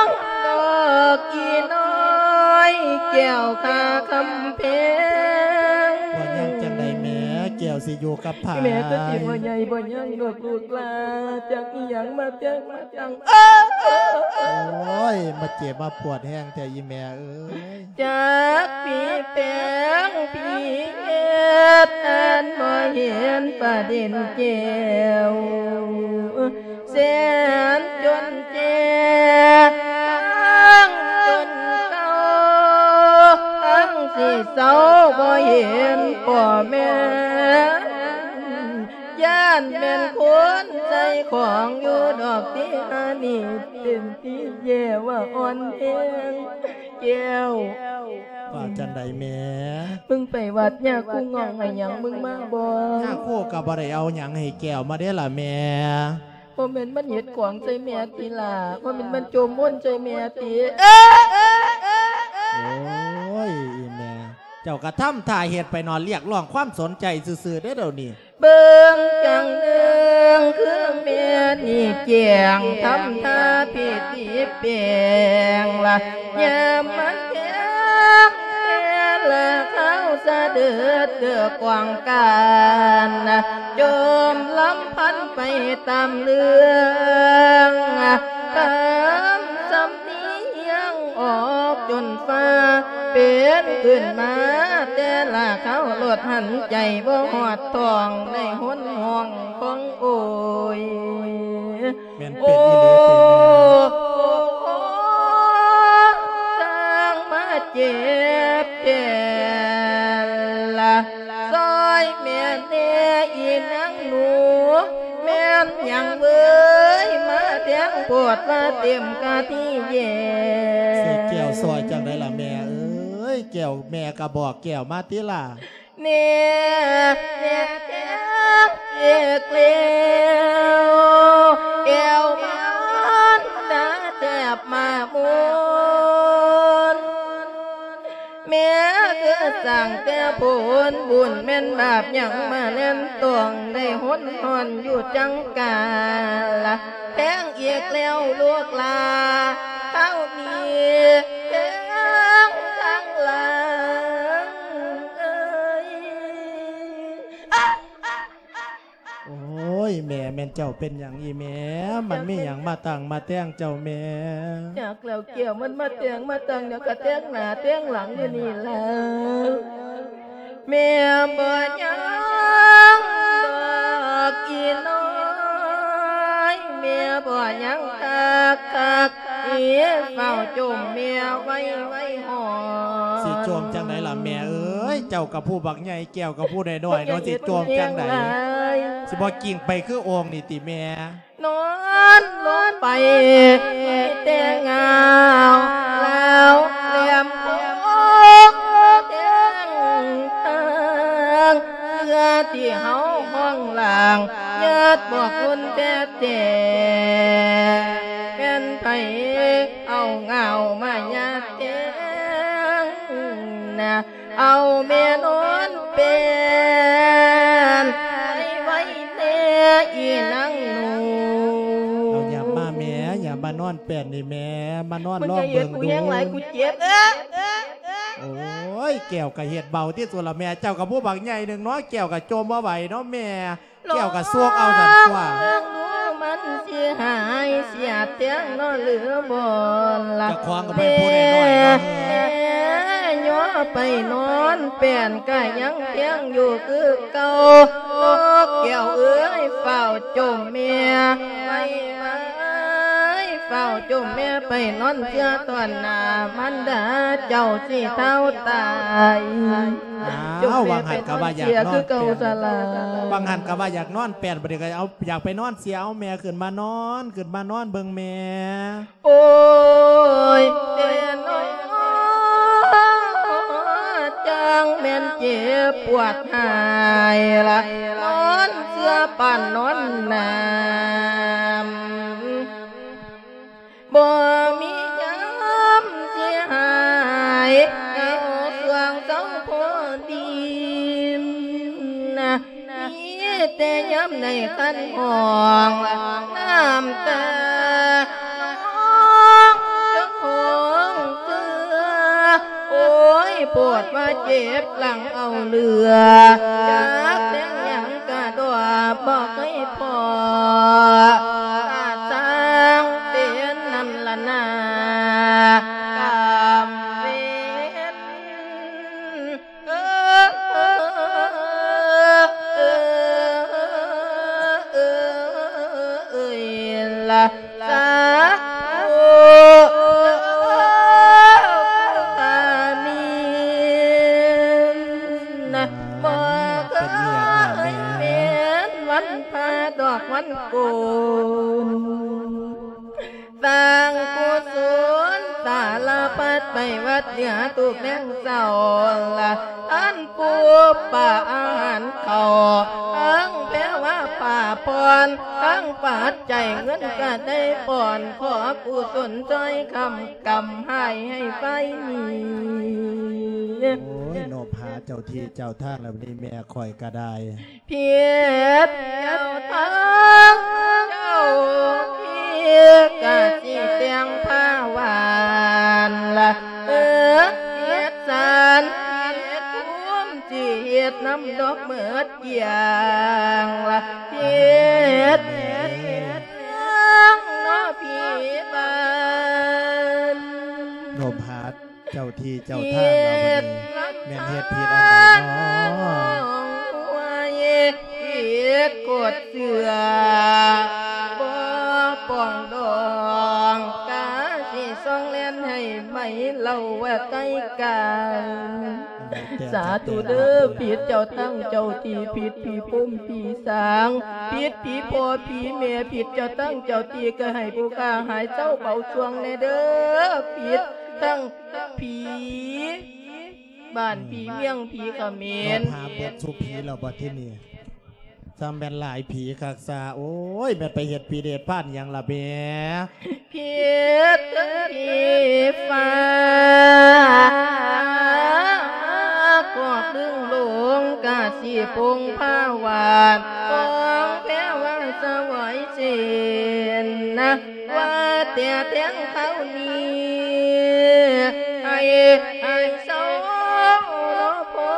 ງດອກອີນ້ອຍ ແກ້ວຂ້າຄຳແພງ. ບໍ່ຍັງຈັ່ງໃດແມ່? ແກ້ວຊິຢູ່ກັບໃຜ? ແມ່ກໍຊິບໍ່ໃຫຍ່ບໍ່ຍັງດອກລູກຫຼານ ຈັກອີ່ຫຍັງມາແຕ່ງມາຕັ້ງ. ໂອ້ຍ ມາເຈັບມາປວດແຮງແທ້ອີ່ແມ່ເອີຍ. ຈັກຜີແຝງຜີເຮັດ ອັນບໍ່ເຫັນປະເດັນແກ້ວ ແສນຈົນແຈ ທັງຈົນເກົ່າ ທັງຊິເຊົາ ບໍ່ເຫັນພໍ່ແມ່ ຢ້ານແມ່ນຄົນໃສ່ຂອງຢູ່ດອກຕິ ອັນນີ້ເປັນທີ່ແຍ່ວ່າອ່ອນແຮງ. ແກ້ວ ວ່າຈັ່ງໃດແມ່? ມຶງໄປວັດຍາຄູງ່ອງໃຫ້ຫຍັງມຶງມາບໍ່? ຍາຄູກໍບໍ່ໄດ້ເອົາຫຍັງໃຫ້ແກ້ວມາເດ້ລະແມ່. ບໍ່ແມ່ນມັນເຮັດຂອງໃສ່ແມ່ຕິລະ? ບໍ່ແມ່ນມັນຈົມມົນໃສ່ແມ່ຕິ? ໂອ້ຍ ອີແມ່ ເຈົ້າກໍທຳທ່າເຮັດໄປເນາະ ຮຽກຮ້ອງຄວາມສົນໃຈຊື່ໆເດ້ດຽວນີ້. ເບິ່ງຈັ່ງເດີງຄືແມ່ນີ້ແກ້ງ ທຳທ່າພິທີແປງລະ ຍາມມັນແພງແຕ່ລະຄາວ ສະເດີດເກີກກວາງການ ຈົ່ມລຳພັນໄປຕາມເລື່ອງ ຕາມສຳ ນຽງອອກຈົນຟ້າເປັນຂຶ້ນມາ ແຕ່ລະຄາວລົດຫັນໃຈບໍ່ຮອດທ້ອງ ໄດ້ຫົນຫ້ອງຂອງໂອຍ. ແມ່ນເປັນອີ່ຫຼີຕິແມ່? ໂອ້ ຊ່າງມາເຈັບແທ້ລະ ຊ່ອຍແມ່ແດ່ອີນາງໜູ ແມ່ນຫຍັງເວີຍ ມາແທງໂພດວ່າເຕັມກະທີແຍງ. ຊິແກ້ວຊ່ອຍຈັ່ງໃດລະແມ່ເອີຍ? ແກ້ວ ແມ່ກະບອກແກ້ວມາຕິລະ. ແນ່ ແນ່ແທງອີກແລ້ວ ແກ້ວມານດາແທບມາມຸນ. ແມ່ຄືສ້າງແຕ່ຜົນບຸນ ແມ່ນບາບຫຍັງມາແລ່ນຕ້ອງ ໄດ້ຫົນຫ້ອນຢູ່ຈັງກາລະ ແທງອີກແລ້ວລູກຫຼາ ຄາວນີ້ແທງທາງຫຼັງເອີຍ. ໂອ້ຍ ແມ່ ແມ່ນເຈົ້າເປັນຫຍັງອີ່ແມ່? ມັນມີຫຍັງມາຕັ້ງມາແຕ່ງເຈົ້າແມ່? ຈັກແລ້ວແກ້ວ ມັນມາແຕ່ງມາຕັ້ງຫຍັງ ກະແຕ່ງໜ້າແຕ່ງຫຼັງຢູ່ນີ້ລະ. ແມ່ບໍ່ຍັງດອກອີນ້ອຍ ແມ່ບໍ່ຍັງຄັກຄັກ ເອີ ເຝົ້າຈົ່ມແມ່ໄວໄວຮອດ. ຊິຈົ່ມຈັ່ງໃດລະແມ່ເອີຍ? ເຈົ້າກະຜູ້ບັກໃຫຍ່ ແກ້ວກະຜູ້ນ້ອຍໆເນາະ ຊິຈົ່ມຈັ່ງໃດ? ຊິບໍ່ກິ້ງໄປຄືໂອ່ງນີ້ຕິແມ່? ນອນລົງໄປມີແຕ່ງາວ ລາວແຫຼມຄົງແທງທາງ ເພື່ອທີ່ເຮົາຫ້ອງລ່າງ ຍາດບອກລຸນແທ້ໆ ແມ່ນໃຜເອົາງາວມາຍາດແທງນະ? ເອົາແມ່ນອນແປ້ນໄວ້ແດ່ອີນາງໜູ. ເອົາຫຍັບມາແມ່ ຫຍັບມານອນແປ້ນນີ້ແມ່ ມານອນລອງເບິ່ງດູ. ມັນຈະເຮັດກູແຮງຫຼາຍ ກູເຈັບ. ໂອ້ຍ ແກ້ວກະເຮັດເບົາທີ່ສຸດລະແມ່ ເຈົ້າກະຜູ້ບັກໃຫຍ່ໜຶ່ງເນາະ ແກ້ວກະຈົ່ມບໍ່ໄຫວເນາະແມ່. ແກ້ວກະຊວກເອົານັ້ນຕົວະ ເບິ່ງດູມັນຊິຫາຍສຽດແທງເນາະຫຼືບໍ່ລະ? ເຈົ້າຂອງກະເປັນຜູ້ນ້ອຍໆເນາະ. ຍໍໄປນອນແປ້ນກະຍັງແທງຢູ່ຄືເກົ່າ ແກ້ວເອີຍ ຟ້າວຈົ່ມແມ່ໄວໆ. ເຈົ້າຈົ່ມແມ່ໄປນອນເຊື່ອຕອນໜ້າ ມັນດາເຈົ້າຊິເຖົ້າຕາຍ. ອ້າວ ວ່າງຫັ້ນກໍວ່າຢາກນອນ ຄືເກົ່າສະລາ ວ່າງຫັ້ນກໍວ່າຢາກນອນແປນ ບັດນີ້ກໍເອົາ ຢາກໄປນອນເຊື່ອ ເອົາແມ່ຂຶ້ນມານອນ ຂຶ້ນມານອນເບິ່ງແມ່. ໂອ້ຍ ແຕ່ນ້ອຍ ຈັ່ງແມ່ນເຈັບປວດຫາຍລະ ນອນເຊື່ອປານນອນໜາມ ບໍ່ມີຍາມຊິຫາຍ ເອົາຊ່ວງເຊົາພໍດີນະ. ມີແຕ່ຍາມໃນຄັນຫ້ອງ ນ້ຳຕານ້ອງຈະຂອງເກືອ ໂອ້ຍ ໂພດວ່າເຈັບຫຼັງເອົາເຫຼືອ ຈັກແຕ່ງຫຍັງກະດອບບໍ່ເຄີຍພໍ ກະຊ່າງເປັນນຳລະນາ ກຳເວັນ ເອີ ເອີ ເອີ ເອີ ເອີ ລະ ສາທຸ ອາມີນ ນະ ບໍ່ເຄີຍເຫັນວັນພະດອກວັນໂກນ ສ້າງກຸສົນສາລະພັດໄປວັດເໜືອທຸກແລງເຊົ້າລະ ອັນປູປາອາຫານເຂົ້າ ທັງແພວາຜ້າຜ່ອນ ທັງປັດໄຈເງິນກະໄດ້ປ່ອນ ຂໍກຸສົນຊ່ອຍຄ້ຳກຳໃຫ້ ໃຫ້ໄຟມີ. ໂອ້ຍ ໂນບຫາເຈົ້າທີ່ເຈົ້າທາງແລ້ວນີ້ ແມ່ຂ້ອຍກະໄດ້ ຜິດເຈົ້າທາງເຈົ້າທີ່ ກະຊິແຕ່ງຜ້າຫວານລະ ເອີ ເຮັດສານເຮັດພູມ ຊິເຮັດນຳດອກເໝິດຢ່າງລະ ເຮັດຫຍັງເນາະພີ່ບ້ານ ໂນບຫາ ເຈົ້າທີ່ເຈົ້າທາງລາວບັດນີ້ ແມ່ນເຮັດຜິດອັນໃດເນາະ ຜິດກົດເຊື່ອ ບໍ່ປອງດອງ ກະຊິຊ່ອງແລ່ນໃຫ້ໄໝເລົ່າວ່າໄກການ. ສາທຸເດີ ຜິດເຈົ້າທາງເຈົ້າທີ່ ຜິດຜີພົມຜີສາງ ຜິດຜີພໍ່ຜີແມ່ ຜິດເຈົ້າທາງເຈົ້າທີ່ ກະໃຫ້ຜູ້ຂ້າຫາຍເຊົາເບົາຊ່ວງແດ່ເດີ ຜິດທັງ ຜີບ້ານ ອືມ ຜີເມືອງ ຜີຂະເໝນ ເນາະ ຫາເບິດສູ່ຜີແລ້ວບັດທີນີ້ ຊ່ຳແມ່ນຫຼາຍຜີຄັກຊາ ໂອ້ຍ ແມ່ນໄປເຮັດຜີເດດພານຫຍັງລະແມ່ ຜິດເຖິງຜີຟ້າ ກອກດຶງລົງກະຊິພົງພາວານ ຂອງແພວາສະຫວາຍເຊັ່ນນະ ວ່າແຕ່ແທງເທົ່ານີ້ ໃຫ້ ໃຫ້ເຊົາເນາະພໍ່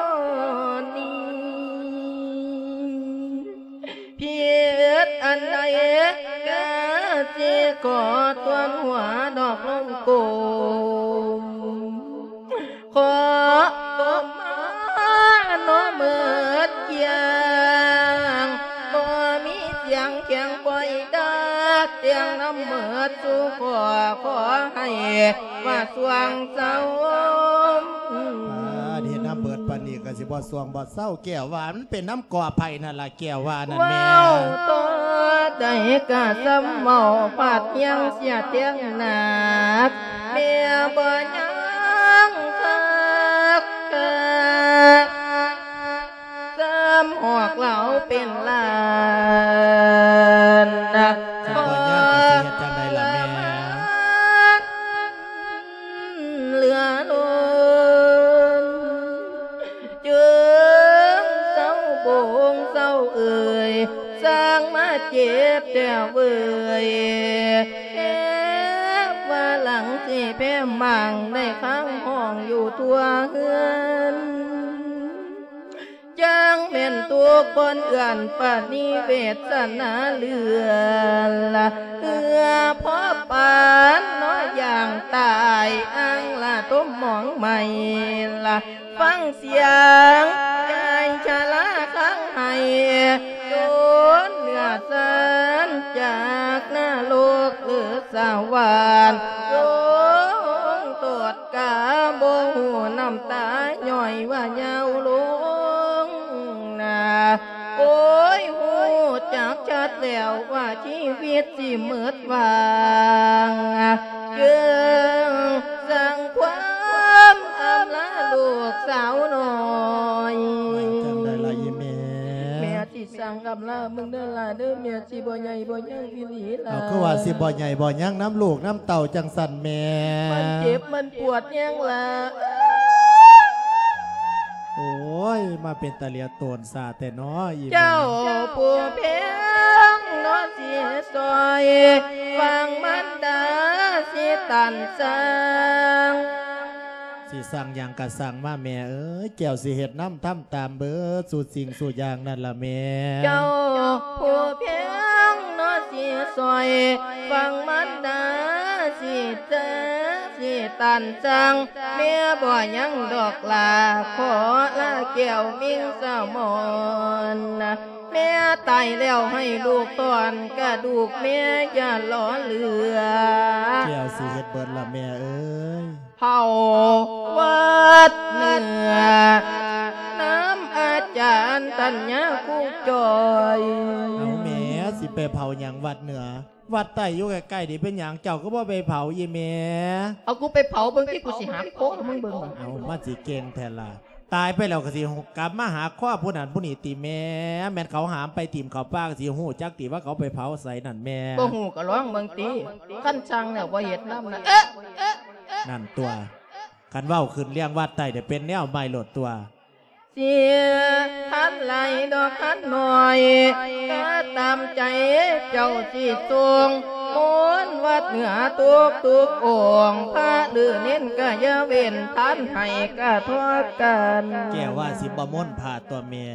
ນີ້ ຜິດອັນໃດກະຊິຂໍທວນຫົວດອກລົງໂກມ ຂໍຕົບມາເນາະເໝິດຢ່າງ ບໍ່ມີສຽງຂຽງປ່ອຍດາ ແຕ່ງນຳເໝິດສູ່ຂໍ ຂໍໃຫ້ວ່າຊ່ວງເຊົາ. ປາດ ເຮັດນຳເບີດປານນີ້ກະຊິບໍ່ຊ່ວງບໍ່ເຊົາ ແກ້ວວ່າມັນເປັນນຳກໍໃຜນັ້ນລະ ແກ້ວວ່ານັ້ນແມ່ ເວົ້າຕໍ່ໃດກະຊ່ຳເວົ້າ ພັດຍັງເສຍແທງໜັກ ແມ່ບໍ່ຍັງຄັກ ຄັກ ຊ້ຳຫອກເລົ່າເປັນລ້ານນະ ຄັນບໍ່ຍາກກໍຊິເຮັດຈັ່ງໃດລະແມ່ ເຫຼືອລົ້ນ ຈຶ່ງເຊົາໂບງເຊົາເອີຍ ຊ່າງມາເຈັບແທ້ເວີຍ ແທ້ວ່າຫຼັງຊິແພ້ໝັ່ງ ໄດ້ຄ້າງຫ້ອງຢູ່ທົ່ວເຮືອນ ຈັ່ງແມ່ນທຸກຄົນເອື້ອນປານີເວດສະໜາເຫຼືອລະ ເຫື່ອພໍປານເນາະຢ່າງຕາຍ ອ່າງລະຕົມໝອງໄໝລະ ຟັງສຽງໃຈຊະລາຄັງໄຫ້ ໂດນເໜືອສັນຈາກນະລົກເລີ ສະຫວັນ ລົງໂທດກະບໍ່ຮູ້ນ້ຳຕາຍ້ອຍວ່າຍາວລົງນາ ໂອ້ຍ ຮູ້ຈັກຊັດແລ້ວວ່າຊີວິດຊິໝົດຫວັງ ຈຶ່ງສ້າງຄວາມອຳລາລູກສາວນ້ອຍ ຈັ່ງໃດລະອີ່ແມ່? ແມ່ ຊິສ້າງອຳລາມຶງເດີຫຼ້າເດີ ແມ່ຊິບໍ່ໃຫຍ່ບໍ່ຍັງອີ່ຫຼີຫຼ້າ. ເອົາ ຄືວ່າຊິບໍ່ໃຫຍ່ບໍ່ຍັງນຳລູກນຳເຕົ້າຈັ່ງຊັ້ນແມ່? ມັນເຈັບມັນປວດແຮງຫຼ້າ. ໂອ້ຍ ມາເປັນຕາເຫຼຍໂຕນຊາແທ້ນໍອີ່ແມ່. ເຈົ້າຜູ້ແພງເນາະ ຊິຊ່ອຍຟັງມານດາ ຊິຕັນສ້າງ ຊິສ້າງຫຍັງກະສ້າງມາແມ່ເອີຍ ແກ້ວຊິເຮັດນຳທຳຕາມເບີດສູ່ສິ່ງສູ່ຢ່າງນັ້ນລະແມ່. ເຈົ້າຜູ້ແພງເນາະ ຊິຊ່ອຍຟັງມານດາ ຊິເຕີ ຊິຕັນສ້າງ ແມ່ບໍ່ຍັງດອກຫຼ້າ ຂໍລາແກ້ວມິງສະໝອນ ແມ່ຕາຍແລ້ວໃຫ້ລູກຖອນກະດູກແມ່ຢ່າຫຼໍເຫຼືອ. ແກ້ວຊິເຮັດເບີດລະແມ່ເອີຍ. ເຜົາວັດເໜືອ ນຳອາຈານຕັນຍາຄູຈ່ອຍ. ເອົາແມ່ ຊິໄປເຜົາຫຍັງວັດເໜືອ? ວັດໃຕ້ຢູ່ໃກ້ໆນີ້ ເປັນຫຍັງເຈົ້າຄືບໍ່ໄປເຜົາອີ່ແມ່? ເອົາ ກູໄປເຜົາເບິ່ງຕິ ກູຊິຫັກຄໍມຶງເບິ່ງ. ເອົາ ມັນຊິເກັ່ງແທ້ລະ ຕາຍໄປແລ້ວກໍຊິກັບມາຫາຄອບຜູ້ນັ້ນຜູ້ນີ້ຕິແມ່? ແມ່ນເຂົາຫາມໄປຖິ້ມເຂົ້າປ່າ ກໍຊິຮູ້ຈັກຕິວ່າເຂົາໄປເຜົາໃສນັ້ນແມ່? ບໍ່ຮູ້ກໍລອງເບິ່ງຕິ ຄັນຊ່າງແລ້ວບໍ່ເຮັດນຳນະ. ເອະ ເອະ ເອະ ນັ້ນຕົວະ ຄັນເວົ້າຂຶ້ນເລື່ອງວັດໃຕ້ເດ ເປັນແນວໃໝ່ໂລດຕົວະ. ຊິທັນຫຼາຍດອກຄັນໜ້ອຍ ກໍຕາມໃຈເຈົ້າຊິສົ່ງ ມົນວັດເໜືອທຸກໆອົງ ພະຫຼືເນນກໍຢ່າເວັ້ນ ທ່ານໃຫ້ກະທົບກັນ. ແກ້ວວ່າຊິບໍ່ມົນພະຕົວະແມ່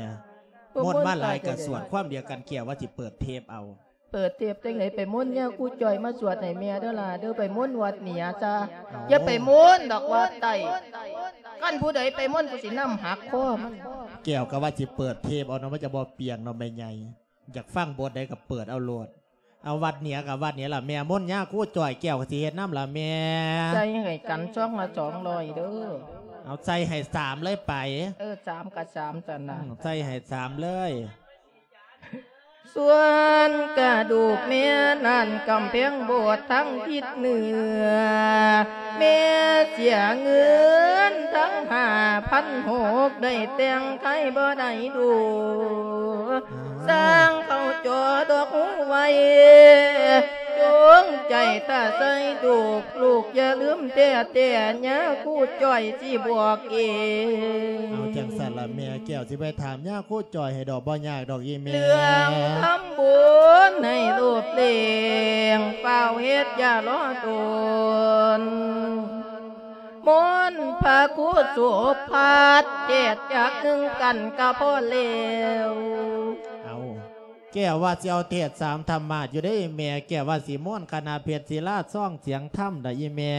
ມົນມາຫຼາຍກໍສວດຄວາມດຽວກັນ ແກ້ວວ່າຊິເປີດເທບເອົາ. ເປີດເທບຈັ່ງໃດ ໄປມົນຍາຄູຈ່ອຍມາສວດໃຫ້ແມ່ເດີຫຼ້າເດີ ໄປມົນວັດເໜືອຊະ. ເອົາ ຢ່າໄປມົນດອກວັດໃຕ້ ຄັນຜູ້ໃດໄປມົນ ກູຊິນຳຫັກຄໍມັນ. ແກ້ວກໍວ່າຊິເປີດເທບເອົາເນາະ ມັນຈະບໍ່ປ່ຽງເນາະແມ່ໃຫຍ່ ຢາກຟັງບົດໃດກໍເປີດເອົາໂລດ. ເອົາ ວັດເໜືອກໍວັດເໜືອລະແມ່ ມົນຍາຄູຈ່ອຍ ແກ້ວກໍຊິເຮັດນຳລະແມ່. ໃສ່ໃຫ້ກັນຊອງລະສອງຮ້ອຍເດີ. ເອົາ ໃສ່ໃຫ້ສາມເລີຍໄປ. ເອີ ສາມກໍສາມຊັ້ນນະ. ອືມ ໃສ່ໃຫ້ສາມເລີຍ. ສ່ວນກະດູກແມ່ນັ້ນ ກຳແພງໂບດທາງທິດເໜືອ ແມ່ເສຍເງິນທັງຫ້າພັນຫົກ ໄດ້ແຕ່ງໄທບໍ່ໄດ້ດູ ສ້າງເຂົ້າຈໍດອກຫູໄວ້ ຈົງໃຈຖ້າໃສ່ດູກ ລູກຢ່າລືມແທ້ໆ ຍາຄູຈ່ອຍຊິບອກເອງ. ເອົາ ຈັ່ງຊັ້ນລະແມ່ ແກ້ວຊິໄປຖາມຍາຄູຈ່ອຍໃຫ້ດອກ ບໍ່ຍາກດອກອີ່ແມ່. ເລື່ອງທຳບຸນໃຫ້ໂລບເລັ່ງ ຟ້າວເຮັດຢ່າລໍດົນ ມົນພະຄູສຸພັດ ເທດຈັກໜຶ່ງກັນກະພໍແລ້ວ. ເອົາ ແກ້ວວ່າຊິເອົາເທດສາມທຳມາດຢູ່ເດ້ແມ່ ແກ້ວວ່າຊິມົນຄະນະເພັດສີລາຊອງສຽງທຳດອກອີ່ແມ່.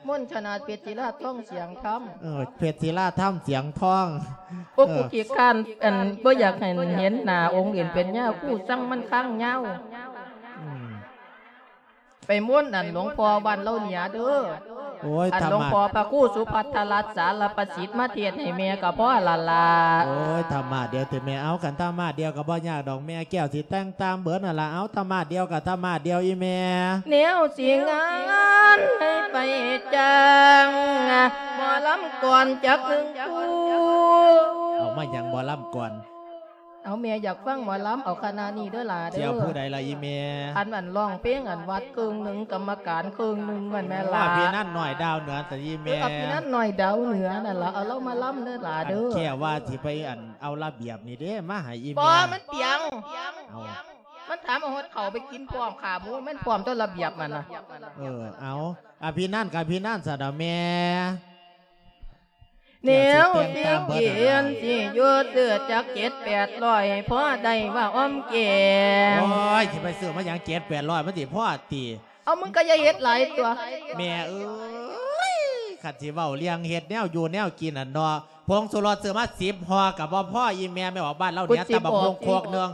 ມົນຄະນະເພັດສີລາຊອງສຽງທຳ. ເອີ ເພັດສີລາທຳສຽງທອງ. ໂອ້ ເອີ ກູຂີ້ຄ້ານ ອັນ ບໍ່ຢາກໃຫ້ເຫັນໜ້າອົງເຫັນເປັນຍາຄູ ສັງມັນຄ້າງຍາວ. ອືມ ໄປມົນອັນຫຼວງພໍ່ບ້ານເຫຼົ່າເໜືອເດີ. ໂອ້ຍ ອັນ ທຳມາດ ຫຼວງພໍ່ພະຄູສຸພັດທະລັດສາລະປະສິດ ມາເທດໃຫ້ແມ່ກໍພໍລະລະ. ໂອ້ຍ ທຳມາດດຽວຕິແມ່. ເອົາ ຄັນທຳມາດດຽວກໍບໍ່ຍາກດອກແມ່ ແກ້ວຊິແຕ່ງຕາມເບີດຫັ້ນລະ. ເອົາ ທຳມາດດຽວກໍທຳມາດດຽວອີ່ແມ່. ແນວຊິງານໃຫ້ໄປຈ້າງ ໝໍລຳກ່ອນຈັກໜຶ່ງຄູ່. ເອົາ ມາຫຍັງໝໍລຳກ່ອນ? ເອົາ ແມ່ຢາກຟັງໝໍລຳ ເອົາຄະນະນີ້ເດີຫຼ້າເດີ. ຊິເອົາຜູ້ໃດລະອີ່ແມ່? ອັນ ອັນຮ້ອງເພງ ອັນວັດເຄິ່ງໜຶ່ງ ກຳມະການເຄິ່ງໜຶ່ງ ແມ່ນແມ່ນລະ? ອະພິນັນນ້ອຍດາວເໜືອຕິອີ່ແມ່. ເອີ ອະພິນັນນ້ອຍດາວເໜືອນັ້ນລະ ເອົາລາວມາລຳເດີຫຼ້າເດີ. ອັນແກ້ວວ່າຊິໄປ ອັນ ເອົາລະບຽບນີ້ເດ້ ມາໃຫ້ອີ່ແມ່. ບໍ່ ມັນປຽງ. ເອົາ ມັນຖາມເອົາຮອດເຂົ້າໄປກິນພ້ອມ ຂາໝູມັນພ້ອມ ຕົວລະບຽບມັນນະ. ເອີ ເອົາ ອະພິນັນກໍອະພິນັນຊະດອກແມ່. ແນວຊິກິນຊິຢູ່ ຊື້ຈັກເຈັດແປດຮ້ອຍ ພໍໄດ້ວ່າອອມແກງ. ໂອ້ຍ ຊິໄປຊື້ມາຫຍັງເຈັດແປດຮ້ອຍ ມັນຊິພໍຕິ? ເອົາ ມຶງກໍຢ່າເຮັດຫຼາຍຕົວະ. ແມ່ເອີຍ ຄັນຊິເວົ້າເລື່ອງເຮັດແນວຢູ່ແນວກິນຫັ້ນເນາະ ຜົງຊູລົດຊື້ມາສິບຫໍ່ກໍບໍ່ພໍອີ່ແມ່. ແມ່ອອກບ້ານລາວເໜືອຕຳບັກຫຸ່ງໂຄກໜຶ່ງ.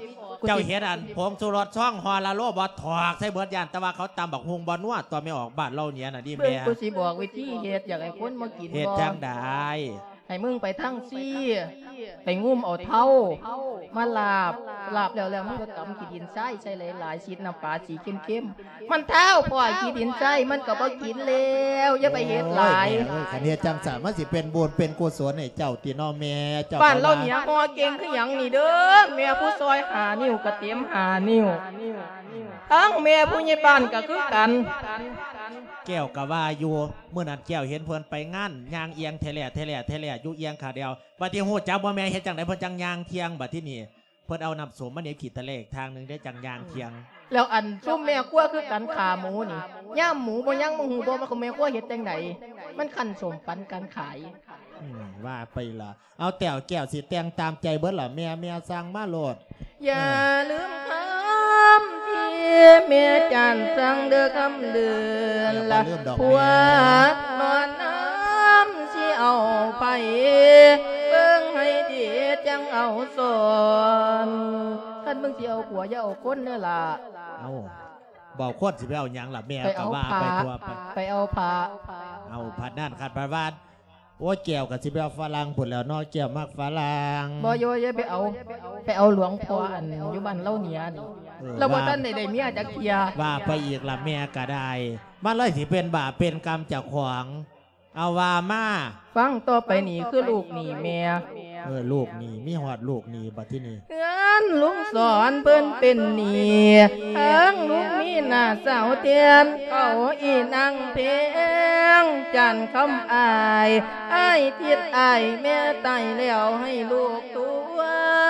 ເຈົ້າເຮັດອັນຜົງຊູລົດຊອງຫໍ່ລະໂລບໍ່ ຖອກໃສ່ເບິດ ຢ້ານແຕ່ວ່າເຂົາຕຳບັກຫຸ່ງບໍ່ນົວ ຕົວະແມ່ອອກບ້ານເລົ່າເໜືອນະຕິແມ່. ເບິ່ງ ກູຊິບອກວິທີເຮັດ ຢາກໃຫ້ຄົນມາກິນ ເຮັດຈັ່ງໃດ? ໃຫ້ມຶງໄປທາງຊີ ໄປງຸ້ມເອົາເທົາມາລາບ ລາບແລ້ວ ແລ້ວມຶງກໍກຳຂີ້ດິນຊາຍໃສ່ຫຼາຍໆ ສີດນ້ຳປາສີເຄັມໆ ມັນທ້າວພໍ້ຂີ້ດິນຊາຍມັນກໍບໍ່ກິນແລ້ວ ຢ່າໄປເຮັດຫຼາຍ. ໂອ້ຍ ແມ່ເອີຍ ຄັນເຮັດຈັ່ງຊັ້ນ ມັນຊິເປັນບຸນເປັນກຸສົນໃຫ້ເຈົ້າຕິເນາະແມ່. ເຈົ້າ ບ້ານເຮົາເໜືອຫໍ່ເກັ່ງຄືຫຍັງນີ້ເດີ ແມ່ຜູ້ຊ່ອຍຫ້ານິ້ວກໍເຕັມຫ້ານິ້ວ ທັງແມ່ຜູ້ໃຫຍ່ບ້ານກໍຄືກັນ. ແກ້ວກໍວ່າຢູ່ ມື້ນັ້ນແກ້ວເຫັນເພິ່ນໄປງານ ຍ່າງອຽງແທ້ແຫຼະ ແທ້ແຫຼະ ແທ້ແຫຼະ ຢູ່ອຽງຂ້າງດຽວ. ບັດນີ້ຮູ້ຈັກບໍ່ແມ່ ເຮັດຈັ່ງໃດເພິ່ນຈັ່ງຍ່າງທ່ຽງ? ບັດທີນີ້ ເພິ່ນເອົານ້ຳສົ້ມມາໜີບຂີ້ຕະເລກທາງໜຶ່ງເດ້ ຈັ່ງຍ່າງທ່ຽງ. ແລ້ວອັນຊຸມແມ່ຄົວຄືກັນ ຂາໝູນີ້ ຍາມໝູບໍ່ຍັງບໍ່ຮູ້ບໍ່ວ່າແມ່ຄົວເຮັດຈັ່ງໃດ ມັນຄັ້ນສົ້ມປັນກັນຂາຍ. ອືມ ວ່າໄປລະ. ເອົາແຕ້ວແກ້ວຊິແຕ່ງຕາມໃຈເບິດລະແມ່ ແມ່ສັ່ງມາໂລດ. ຢ່າລືມຄຳທີ່ແມ່ຈ້ານສັ່ງເດີຄຳເດີນລະ ແມ່ບໍ່ລືມດອກ ຜົວ ແມ່ ນອນນຳຊິເອົາໃຜ ເບິ່ງໃຫ້ດີຈັ່ງເອົາສອນ. ຄັນມຶງຊິເອົາຜົວຢ່າເອົາຄົນເດີລະ. ເອົາ ບໍ່ເອົາຄົນຊິໄປເອົາຫຍັງລະແມ່ ໄປເອົາ ກໍວ່າໄປ ພະ ທົ່ວໄປ ໄປເອົາພະ. ເອົາ ພັດນັ້ນຄັນພັດວ່າ ໂອ້ຍ ແກ້ວກໍຊິໄປເອົາຝຣັ່ງພຸ້ນແລ້ວເນາະ ແກ້ວມັກຝຣັ່ງ. ບໍ່ໂຍ ຢ່າໄປເອົາ ໄປເອົາຫຼວງພໍ່ອັນຢູ່ບ້ານເລົ່າເໜືອນີ້ ເອີ ລາວບໍ່ທັນໄດ້ໄດ້ເມຍຈັກເທື່ອ. ວ່າ ວ່າໄປອີກລະແມ່ກໍໄດ້ ມັນເລີຍຊິເປັນບາບເປັນກຳເຈົ້າຂອງ. ເອົາ ວ່າມາ. ຟັງຕໍ່ໄປນີ້ຄືລູກໜີ້ແມ່. ເອີ ລູກໜີ້ ມີຮອດລູກໜີ້ບັດທີນີ້. ເຮືອນລຸງສອນເພິ່ນເປັນໜີ້ ທັງລຸງມີນ້າສາວແທນ ເອົາອີນາງແພງ ຈານຄຳອາຍ ອ້າຍທິດອາຍແມ່ຕາຍແລ້ວ ໃຫ້ລູກທວ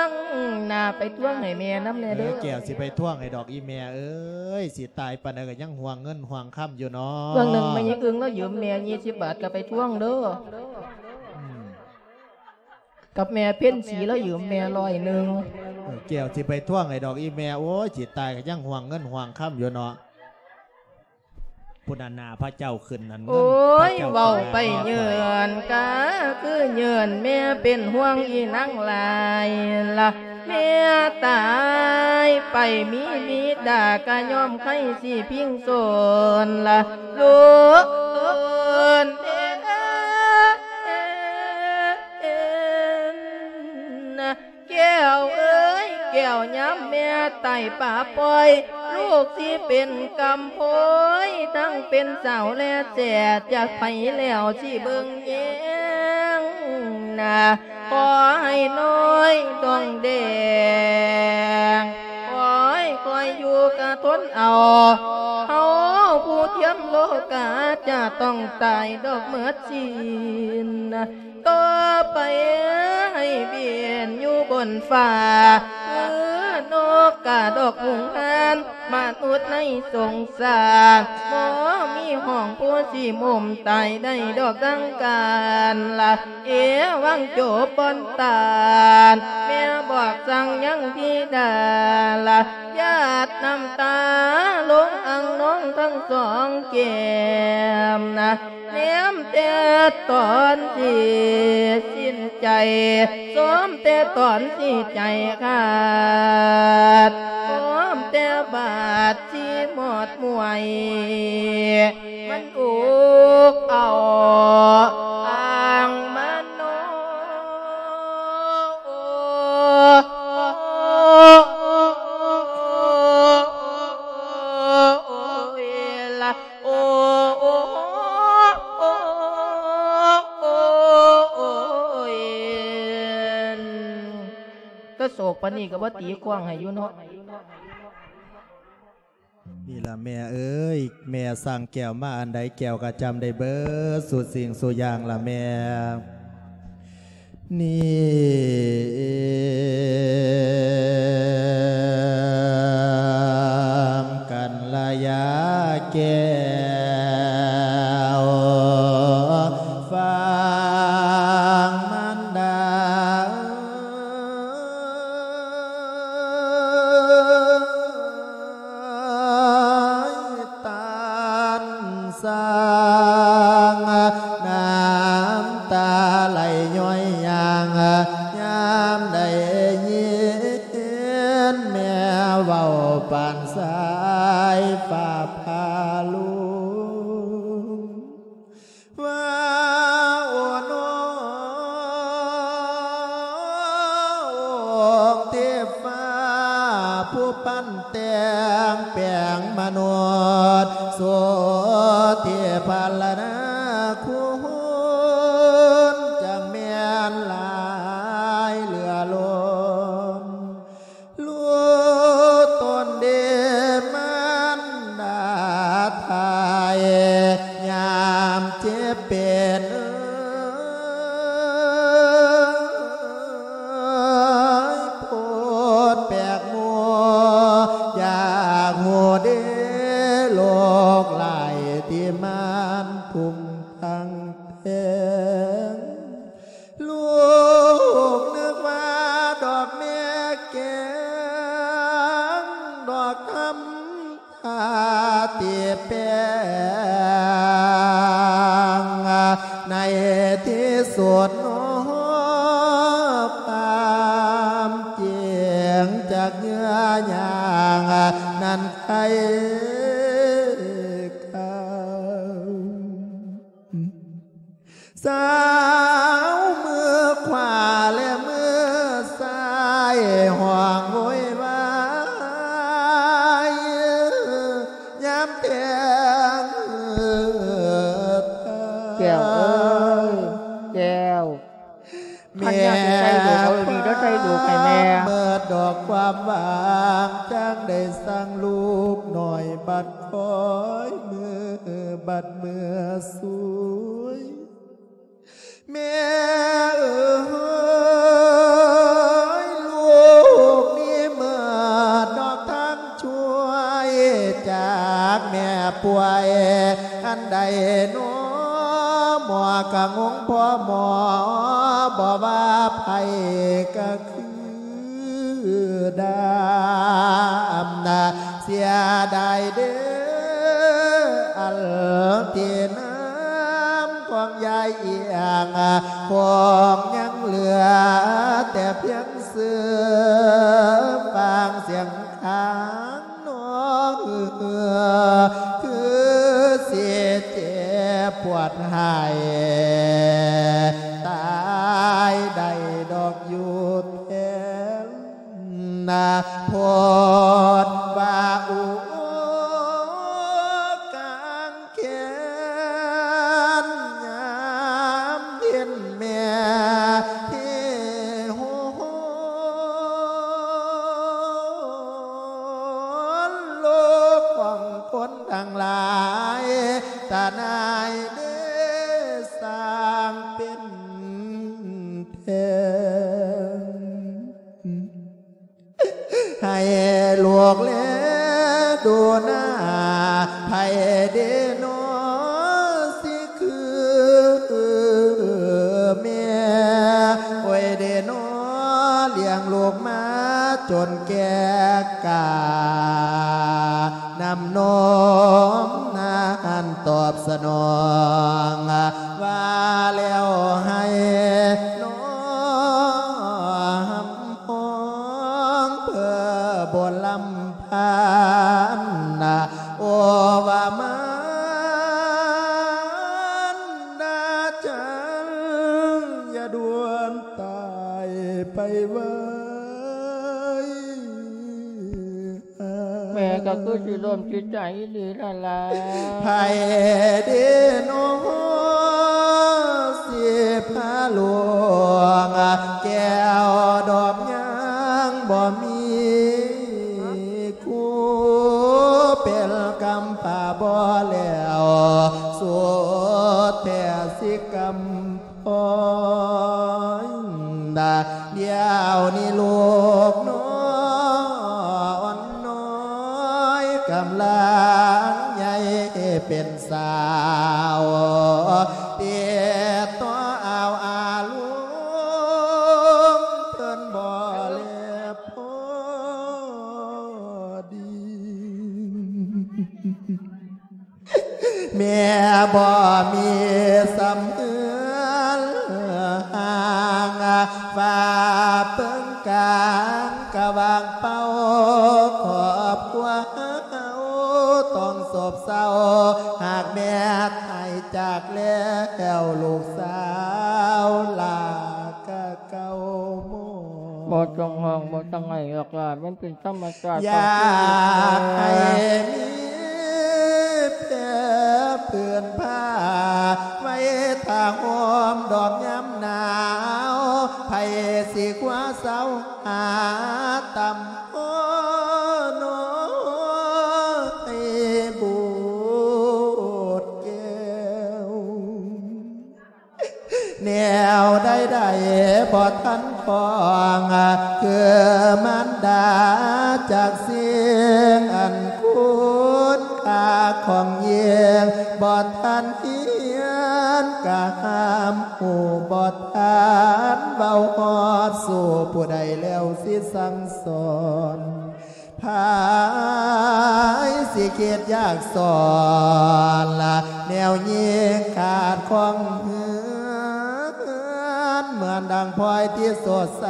ງໜ້າ ໄປທວງໃຫ້ແມ່ນຳແດ່ເດີ. ເອີ ແກ້ວຊິໄປທວງໃຫ້ດອກອີ່ແມ່ເອີຍ ຊິຕາຍປານໃດກໍຍັງຫ່ວງເງິນຫ່ວງຄຳຢູ່ເນາະ. ເບື້ອງໜຶ່ງແມ່ຍາຍອຶ່ງລາວຢືມແມ່ ຊາວບາດກໍໄປທວງເດີ. ອືມ ກັບແມ່ເພັນສີລາວຢືມແມ່ຮ້ອຍໜຶ່ງ. ເອີ ແກ້ວຊິໄປທວງໃຫ້ດອກອີ່ແມ່ ໂອ້ຍ ຊິຕາຍກໍຍັງຫ່ວງເງິນຫ່ວງຄຳຢູ່ເນາະ. ພຸ້ນນະ ພະເຈົ້າຂຶ້ນນັ້ນ ໂອ້ຍ ເງິນພະເຈົ້າ ເວົ້າໄປເຍີ້ນກະຄືເຍີ້ນ ແມ່ເປັນຫ່ວງອີ່ນາງຫຼາຍລະ ແມ່ຕາຍໄປມີບິດາກະຍ້ອນໄຄຊິພິງໂສນລະ ລູກເອີນ ແກ້ວເອີຍ ແກ້ວຍາມແມ່ຕາຍປະປ່ອຍ ລູກຊິເປັນກຳໂພຍ ທັງເປັນສາວແລແສດ ຈາກໃຜແລ້ວຊິເບິ່ງແຍງໜ້າ ຂໍໃຫ້ນ້ອຍດອງແດງ ຄ່ອຍໆຢູ່ກະທົນເອົາ ເຮົາຜູ້ທຽມໂລກາຈະຕ້ອງຕາຍດອກໝົດສິ້ນ. ຕໍ່ໄປໃຫ້ບິນຢູ່ບົນຟ້າ ຄືນົກກາດອກຫູງຫານ ມະນຸດໃນສົງສານ ບໍ່ມີຫ້ອງຜູ້ຊິມຸມຕາຍໄດ້ດອກດັ່ງການລະ ເອວັງໂຈບອນຕານ ແມ່ບອກສັ່ງຍັງທິດາລະ ຢາດນ້ຳຕາລົງອ່າງນອງທັງສອງແກ້ມນະ ແນມແຕ່ຕອນທີ່ສິ້ນໃຈ ຊອມແຕ່ຕອນທີ່ໃຈຂາດ ຊອມແຕ່ບາດທີ່ໝົດໝວຍ ມັນອຸກເອົາອ່າງມະໂນ ໂອ້ຍລະ ໂອ້ ໂອ້ ໂອ້ ໂອ້ ໂອ້ຍ ກະໂສກປານນີ້ກະບໍ່ຕີກ້ອງໃຫ້ຢູ່ເນາະ. ນີ້ລະແມ່ເອີຍ ແມ່ສັ່ງແກ້ວມາອັນໃດ ແກ້ວກະຈຳໄດ້ເບິດສູ່ສິ່ງສູ່ຢ່າງລະແມ່. ນີ້ ກັນລະຍາແກ້ວ ຟັງມັນດາ ຕານສ້າງ ນ້ຳຕາໄຫຼຍ້ອຍຢາງ ຍາມໄດ້ຍິນແມ່ ແຕ່ງແປງມະນຸດ ສຸດທີ່ພັນລະນາຄຸນ ຈັ່ງແມ່ນຫຼາຍເຫຼືອລົ້ນ ລູກຕົນເດມານດາໄທ ຍາມເຈັບເປັນເອີຍ ໂພດແປກໝູ່ ຢາກຮູ້ເດໂລກຫຼາຍທີ່ມັນທຸ່ງທັງແພງ ລູກນຶກວ່າດອກແມ່ແກງ ດອກທຳທ່າທີ່ແປງ ໃນທີ່ສຸດເນາະ ຄວາມຈິງຈາກເຫຍື່ອຍາງນັ້ນໄຄ ສາວມືຂວາ ແລະ ມືຊ້າຍ ຮ້ອງໂວຍວາຍ ຍາມແຕ່ງ ແກ້ວເອີຍ ແກ້ວ ແມ່ ຄັນຢາກຊິໃສ່ລູກ ເອົາດີເດີ ໃສ່ລູກໃຫ້ແມ່ ເມີດດອກຄວາມຫວັງ ຈັ່ງໄດ້ສັ່ງລູກນ້ອຍ ບັດຄ່ອຍເມືອ ບັດເມືອສວຍ ແມ່ເອີຍ ລູກນີ້ເມີດດອກທາງຊ່ວຍ ຈາກແມ່ປ່ວຍອັນໃດນໍ ໝໍກະງົງພໍ່ໝໍ ບໍ່ວ່າໃຜກະຄື ຄືດາມນາ ເສຍດາຍເດີ ອັນທີ່ນ້ຳຂອງຍາຍອຽງ ຄງຍັງເຫຼືອແຕ່ພຽງຊື່ ຟັງສຽງຄາງນ້ອງເອື້ອ ຄືຊິເຈັບປວດໃຫ້ ຕາຍໄດ້ດອກຢູ່ແທນ ນາໂພດວ່າອຸກາງແຂນ ຍາມເຫັນແມ່ທີ່ໂຫນໂລກຂອງຄົນທັງຫຼາຍ ຕາໜ່າຍເດ ສ້າງເປັນແທນ ໃຫ້ລູກແລດູໜ້າ ໃຜເດນໍຊິຄືແມ່ ໂອ້ຍເດນໍ ລ້ຽງລູກມາຈົນແກ່ກາ ນ້ຳນົມນັ້ນຕອບສະໜອງ ວ່າແລ້ວໃຫ້ນ້ອງ ຮ້ອງເພື່ອບໍ່ລຳພັນນະ ໂອວ່າມານດາຈັນ ຢ່າດ່ວນຕາຍໄປໄວ. ແມ່ກໍຄືຊິລົ້ມຈິດໃຈອີ່ຫຼີລະລະ ໃຜເດນໍ ຊິພາລວງ ແກ້ວດອກຍາງບໍ່ມີຄູ່ ເປັນກຳພ້າບໍ່ແລ້ວ ສຸດແທ້ຊິກຳ ໂອ້ຍ ດຽວນີ້ລູກນ້ອຍ ອ່ອນນ້ອຍກຳລັງໃຫຍ່ເປັນສາວ ຕິດຕໍ່ອາວອາລົມເພິ່ນບໍ່ແລພໍດີ. ແມ່ບໍ່ມີສ່ຳເຮືອນຮ່າງ ຝາເພິງກາງກະຫວ່າງເປົ່າ ຄອບຄົວເຮົາຕ້ອງໂສບເສົ້າ ຫາກແມ່ຕາຍຈາກແລ້ວ ລູກສາວຫຼ້າກະເກົ່າໝໍ. ບໍ່ຕ້ອງຮ້ອງ ບໍ່ຕ້ອງໄຫ້ອອກລາດ ມັນເປັນທຳມະຊາດ ຢາກໃຫ້ມີແພພື້ນຜ້າ ໄວ້ຖ້າຫົ່ມດອກຍາມໜາວ ໃຜຊິຄວ້າເຊົາຫາຕຳໂພນໍ ໃຫ້ບູດແກ້ວ. ແນວໃດໆບໍ່ທັນຄອງ ຄືມານດາຈັກສິ່ງ ອັນຄຸນຄ່າຂອງຍິ່ງ ບໍ່ທັນຮຽນກະຫ້າມຮູ້ ບໍ່ທັນເວົ້າຮອດສູ່ ຜູ້ໃດແລ້ວຊິສັ່ງສອນ ໃຜຊິຄິດຢາກສອນລະ ແນວຍິງຂາດຂອງເຮືອນ ເໝືອນດັ່ງພອຍທີ່ສົດໃສ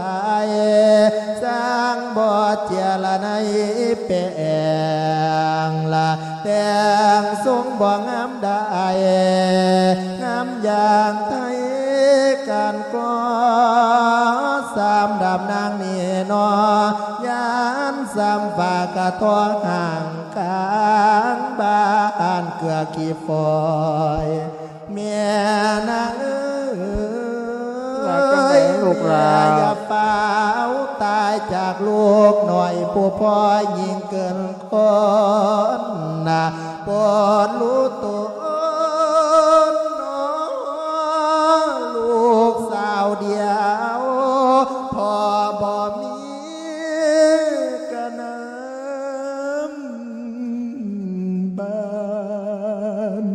ຊ່າງບໍ່ເຈຍລະໃນແປງລະ ແຕ່ງຊົງບໍ່ງາມ ໄດ້ງາມຢ່າງໄທ ການກໍ່ສາມດາບນາງນີ້ນໍ ຢ້ານສາມຟ້າກະທໍຫ່າງກາງບ້ານເກືອຂີ້ຝອຍ ແມ່ນາງເອີຍ ວ່າຈັ່ງໃດລູກຫຼານ ແມ່ຢ່າຟ້າວຕາຍຈາກລູກນ້ອຍຜູ້ພໍ່ ຍິ່ງເກີນ ຄົນນະ ໂປດຮູ້ຕົນເນາະ ລູກສາວດຽວ ພໍ່ບໍ່ມີກະນ້ຳບານ.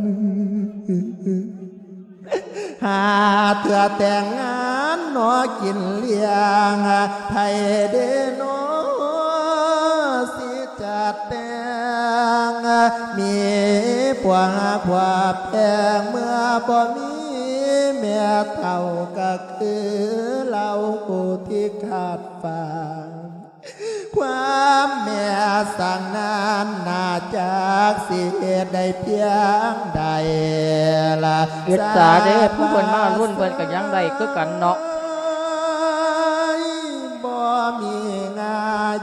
ຫາເທື່ອແຕ່ງງານເນາະ ກິນລ້ຽງ ໃຜເດເນາະ ຊິຈັດແຕ່ງ ມີຜົວຫາຜົວແພງ ເມື່ອບໍ່ມີແມ່ເຖົ້າ ກະຄືເຫຼົ່າທີ່ຂາດຝາກ ຄວາມແມ່ສ້າງນັ້ນໜ້າຈັກຊິເຮັດໄດ້ພຽງໃດລະ ອິດສາເດ້ ຜູ້ເພິ່ນມາລຸ້ນເພິ່ນກະຍັງໄດ້ຄືກັນເນາະ ບໍ່ມີງາ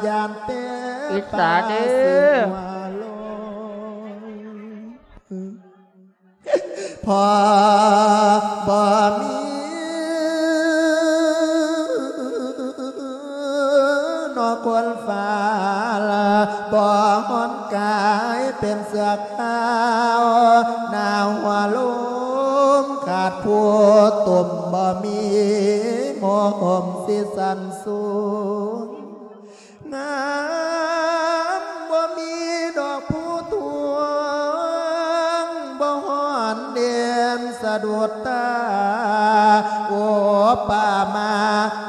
ຢ້ານແຕ່ ອິດສາເດ້ ປາເສືອຫົວໂລນ ພໍບໍ່ມີເນາະຄົນຟ້າລະ ບໍ່ຮ້ອນກາຍເປັນເສື້ອຂາວ ໜາວຫົວລົມຂາດຜູ້ຕຸ່ມ ບໍ່ມີໂມຫົ່ມຊິສັນສູງ ງາມບໍ່ມີດອກພູທວງ ບໍ່ຮ້ອນເດນສະດຸດຕາ ໂອປາມາ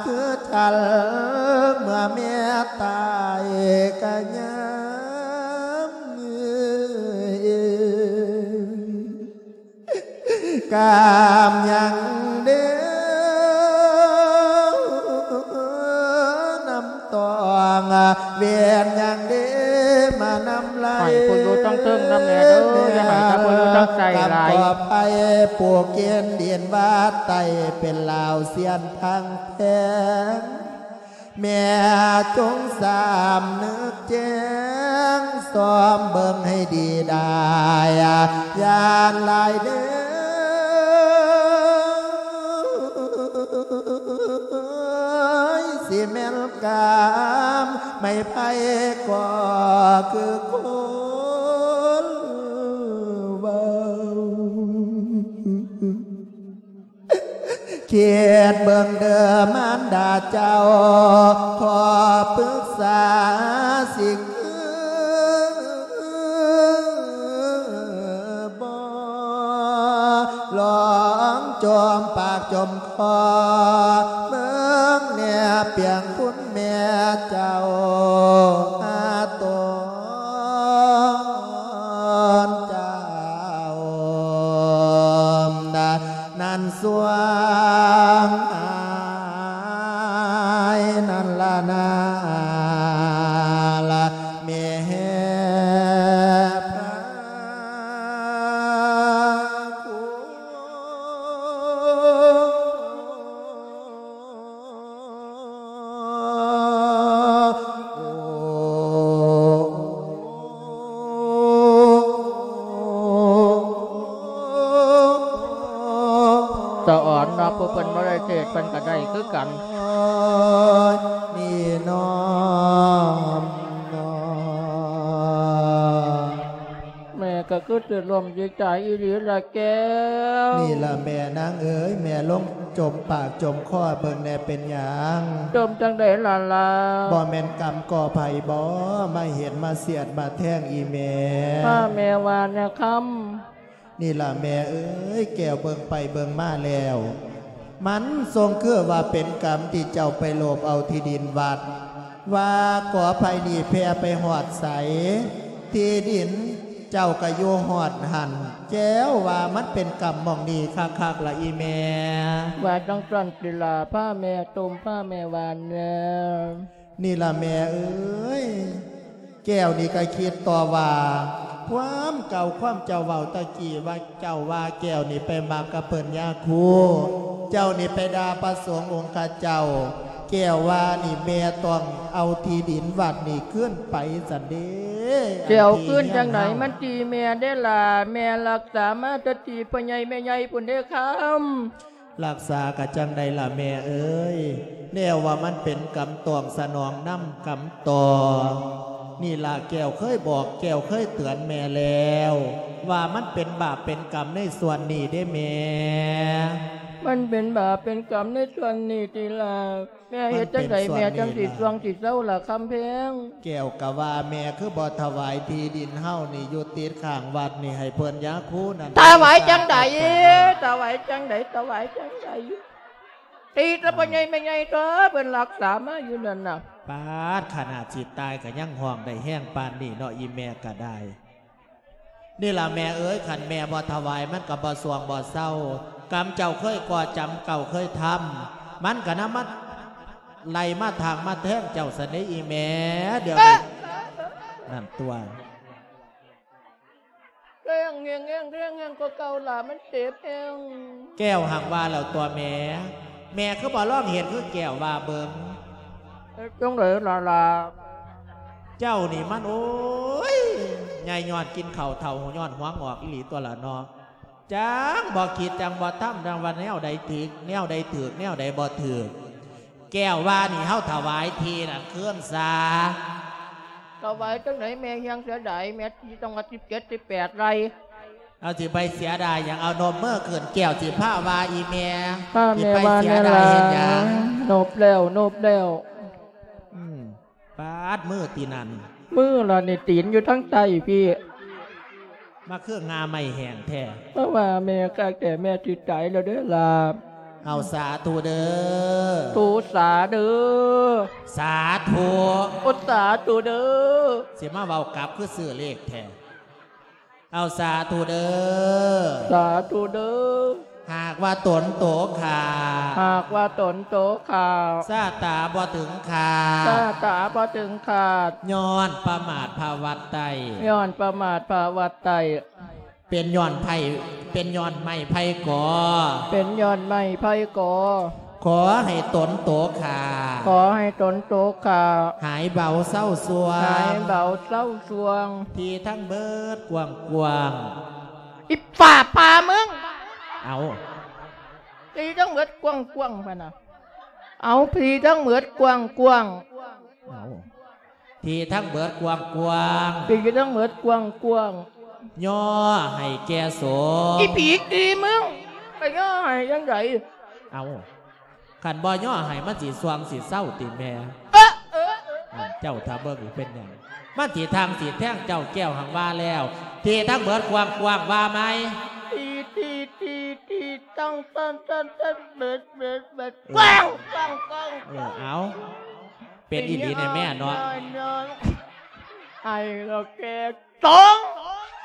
ຄືຈັນ ເມື່ອແມ່ຕາຍກະຍາມ ກາມຫຍັງເດ ນ້ຳຕອງ ເວນຫຍັງເດ ມານຳໄຫຼ ໃຫ້ຜູ້ຢູ່ທາງເທິງນຳແດ່ເດີ ຢ່າໃຫ້ແຕ່ຜູ້ຢູ່ທາງໃຕ້ຫຼາຍ ກຳກໍໄພ ປູກກິນດິນວາດໄຕ້ ເປັນລາວຊຽນທາງແພງ ແມ່ຈົ່ງສຳນຶກແຈ້ງ ສ່ອມເບິ່ງໃຫ້ດີໄດ້ ຢ້ານຫຼາຍເດີ ຊິແມ່ນກາມ ໄມ້ໄຜ່ກໍຄືຄົນເວົ້າ. ຄິດເບິ່ງເດີມານດາເຈົ້າ ຂໍປຶກສາຊິຄືບໍ່ ລອງຈົ່ມປາກຈົ່ມຄໍ ເບິ່ງແນ່ປຽງຄຸນແມ່ເຈົ້າ ຫາຕົນເຈົ້າ ນັ້ນສວງອາຍນັ້ນລະນາລະແມ່ພະຄຸນ. ບໍ່ໄດ້ເສກເພິ່ນກໍໄດ້ຄືກັນ. ນີ້ນ້ອມນອ ແມ່ກໍຄືຊິລົ້ມຊິຕາຍອີ່ຫຼີລະແກ້ວ. ນີ້ລະແມ່ນາງເອີຍ ແມ່ລົງຈົມປາກຈົມຄໍເບິ່ງແດ່ເປັນຫຍັງ? ຈົມຈັ່ງໃດລະຫຼ້າ? ບໍ່ແມ່ນກຳກໍໃຜບໍ ມາເຮັດມາສຽດມາແທງອີ່ແມ່? ພາແມ່ວ່າແນວຄຳ. ນີ້ລະແມ່ເອີຍ ແກ້ວເບິ່ງໄປເບິ່ງມາແລ້ວ ມັນຊົງຄືວ່າເປັນກຳທີ່ເຈົ້າໄປໂລບເອົາທີ່ດິນວັດ ວ່າກໍໄຜ່ນີ້ແຜ່ໄປຮອດໃສ ທີ່ດິນເຈົ້າກໍຢູ່ຮອດຫັ້ນ ແກ້ວວ່າມັນເປັນກຳໝ່ອງນີ້ຄັກໆລະອີ່ແມ່. ວ່າຈັ່ງຊັ້ນຕິລະ ພາແມ່ຕົມ ພາແມ່ວ່າແນວ. ນີ້ລະແມ່ເອີຍ ແກ້ວນີ້ກໍຄິດຕໍ່ວ່າ ຄວາມເກົ່າຄວາມເຈົ້າເວົ້າຕະກີ້ວ່າ ເຈົ້າວ່າແກ້ວນີ້ໄປມັກກັບເພິ່ນຍາຄູ ເຈົ້ານີ້ໄປດ່າພະສົງອົງຄະເຈົ້າ ແກ້ວວ່ານີ້ແມ່ຕ້ອງເອົາທີ່ດິນວັດນີ້ຄືນໄປຊັ້ນເດ້. ຊິເອົາຄືນຈັ່ງໃດ? ມັນຕີແມ່ເດ້ລະ ແມ່ລັກສາມາແຕ່ຕີພໍ່ໃຫຍ່ແມ່ໃຫຍ່ພຸ້ນເດ້ຄຳ. ລັກສາກະຈັ່ງໃດລະແມ່ເອີຍ ແນວວ່າມັນເປັນກຳຕ້ອງສະໜອງນຳກຳຕໍ່. ນີ້ລະແກ້ວເຄີຍບອກ ແກ້ວເຄີຍເຕືອນແມ່ແລ້ວ ວ່າມັນເປັນບາບເປັນກຳໃນສ່ວນນີ້ເດ້ແມ່. ມັນເປັນບາບເປັນກຳໃນສ່ວນນີ້ຕິລະ? ແມ່ເຮັດຈັ່ງໃດແມ່ຈັ່ງຊິຊ່ວງຊິເຊົາລະຄຳແພງ? ແກ້ວກະວ່າແມ່ຄືບໍ່ຖວາຍທີ່ດິນເຮົານີ້ຢູ່ຕິດຂ້າງວັດນີ້ໃຫ້ເພິ່ນຍາຄູນັ້ນ. ຖວາຍຈັ່ງໃດ? ຖວາຍຈັ່ງໃດ? ຖວາຍຈັ່ງໃດ? ຕີແຕ່ພໍ່ໃຫຍ່ແມ່ໃຫຍ່ຕົວະ ເພິ່ນລັກສາມາຢູ່ນັ້ນນະ. ປາດ ຂະໜາດຊິຕາຍກະຍັງຮ້ອງໄດ້ແຮງປານນີ້ເນາະ ອີ່ແມ່ກະໄດ້. ນີ້ລະແມ່ເອີຍ ຄັນແມ່ບໍ່ຖວາຍມັນກໍບໍ່ຊ່ວງບໍ່ເຊົາ. ກຳເຈົ້າເຄີຍກໍ່ຈຳເກົ່າເຄີຍທຳ ມັນກໍນຳມາໄລ່ມາຖາງມາແທງເຈົ້າຊັ້ນເດ້ອີ່ແມ່. ດຽວນີ້ ເອີ ນັ້ນຕົວະ ແຮງແຮງແຮງແຮງກວ່າເກົ່າລະ ມັນເຈັບແຮງ. ແກ້ວຫັ້ນວ່າແລ້ວຕົວະແມ່ ແມ່ຄືບໍ່ລອງເຮັດຄືແກ້ວວ່າເບິ່ງ? ເຮັດຈັ່ງໃດລະລະ? ເຈົ້ານີ້ມັນ ໂອ້ຍ ໃຫຍ່ຍ້ອນກິນເຂົ້າ ເຖົ້າຍ້ອນຫົວງອກອີ່ຫຼີຕົວະລະເນາະ. ຈັ່ງບໍ່ຄິດ ຈັ່ງບໍ່ທຳ ຈັ່ງວ່າແນວໃດຖືກ ແນວໃດຖືກ ແນວໃດບໍ່ຖືກ. ແກ້ວວ່ານີ້ເຮົາຖວາຍທີ່ນັ້ນຄືນຊະ. ຖວາຍຈັ່ງໃດແມ່ ແຮງເສຍດາຍແມ່ ທີ່ຕ້ອງວ່າສິບເຈັດ ສິບແປດໄຮ່. ເອົາ ຊິໄປເສຍດາຍຫຍັງ? ເອົາ ນົບມືຂຶ້ນ ແກ້ວຊິພາວ່າອີ່ແມ່. ພາແມ່ວ່າແນວລະ ເຮັດຫຍັງ? ນົບແລ້ວ ນົບແລ້ວ. ອືມ ປາດ ມືຕີນນັ້ນ ມືລະນີ້ ຕີນຢູ່ທາງໃຕ້ພີ້ ມາຄືງ່າໄມ້ແຫ້ງແທ້. ເພາະວ່າແມ່ກະແກ່ແມ່ຊິຕາຍແລ້ວເດີລະ. ເອົາ ສາທຸເດີ ທຸສາເດີ ສາທຸ ໂອ ສາທຸເດີ. ຊິມາເວົ້າກັບຄືຊື້ເລກແທ້. ເອົາ ສາທຸເດີ ສາທຸເດີ. ຫາກວ່າຕົນໂຕຂ້າ ຫາກວ່າຕົນໂຕຂ້າ ຊາຕາບໍ່ເຖິງຂ້າ ຊາຕາບໍ່ເຖິງຂ້າ ຍ້ອນປະໝາດພະວັດໄຕ ຍ້ອນປະໝາດພະວັດໄຕ ເປັນຍ້ອນໄຜ ເປັນຍ້ອນໄມ້ໄຜ່ກໍ ເປັນຍ້ອນໄມ້ໄຜ່ກໍ ຂໍໃຫ້ຕົນໂຕຂ້າ ຂໍໃຫ້ຕົນໂຕຂ້າ ຫາຍເບົາເຊົາຊ່ວງ ຫາຍເບົາເຊົາຊ່ວງ ທີ່ທັງເບີດກວ້າງໆ. ອີ່ຟ້າຜ່າມຶງ ເອົາ ທີ່ທັງເບີດກວ້າງໆ ພະນະ. ເອົາ ທີ່ທັງເບີດກວ້າງໆ ເອົາ ທີ່ທັງເບີດກວ້າງໆ ທີ່ທັງເບີດກວ້າງໆ ຍໍໃຫ້ແກ່ສົງ ອີ່ຜີຂີ້ມຶງ ໄປຍໍໃຫ້ຈັ່ງໃດ? ເອົາ ຄັນບໍ່ຍໍໃຫ້ມັນຊິຊ່ວງຊິເຊົາຕິແມ່? ເອີ ເອີ ເອີ ເຈົ້າຖ້າເບິ່ງເປັນຫຍັງ ມັນຊິທັງຊິແທງເຈົ້າ. ແກ້ວຫັ້ນວ່າແລ້ວ ທີ່ທັງເບີດກວ້າງໆ ວ່າໃໝ່? ທີ່ ທີ່ ທີ່ ທີ່ ຕັ້ງ ຕັ້ງ ຕັ້ງ ຕັ້ງ ເບີດ ເບີດ ເບີດ ເອີ ກວ້າງ ກວ້າງ ກວ້າງ ເອີ ເອົາ ເປັນອີ່ຫຼີແນ່ແມ່ເນາະ ໃຫ້ລະແກ່ສົງ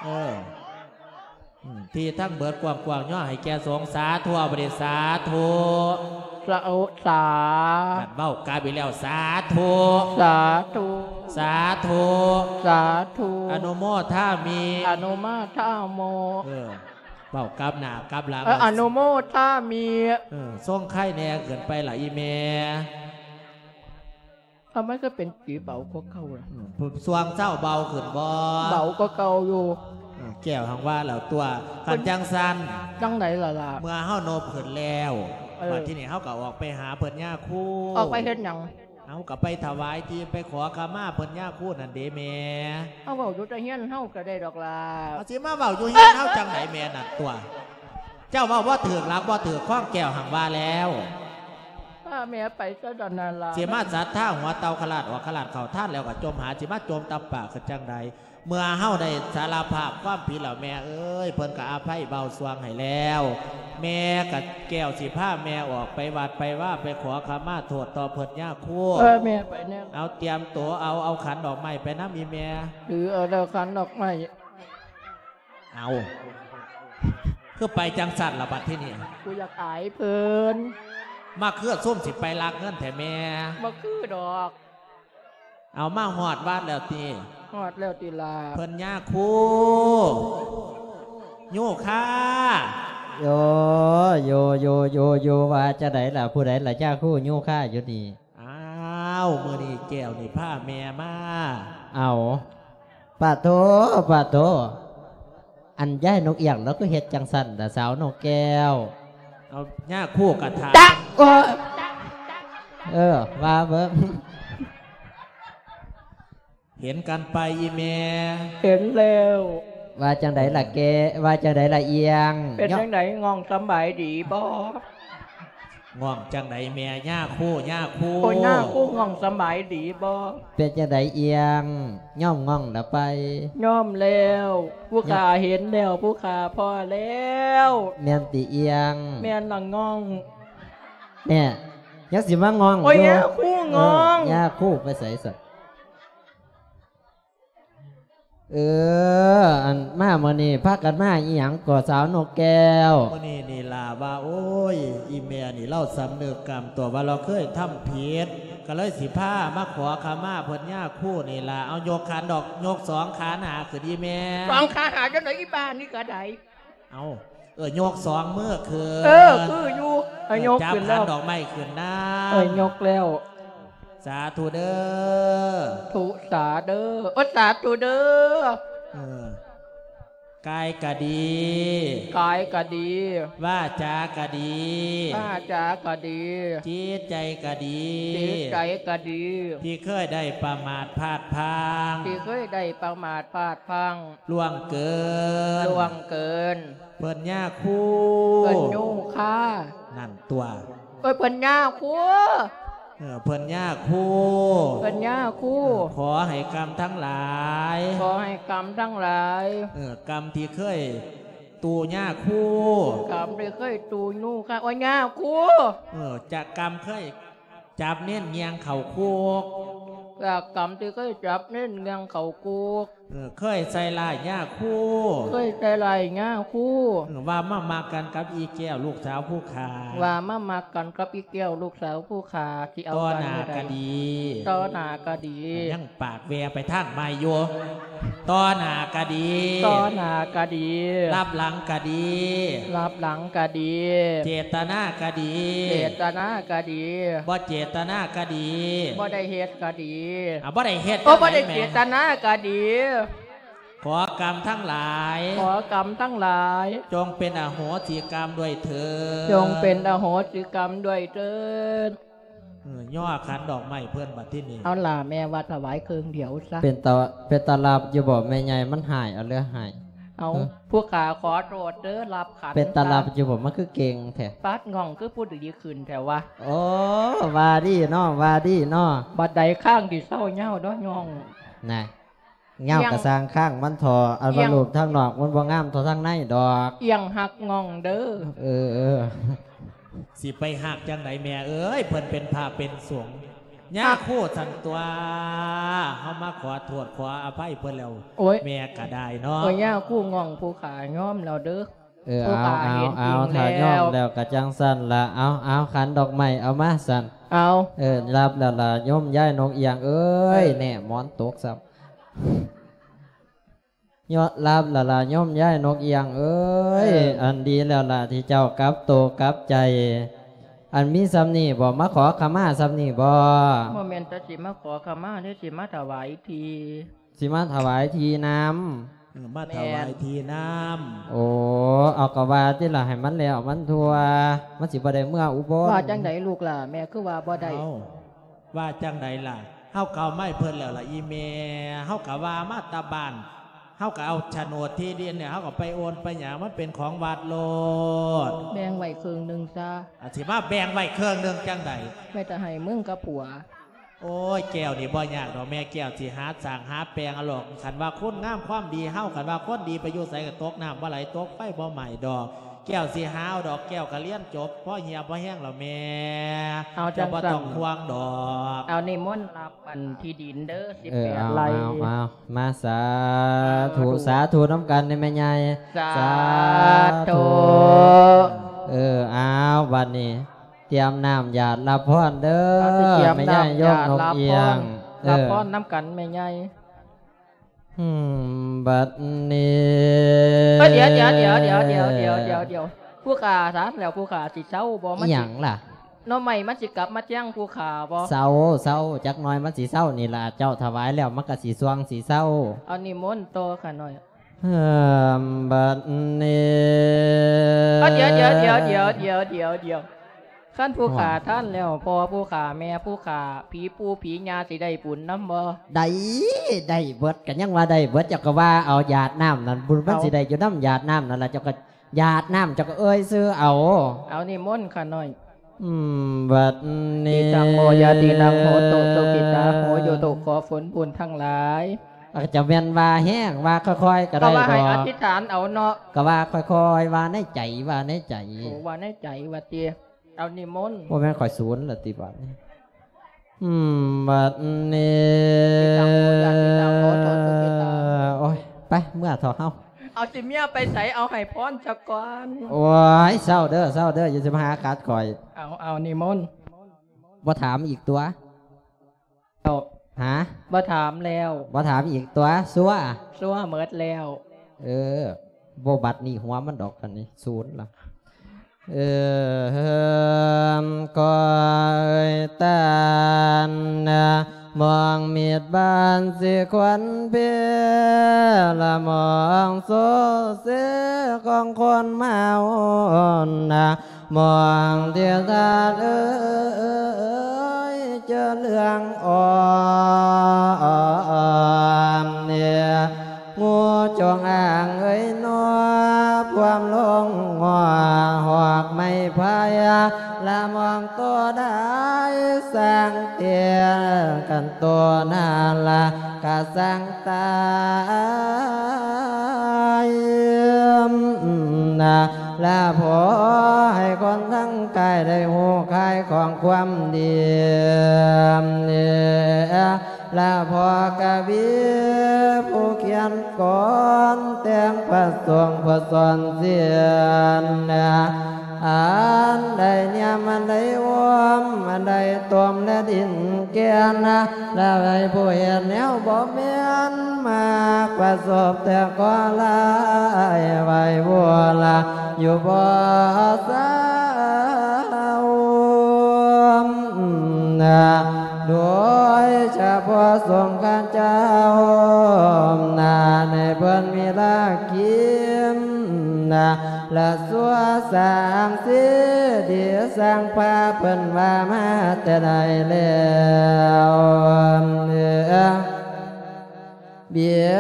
ເອີ ອືມ ທີ່ທັງເບີດກວ້າງໆ ຍໍໃຫ້ແກ່ສົງ ສາທຸ ເອົາບາດນີ້ ສາທຸ ສາ ໂອ ສາ ນັ້ນເວົ້າກັບອີກແລ້ວ ສາທຸ ສາທຸ ສາທຸ ສາທຸ ອະນຸໂມທາມິ ອະນຸໂມທາມິ ເອີ ເວົ້າກັບໜ້າກັບຫຼັງ ເອີ ອະນຸໂມທາມິ ເອີ ຊົງໄຄແດ່ຂຶ້ນໄປລະອີ່ແມ່. ເອົາ ມັນຄືເປັນສີເບົາກວ່າເກົ່າລະ? ອືມ ຊ່ວງເຊົ້າເບົາຂຶ້ນບໍ່? ເບົາກວ່າເກົ່າຢູ່. ອືມ ແກ້ວຫັ້ນວ່າແລ້ວຕົວະ ຄັນຈັ່ງຊັ້ນ ຈັ່ງໃດລະລະ? ເມື່ອເຮົານົບຂຶ້ນແລ້ວ ເອີ ບັດທີນີ້ເຮົາກໍອອກໄປຫາເພິ່ນຍາຄູ. ອອກໄປເຮັດຫຍັງ? ເຮົາກໍໄປຖວາຍທີ່ ໄປຂໍຂະມາເພິ່ນຍາຄູນັ້ນເດ້ແມ່. ເຮົາເວົ້າຢູ່ແຕ່ເຮືອນເຮົາກໍໄດ້ດອກຫຼ້າ. ເຮົາຊິມາເວົ້າຢູ່ເຮືອນເຮົາຈັ່ງໃດແມ່? ນັ້ນຕົວະ ເຈົ້າເວົ້າບໍ່ຖືກຫຼັກບໍ່ຖືກຄອງແກ້ວຫັ້ນວ່າແລ້ວ. ພາແມ່ໄປຊະດອນນັ້ນລະ. ຊິມາສັດທາຫົວເຕົ່າຄະລາດອອກຄະລາດເຂົ້າທານແລ້ວກໍຈົ່ມຫາ ຊິມາຈົ່ມຕຳປາກຄືຈັ່ງໃດ? ເມື່ອເຮົາໄດ້ສາລະພາບຄວາມຜິດແລ້ວແມ່ເອີຍ ເພິ່ນກໍອະໄພເບົາຊ່ວງໃຫ້ແລ້ວ. ແມ່ກໍແກ້ວຊິພາແມ່ອອກໄປວັດໄປວາ ໄປຂໍຂະມາໂທດຕໍ່ເພິ່ນຍາຄູ. ເອີ ແມ່ໄປແນ່. ເອົາ ຕຽມໂຕ ເອົາ ເອົາຂັນດອກໄມ້ໄປນຳອີ່ແມ່. ຖືເອົາແລ້ວຂັນດອກໄມ້. ເອົາ ຄືໄປຈັ່ງຊັ້ນລະບັດທີນີ້? ກູຢາກອາຍເພິ່ນ. ມາຄືຊຸມຊິໄປລັກເງິນແທ້ແມ່. ບໍ່ຄືດອກ. ເອົາ ມາຮອດວັດແລ້ວຕິ? ຮອດແລ້ວຕິລະ? ເພິ່ນຍາຄູ ໂຍຄາ. ໂຍ ໂຍ ໂຍ ໂຍ ໂຍ ວ່າຈັ່ງໃດລະ? ຜູ້ໃດລະຍາຄູໂຍຄາຢູ່ນີ້? ອ້າວ ມື້ນີ້ແກ້ວນີ້ພາແມ່ມາ. ເອົາ ປາໂທ ປາໂທ ອັນຍາຍນົກອຽງລາວຄືເຮັດຈັ່ງຊັ້ນລະ ສາວນົກແກ້ວ? ເອົາ ຍາຄູກະຖາມ. ໂອ້ຍ ເອີ ວ່າເບິ່ງ. ເຫັນກັນໄປອີ່ແມ່? ເຫັນແລ້ວ. ວ່າຈັ່ງໃດລະແກ້? ວ່າຈັ່ງໃດລະອຽງ? ເປັນຈັ່ງໃດ? ງ່ອງສຳບາຍດີບໍ່? ງ່ອງຈັ່ງໃດແມ່? ຍາຄູ ຍາຄູ. ໂອ້ຍ ຍາຄູ ງ່ອງສຳບາຍດີບໍ່? ເປັນຈັ່ງໃດອຽງ? ຍອມງ່ອງລະໄປ? ຍອມແລ້ວ. ຜູ້ຂ້າເຫັນແລ້ວ ຜູ້ຂ້າພໍ້ແລ້ວ. ແມ່ນຕິອຽງ? ແມ່ນລະງ່ອງ. ແນ່ ຍັງຊິມາງ່ອງຢູ່. ໂອ້ຍ ຍາຄູງ່ອງ. ເອີ ຍາຄູໄປໃສຊັ້ນ? ເອີ ອັນມາມື້ນີ້ພາກັນມາອີ່ຫຍັງກໍສາວນົກແກ້ວ? ມື້ນີ້ນີ້ລະວ່າ ໂອ້ຍ ອີ່ແມ່ນີ້ລາວສຳນຶກກຳຕົວວ່າລາວເຄີຍທຳຜິດ ກໍເລີຍຊິພາມາຂໍຂະມາເພິ່ນຍາຄູນີ້ລະ. ເອົາ ຍົກຂັນດອກ ຍົກສອງຂາໜ້າຂຶ້ນອີ່ແມ່. ສອງຂາໜ້າຈັ່ງໃດ ອີ່ບ້ານີ້ກໍໄດ້. ເອົາ ເອີ ຍົກສອງມືຂຶ້ນ. ເອີ ຄືຢູ່. ເອີ ເອີ ຍົກຂຶ້ນແລ້ວ. ຈັບຂັນດອກໄມ້ຂຶ້ນນຳ. ເອີ ຍົກແລ້ວ. ສາທຸເດີ. ທຸສາເດີ. ໂອ ສາທຸເດີ. ເອີ ກາຍກະດີ. ກາຍກະດີ. ວາຈາກະດີ. ວາຈາກະດີ. ຈິດໃຈກະດີ. ຈິດໃຈກະດີ. ທີ່ເຄີຍໄດ້ປະໝາດພາດພລັ້ງ. ທີ່ເຄີຍໄດ້ປະໝາດພາດພລັ້ງ. ລ່ວງເກີນ. ລ່ວງເກີນ. ເພິ່ນຍາຄູ ເພິ່ນໂຍຄາ. ນັ້ນຕົວະ. ເອີ ເພິ່ນຍາຄູ. ເອີ ເພິ່ນຍາຄູ. ເພິ່ນຍາຄູ. ເອີ ຂໍໃຫ້ກຳທັງຫຼາຍ. ຂໍໃຫ້ກຳທັງຫຼາຍ. ເອີ ກຳທີ່ເຄີຍຕູຍາຄູ. ກຳທີ່ເຄີຍຕູຍາຄູ. ໂອ ຍາຄູ. ເອີ ຈະກຳເຄີຍ ຈັບເນັ້ນຍ່ຽງເຂົ້າຄຸກ. ຈາກກຳທີ່ເຄີຍຈັບເນັ້ນຍ່ຽງເຂົ້າຄຸກ. ເອີ ເຄີຍໃສ່ຮ້າຍຍາຄູ. ເຄີຍໃສ່ຮ້າຍຍາຄູ. ເອີ ວ່າມາມັກກັນກັບອີ່ແກ້ວລູກສາວຜູ້ຂ້າ. ວ່າມາມັກກັນກັບອີ່ແກ້ວລູກສາວຜູ້ຂ້າ. ຊິເອົາກັນມື້ໃດ? ຕໍ່ໜ້າກະດີ. ຕໍ່ໜ້າກະດີ. ຍັງ ປາກແວ່ໄປທາງໃໝ່ຢູ່. ຕໍ່ໜ້າກະດີ. ຕໍ່ໜ້າກະດີ. ລັບຫຼັງກະດີ. ລັບຫຼັງກະດີ. ເຈດຕະນາກະດີ. ເຈດຕະນາກະດີ. ບໍ່ເຈດຕະນາກະດີ. ບໍ່ໄດ້ເຮັດກະດີ. ອ່າ ບໍ່ໄດ້ເຮັດ. ໂອ ບໍ່ໄດ້ເຈດຕະນາກະດີ. ຂໍກຳທັງຫຼາຍ. ຂໍກຳທັງຫຼາຍ. ຈົ່ງເປັນອະໂຫສິກຳດ້ວຍເທີ້ນ. ຈົ່ງເປັນອະໂຫສິກຳດ້ວຍເທີ້ນ. ເອີ ຍໍຂັນດອກໄມ້ເພິ່ນບັດທີນີ້. ເອົາລະ ແມ່ວ່າຖວາຍເຄິ່ງດຽວຊະ. ເປັນຕາ ເປັນຕາລັບຢູ່ບໍ່ແມ່ໃຫຍ່? ມັນຫາຍເອົາເຫຼືອຫາຍ. ເອົາ ເອີ ຜູ້ຂ້າຂໍໂທດເດີ ລັບຂັນ. ເປັນຕາລັບຢູ່ບໍ່? ມັນຄືເກັ່ງແທ້. ປາດ ງ່ອງຄືຜູ້ດີຂຶ້ນແທ້ວະ. ໂອ້ ວ່າດີເນາະ ວ່າດີເນາະ. ບັດໃດຄາງຊິເຊົາຍາວເນາະ ຍ່ອງ. ນະ ຍາວກະຊ່າງຄາງມັນເຖາະ ອັນວ່າຮູບທາງນອກມັນບໍ່ງາມເທົ່າທາງໃນດອກ. ອຽງຮັກງ່ອງເດີ. ເອີ ເອີ ຊິໄປຮັກຈັ່ງໃດແມ່ເອີຍ ເພິ່ນເປັນພະເປັນສົງ. ຍາຄູສັນຕົວະ ເຮົາມາຂໍໂທດຂໍອະໄພເພິ່ນແລ້ວ. ໂອ້ຍ ແມ່ກະໄດ້ເນາະ. ໂອ້ຍ ຍາຄູງ່ອງ ຜູ້ຂ້າຍອມແລ້ວເດີ. ເອີ ເອົາ ເອົາ ເອົາ ຖ້າຍອມແລ້ວກະຈັ່ງຊັ້ນລະ. ເອົາ ເອົາ ຂັນດອກໄມ້ເອົາມາຊັ້ນ. ເອົາ ເອີ ຫຼັບແລ້ວລະໂຍມຍາຍນົກອຽງເອີຍ. ເອີ ແນ່ ໝອນຕົກຊ້ຳ. ຍອດ ຫຼັບແລ້ວລະໂຍມຍາຍນົກອຽງເອີຍ. ເອີ ອັນດີແລ້ວລະທີ່ເຈົ້າກັບໂຕກັບໃຈ. ອັນມີສ່ຳນີ້ບໍ່? ມາຂໍຂະມາສ່ຳນີ້ບໍ່? ບໍ່ແມ່ນແຕ່ຊິມາຂໍຂະມາເດ້ ຊິມາຖວາຍທີ່. ຊິມາຖວາຍທີ່ນຳ. ເອີ ມາຖວາຍທີ່ນຳ. ໂອ້ ເອົາ ກໍວ່າຕິລະ ໃຫ້ມັນແລ້ວມັນທົ່ວ ມັນຊິບໍ່ໄດ້ເມືອອຸບົນ. ວ່າຈັ່ງໃດລູກຫຼ້າ? ແມ່ຄືວ່າບໍ່ໄດ້? ເອົ້າ ວ່າຈັ່ງໃດລະ? ເຮົາກໍເອົາມາໃຫ້ເພິ່ນແລ້ວລະອີ່ແມ່. ເຮົາກໍວ່າມາແຕ່ບ້ານ ເຮົາກໍເອົາໂສນດທີ່ດິນນີ້ ເຮົາກໍໄປໂອນໄປຫຍັງ ມັນເປັນຂອງວັດໂລດ. ແບ່ງໄວ້ເຄິ່ງໜຶ່ງຊະ. ອາ ຊິມາແບ່ງໄວ້ເຄິ່ງໜຶ່ງຈັ່ງໃດ? ແມ່ຈະໃຫ້ມຶງກັບຜົວ. ໂອ້ຍ ແກ້ວນີ້ບໍ່ຍາກດອກ ແມ່ແກ້ວຊິຫາສ້າງຫາແປງເອົາດອກ. ຄັນວ່າຄຸນງາມຄວາມດີເຮົາ ຄັນວ່າຄົນດີໄປຢູ່ໃສກໍຕົກນ້ຳບໍ່ໄຫຼ ຕົກໄຟບໍ່ໄໝ້ດອກ. ແກ້ວຊິຫາເອົາດອກ ແກ້ວກໍຮຽນຈົບພໍຮຽບພໍແຮງແລ້ວແມ່. ເອົາ ເຈົ້າບໍ່ຕ້ອງ ຈັ່ງຊັ້ນ ຫ່ວງດອກ. ເອົາ ນິມົນຮັບອັນທີ່ດິນເດີ ເອີ ສິບແປດ ເອົາ ໄຮ່. ເອົາ ເອົາ ມາ ສາທຸ ສາທຸ ສາທຸນຳກັນເດີແມ່ໃຫຍ່. ສາ ສາທຸ ທຸ ເອີ ເອົາ ບັດນີ້ ຕຽມນ້ຳຢາດຮັບພອນເດີ ເອົາ ຊິຕຽມ ແມ່ໃຫຍ່ ນ້ຳຢາດຮັບພອນ ຍົກນົກອຽງ. ເອີ ຮັບພອນນຳກັນແມ່ໃຫຍ່. ອືມ ບັດນີ້ ເອີ ດຽວ ດຽວ ດຽວ ດຽວ ຜູ້ຂ້າ ຊານແລ້ວ ຜູ້ຂ້າຊິເຊົາບໍ່? ມັນ ອີ່ຫຍັງລະ? ໜໍ່ໄມ້ມັນຊິກັບມາແທງຜູ້ຂ້າບໍ່? ເຊົາ ເຊົາ ຈັກໜ້ອຍມັນຊິເຊົານີ້ລະ ເຈົ້າຖວາຍແລ້ວມັນກໍຊິຊ່ວງຊິເຊົາ. ເອົາ ນິມົນຕໍ່ຂ້ານ້ອຍ. ເອີ ບັດນີ້ ເອີ ດຽວ ດຽວ ດຽວ ຄັນຜູ້ຂ້າ ໂອ້ຍ ທ່ານແລ້ວ ພໍ່ຜູ້ຂ້າ ແມ່ຜູ້ຂ້າ ຜີປູ່ຜີຍ່າ ຊິໄດ້ບຸນນຳບໍ່? ໄດ້ ໄດ້ເບິດ ກໍຍັງວ່າໄດ້ເບິດ. ເຈົ້າກໍວ່າເອົາຢາດນ້ຳນັ້ນ ບຸນມັນ ເອົາ ຊິໄດ້ຢູ່ນຳຢາດນ້ຳນັ້ນລະ. ເຈົ້າກໍຢາດນ້ຳ ເຈົ້າກໍເອີ່ຍຊື່ເອົາ. ເອົາ ນິມົນຂ້ານ້ອຍ. ອືມ ບັດນີ້ ທິຕັງ ໂມ ຍະ ທິນັງ ໂຫຕຸ ສຸຂິຕາ ໂຫ ໂຫຕຸ ຂໍຜົນບຸນທັງຫຼາຍ. ອາດຈະແມ່ນວ່າແຮງ ວ່າຄ່ອຍໆກໍໄດ້ ກໍວ່າໃຫ້ ດອກ ອະທິຖານເອົາເນາະ. ກໍວ່າຄ່ອຍໆ ວ່າໃນໃຈ ວ່າໃນໃຈ. ໂອ້ ວ່າໃນໃຈວ່າຕິ. ເອົາ ນິມົນ. ບໍ່ແມ່ນຂ້ອຍສູນລະຕິບາດນີ້? ອືມ ບັດນີ້ ທິຕັງ ໂມ ຍະ ທິນັງ ໂຫຕຸ ສຸຂິຕາ. ໂອ້ຍ ໄປ ເມືອເຖາະເຮົາ. ເອົາ ຊິເມຍໄປໃສ? ເອົາ ໃຫ້ພອນຊະກ່ອນ. ໂອ້ຍ ເຊົາເດີ ເຊົາເດີ ຢ່າຊິມາຫາຂັດຂ້ອຍ. ເອົາ ເອົາ ນິມົນ. ບໍ່ຖາມອີກຕົວະ? ເອົາ ຫາ? ບໍ່ຖາມແລ້ວ. ບໍ່ຖາມອີກຕົວະ? ຊົ່ວ ຊົ່ວໝົດແລ້ວ. ເອີ ບໍ່ບັດນີ້ຫົວມັນດອກ ອັນນີ້ສູນລະ. ເອີ ເຮີມ ກ້ອຍຕານນະ ມອງມີດບານສີຄວັນເພ ລະມອງໂຊເຊຂອງຄົນເມົານະ ມອງທີ່ທ່ານເອີຍ ເຈີເລື່ອງອ່ອນເນຍ ງູຈົງອາງເອີຍໜໍ ພວມລົງງົວ ຫອກໄມ້ໄຜ່ ລະມອງໂຕໄດ້ສ້າງເຕີຍກັນໂຕນັ້ນລະກະສ້າງຕາຍນະ ລະຂໍໃຫ້ຄົນທັງກາຍໄດ້ຮູ້ຄ່າຂອງຄວາມດີ ລະພໍ່ກະວີຜູ້ຂຽນກອນແຕ່ງ ພະສົງຜູ້ສອນສຽນ ອັນໃດນຽມ ອັນໃດໂອມ ອັນໃດຕົ້ມ ແລະດິນແກ່ນ ລະໃຫ້ຜູ້ເຮັດແນວບໍ່ແມ່ນ ມັກປະສົບແຕ່ເຄາະຮ້າຍ ໄວ້ວອນລະຢູ່ບໍ່ເຊົາ ໂດຍສະເພາະສົງຂະເຈົ້າ ໃຫ້ເພິ່ນມີລາກິນ ລະຊົ່ວສ້າງຊີດີສ້າງພາ ເພິ່ນວ່າມາແຕ່ໃດແລ້ວ ບຽ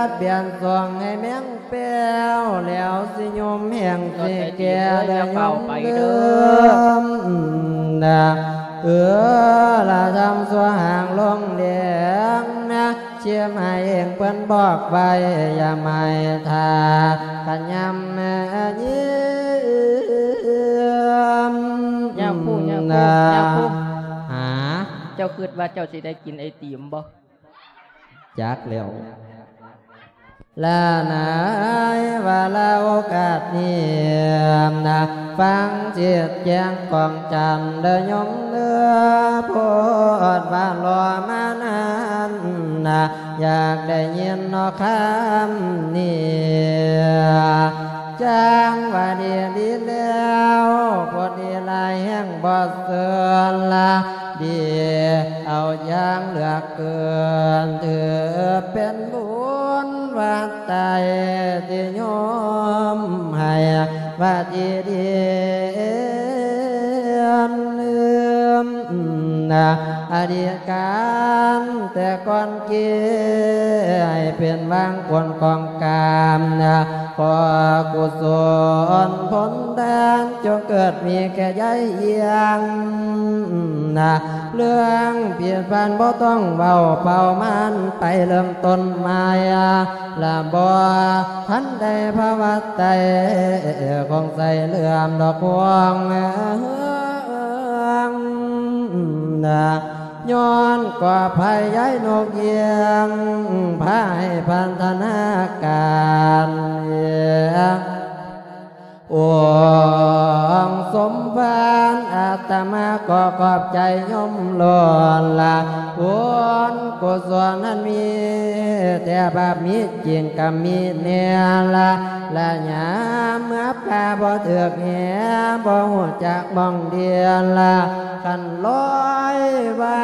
ດບຽນຊ່ວງໃຫ້ແມ່ງແປ້ວ ແລ້ວຊິຍົມແຮງຊິແກ່ ແລ້ວຍົມເດີມ ເອີ ລະທຳຊົ່ວຫາງລົງແດງນະ ຊິມໃຫ້ເອງເພິ່ນບອກໄວ້ ຢ່າໃຫ້ຖ້າ ຄັນຍາມແມ່ຍິມ ຍາມຜູ້ ຍາມຜູ້ ຍາມຜູ້ ຫາ ເຈົ້າຄິດວ່າເຈົ້າຊິໄດ້ກິນໄອຕິມບໍ່? ຈັກແລ້ວ ລະໃນວາລະໂອກາດນີ້ນະ ຟັງຈິດແຈ້ງຂອງຈັນເດີໂຍມເດີ ໂພດວ່າລໍມານານນະ ຢາກໄດ້ຍິນເນາະຄຳນີ້ ຈັ່ງວ່າດີດີແລ້ວ ໂພດດີຫຼາຍແຮງບໍ່ເຊີນລະ ດີເອົາຢ່າງເຫຼືອເກີນ ຖືເປັນບຸນວັດໄຕ ວ່າທີ່ດີນ ອະດີດການແຕ່ກ່ອນກີ້ ໃຫ້ເປັນຫວ່າງຜົນຂອງກາມ ຂໍກຸສົນຜົນທານ ຈົ່ງເກີດມີແກ່ຍາຍອຽງ ເລື່ອງຜິດພານບໍ່ຕ້ອງເວົ້າ ເປົ່າມັນໄປເລີ່ມຕົ້ນໃໝ່ ລະບໍ່ທັນໄດ້ພາວະໄຕ ຄອງໃສ່ເລື່ອມດອກພວງ ຍ້ອນກໍພະຍາຍນົກອຽງ ພາໃຫ້ພັນທະນາການ ອົງສົມພານ ອາດຕະມາກໍຂອບໃຈໂຍມລ້ວນລະ ບຸນກຸສົນນັ້ນມີແທ້ ບາບມີຈິງກະມີແນ່ລະ ລະຍາມເມື່ອປ່າບໍ່ຖືກແຫ ບໍ່ຮູ້ຈັກໝ່ອງດຽນລະ ຄັນລອຍວ່າ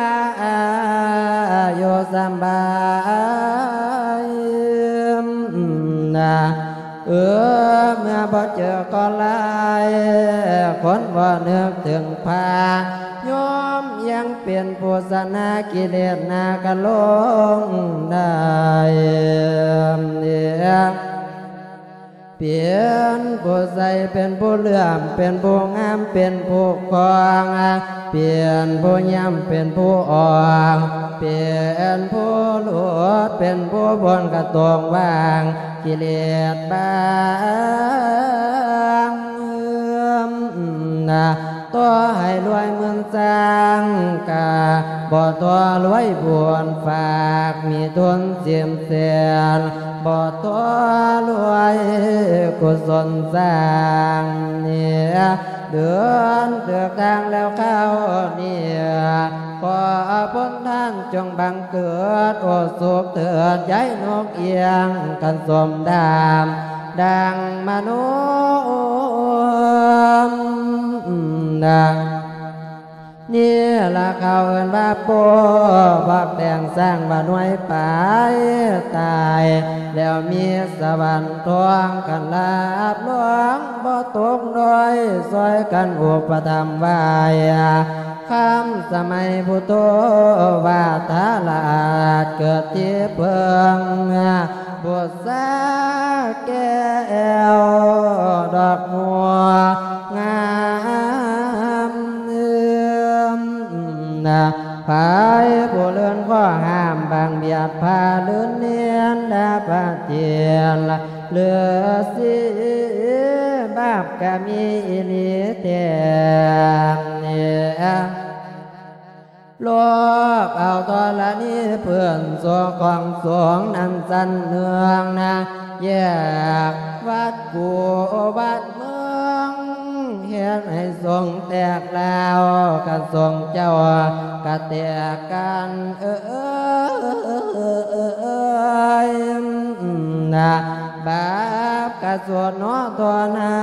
ຢູ່ສະບາຍນະ ເອີ ເມື່ອບໍ່ເຈີກໍລາຍ ຄົນບໍ່ນຶກເຖິງພະ ຍອມຍັງເປັນຜູ້ຊະນະກິເລດນາກະລົງໄດ້ ເປັນຜູ້ໃສ ເປັນຜູ້ເຫຼື້ອມ ເປັນຜູ້ງາມ ເປັນຜູ້ຄອງ ເປັນຜູ້ຢ້ຽມ ເປັນຜູ້ອອກ ເປັນຜູ້ຫຼຸດ ເປັນຜູ້ພົ້ນກະຕົກວ່າງ ກິເລດບາງ ຕໍ່ໃຫ້ລວຍໝື່ນຊ້າງ ກະບໍ່ທໍ່ລວຍບຸນຝາກ ມີທຶນສິບແສນ ບໍ່ທໍ່ລວຍກຸສົນສ້າງ ເດືອນເລືອກທາງແລ້ວຄາວນີ້ ຂໍພົນທ່ານຈົ່ງບັງເກີດ ໂອສຸກເຖີດຍາຍນົກອຽງ ຄັນສົມດາມ ດັ່ງມະໂນນະ ນີ້ລະເຂົາເອີ້ນວ່າໂປ້ ບັກແຕ່ງສ້າງວ່າໜ່ວຍປາຍຕາຍ ແລ້ວມີສະຫວັນທອງ ຄັນລາບລວງບໍ່ຕົກດ້ອຍ ຊ່ອຍກັນອຸປະຖຳໄວ້ ຄຳສະໄໝພຸດໂທວາທາລະອາດເກີດທີ່ເພິ່ງ ບຸດສາແກ້ວດອກບົວງາມ ໃຜຜູ້ເລື່ອນກໍຫ້າມບາງບຽດພາລື່ນເນນດາປະເທດລະ ເລືອສີບາບກະມີອີ່ຫຼີແທ້ ລອບເອົາທໍລະນີເພື່ອນໂສຂອງສວງນັ້ນຊັ້ນເໜືອງນະ ແຍກວັດກູວັດເມືອງ ເຮັດໃຫ້ສົງແຕກລາວ ກະສົງເຈົ້າກະແຕກກັນເອີຍ ນະ ບາບກະສວດເນາະ ເທົ່ານັ້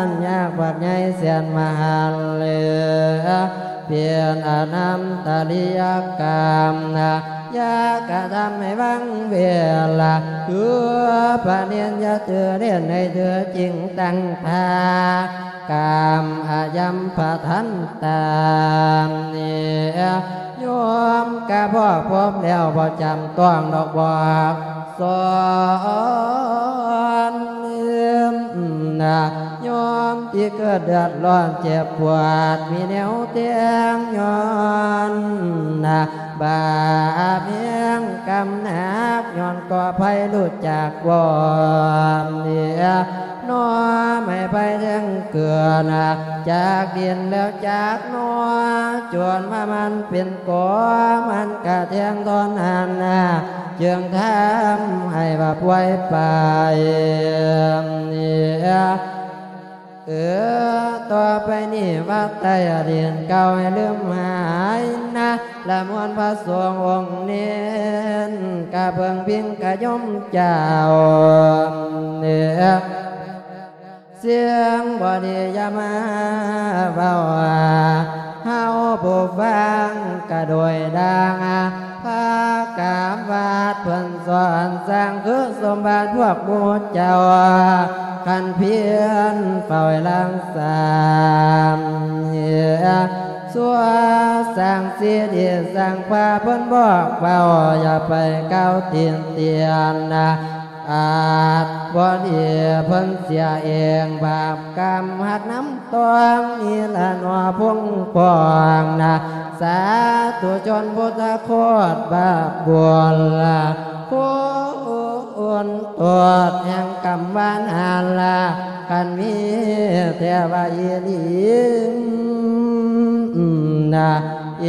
ນ ຍາກບັກໃຫຍ່ແສນມະຫັນເຫຼືອ ເປັນອະນັນຕະລິຍະກຳນະ ຢ່າກະທຳໃຫ້ວັງເວລາ ຄືພະເນນຢ່າຖືເນນໃຫ້ຖືຈິງຕັ້ງທ່າ ກາມອາຍັມພະທັນຕາ ໂຍມກະພໍພົບແລ້ວ ບໍ່ຈຳຕ້ອງດອກບອກສອນ ນະ ໂຍມທີ່ເກີດເດືອດຮ້ອນເຈັບປວດ ມີແນວແຕ່ງຍ້ອນນະ ບາບແຮງກຳໜັກ ຍ້ອນກໍໄພຮູ້ຈັກວອນເນຍ ໜໍ່ໄມ້ໄຜ່ແທ່ງເກືອນະ ຈາກດິນແລ້ວຈາກໜໍ່ ຈົນວ່າມັນເປັນກໍ ມັນກະແທ່ງທ່ອນຫັ້ນນະ ຈຶ່ງທຳໃຫ້ວ່າປ່ວຍໄປເນຍ ເອີ ຕໍ່ໄປນີ້ວັດໃຕ້ອະດີນເກົ່າໃຫ້ລືມຫາຍນະ ລະມວນພະສົງອົງເນນ ກະເພິ່ງພິງກະໂຍມເຈົ້າເນ ສິ່ງບໍ່ດີຢ່າມາເວົ້າ ເຮົາຜູ້ຟັງກະໂດຍດ່າງ ພາກາບວາດເພິ່ນສອນສ້າງ ຄືສົມບັດພວກໝູ່ເຈົ້າ ຄັນພຽນເຝົ້າໃຫ້ລັກສາເໜືອ ຊົ່ວສ້າງສີດີສ້າງພາ ເພິ່ນບອກເວົ້າຢ່າໄປກ່າວຕິຕຽນນະ ອາດບໍ່ດີເພິ່ນເສຍເອງ ບາບກຳຮັກນຳ ຕ້ອງນີ້ລະໜໍ່ພົງພອງນະ ສາທຸຊົນພຸດທະໂຄດບາບບຸນລະ ຄຸນໂທດແຫ່ງກຳວານຫັ້ນລະ ຄັນມີແທ້ວ່າອີຫຼີນະ ເອ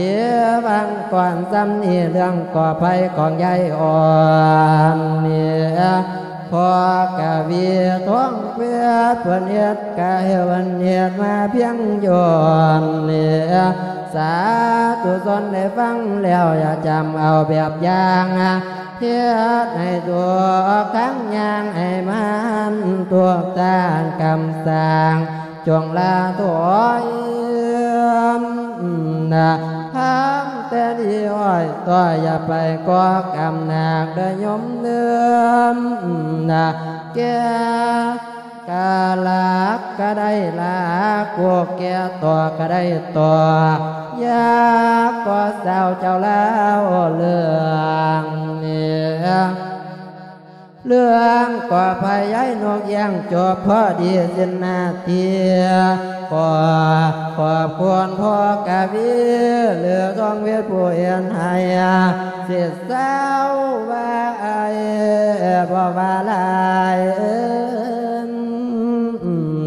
ວັງກ່ອນສ່ຳນີ້ ເລື່ອງກໍໄພຂອງຍາຍອ່ອນນີ້ ພໍ່ກະວີທອງເພັດ ເພິ່ນເຮັດກະເພິ່ນເຮັດມາພຽງຢ່ອນນີ້ ສາທຸຊົນໄດ້ຟັງແລ້ວ ຢ່າຈຳເອົາແບບຢ່າງ ເຮັດໃຫ້ຖືກທາງຍ່າງ ໃຫ້ມັນຖືກທາງຄຳສັ່ງ ຈົ່ງລາຖອຍນະ ທຳແຕ່ດີອ້ອຍຕ້ອຍ ຢ່າໄປກໍ່ກຳໜັກເດີໂຍມເນີມນະ ແກ່ກະລັກກະໄດ້ລາ ກວກແກ່ຕໍ່ກະໄດ້ຕໍ່ ຢ່າກໍ່ສາວເຈົ້າລາວເລື່ອງນີ້ ເລື່ອງກໍພະຍາຍນົກຢ່າງຈົບພໍດີສິ້ນໜ້າທີ່ ຂໍຂອບຄຸນພໍ່ກະວີ ຫຼືທອງເວດ ຜູ້ເຮັດໃຫ້ສິດສາວວ່າອ້າຍບໍ່ວ່າຫຼາຍ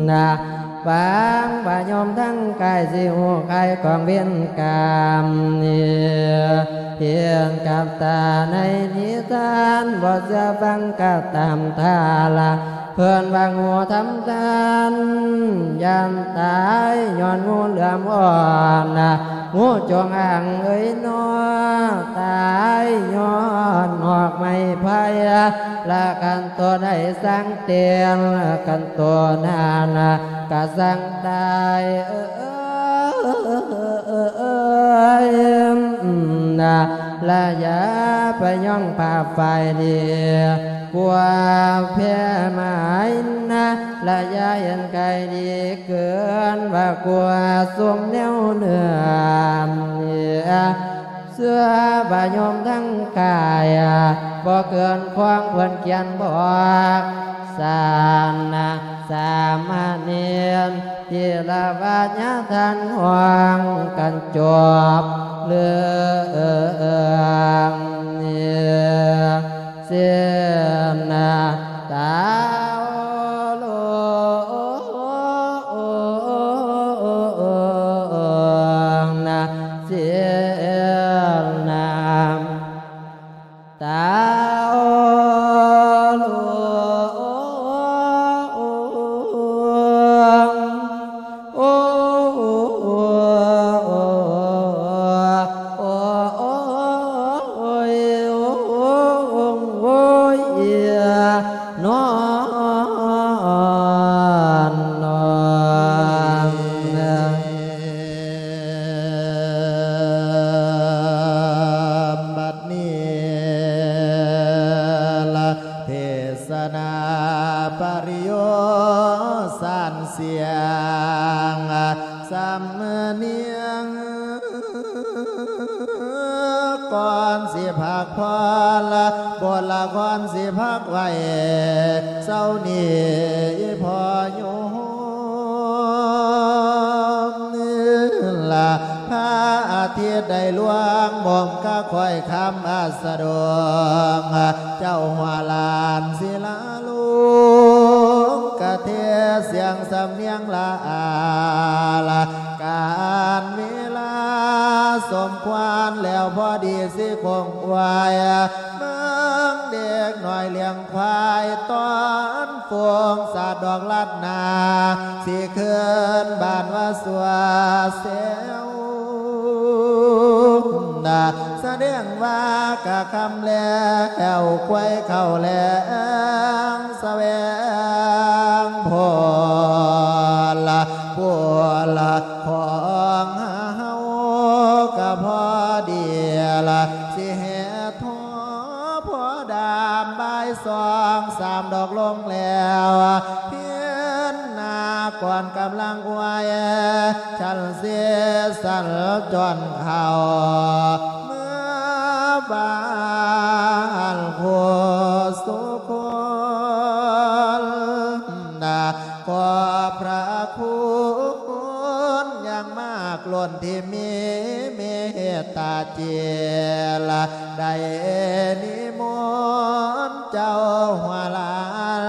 ນະ ຫວັງວ່າໂຍມທັງກາຍຊິຮູ້ຄາຍຂອງເວນກຳນີ້ ເຫັນກັບຕາໃນນິທານ ບໍ່ເຊື່ອຟັງກະຕາມທ່າລະ ເພິ່ນວ່າງູທຳທ່ານ ຢ້ານຕາຍຍ້ອນງູເຫຼືອມອ່ອນນະ ງູຈົງອາງເອີຍນໍ ຕາຍຍ້ອນຫອກໄມ້ໄຜ່ ລະຄັນໂຕໄດ້ສັງເຕນ ລະຄັນໂຕນັ້ນນະ ກະສັງຕາຍເອີຍນະ ລະຢ່າໄປຍ້ອງຜ້າຝ້າຍດີ ກວ່າແພໝາຍນະ ລະຢ່າເຫັນໄກດີເກີນ ວ່າກວ່າສົມແນວເນື້ອ ເຊື່ອວ່າໂຍມທັງກາຍ ບໍ່ເກີນຂອງເພິ່ນຂຽນບອກ ສານນະ ສາມະເນນ ທີລະວະຍະທ່ານຮ້ອງກັນຈົບເລື່ອງນີ້ ເສນນະ ຕາໂອໂລນະ ເສນນະ ຕາໂອໂລ ໂອ ຍ ໂອ ໂອຍ ໂອ ໂອຍ ນອນ ນອນ ບັດນີ້ລະ ເທສະນາປະລິໂຍສານສຽງ ສຳນຽງ ກ່ອນຊິພັກຜ່ອນລະ ບົດລະຄອນຊິພັກໄວ້ ເຊົ້ານີ້ພໍ່ໂຍມ ລະ ພະອາທິດໄດ້ລ່ວງ ໝົມກະຄ້ອຍຄຳອັດສະດົງ ເຈົ້າຫົວຫຼານສິລາລຸງ ກະເທສຽງສຳນຽງລະອາລະ ການເວລາສົມຄວນແລ້ວ ພໍດີຊິຄົງອວຍ ເບິ່ງເດັກນ້ອຍລ້ຽງ ຄວາຍຕອນຟົງສາດດອກລັດນາ ຊິຄືນບ້ານວ່າຊົ່ວແຊວນະ ສະແດງວ່າກະຄ່ຳແລ້ວ ຄວາຍເຂົ້າແລງສະແຫວງ ໂພລະ ໂພລະຂອງເຮົາກະພໍດີລະ ຊິແຫ່ ພໍດາມບ່າຍສອງສາມດອກລົງແລ້ວ ກ່ອນກຳລັງອວຍ ສັນເສສັນຈອນເຂົ້າເມືອບ້ານຜູ້ສຸຄົນນະ ຂອບພະຄຸນຢ່າງມາກລົ້ນທີ່ມີເມດຕາຈິດ ໄດ້ນິມົນເຈົ້າຫົວຫຼານ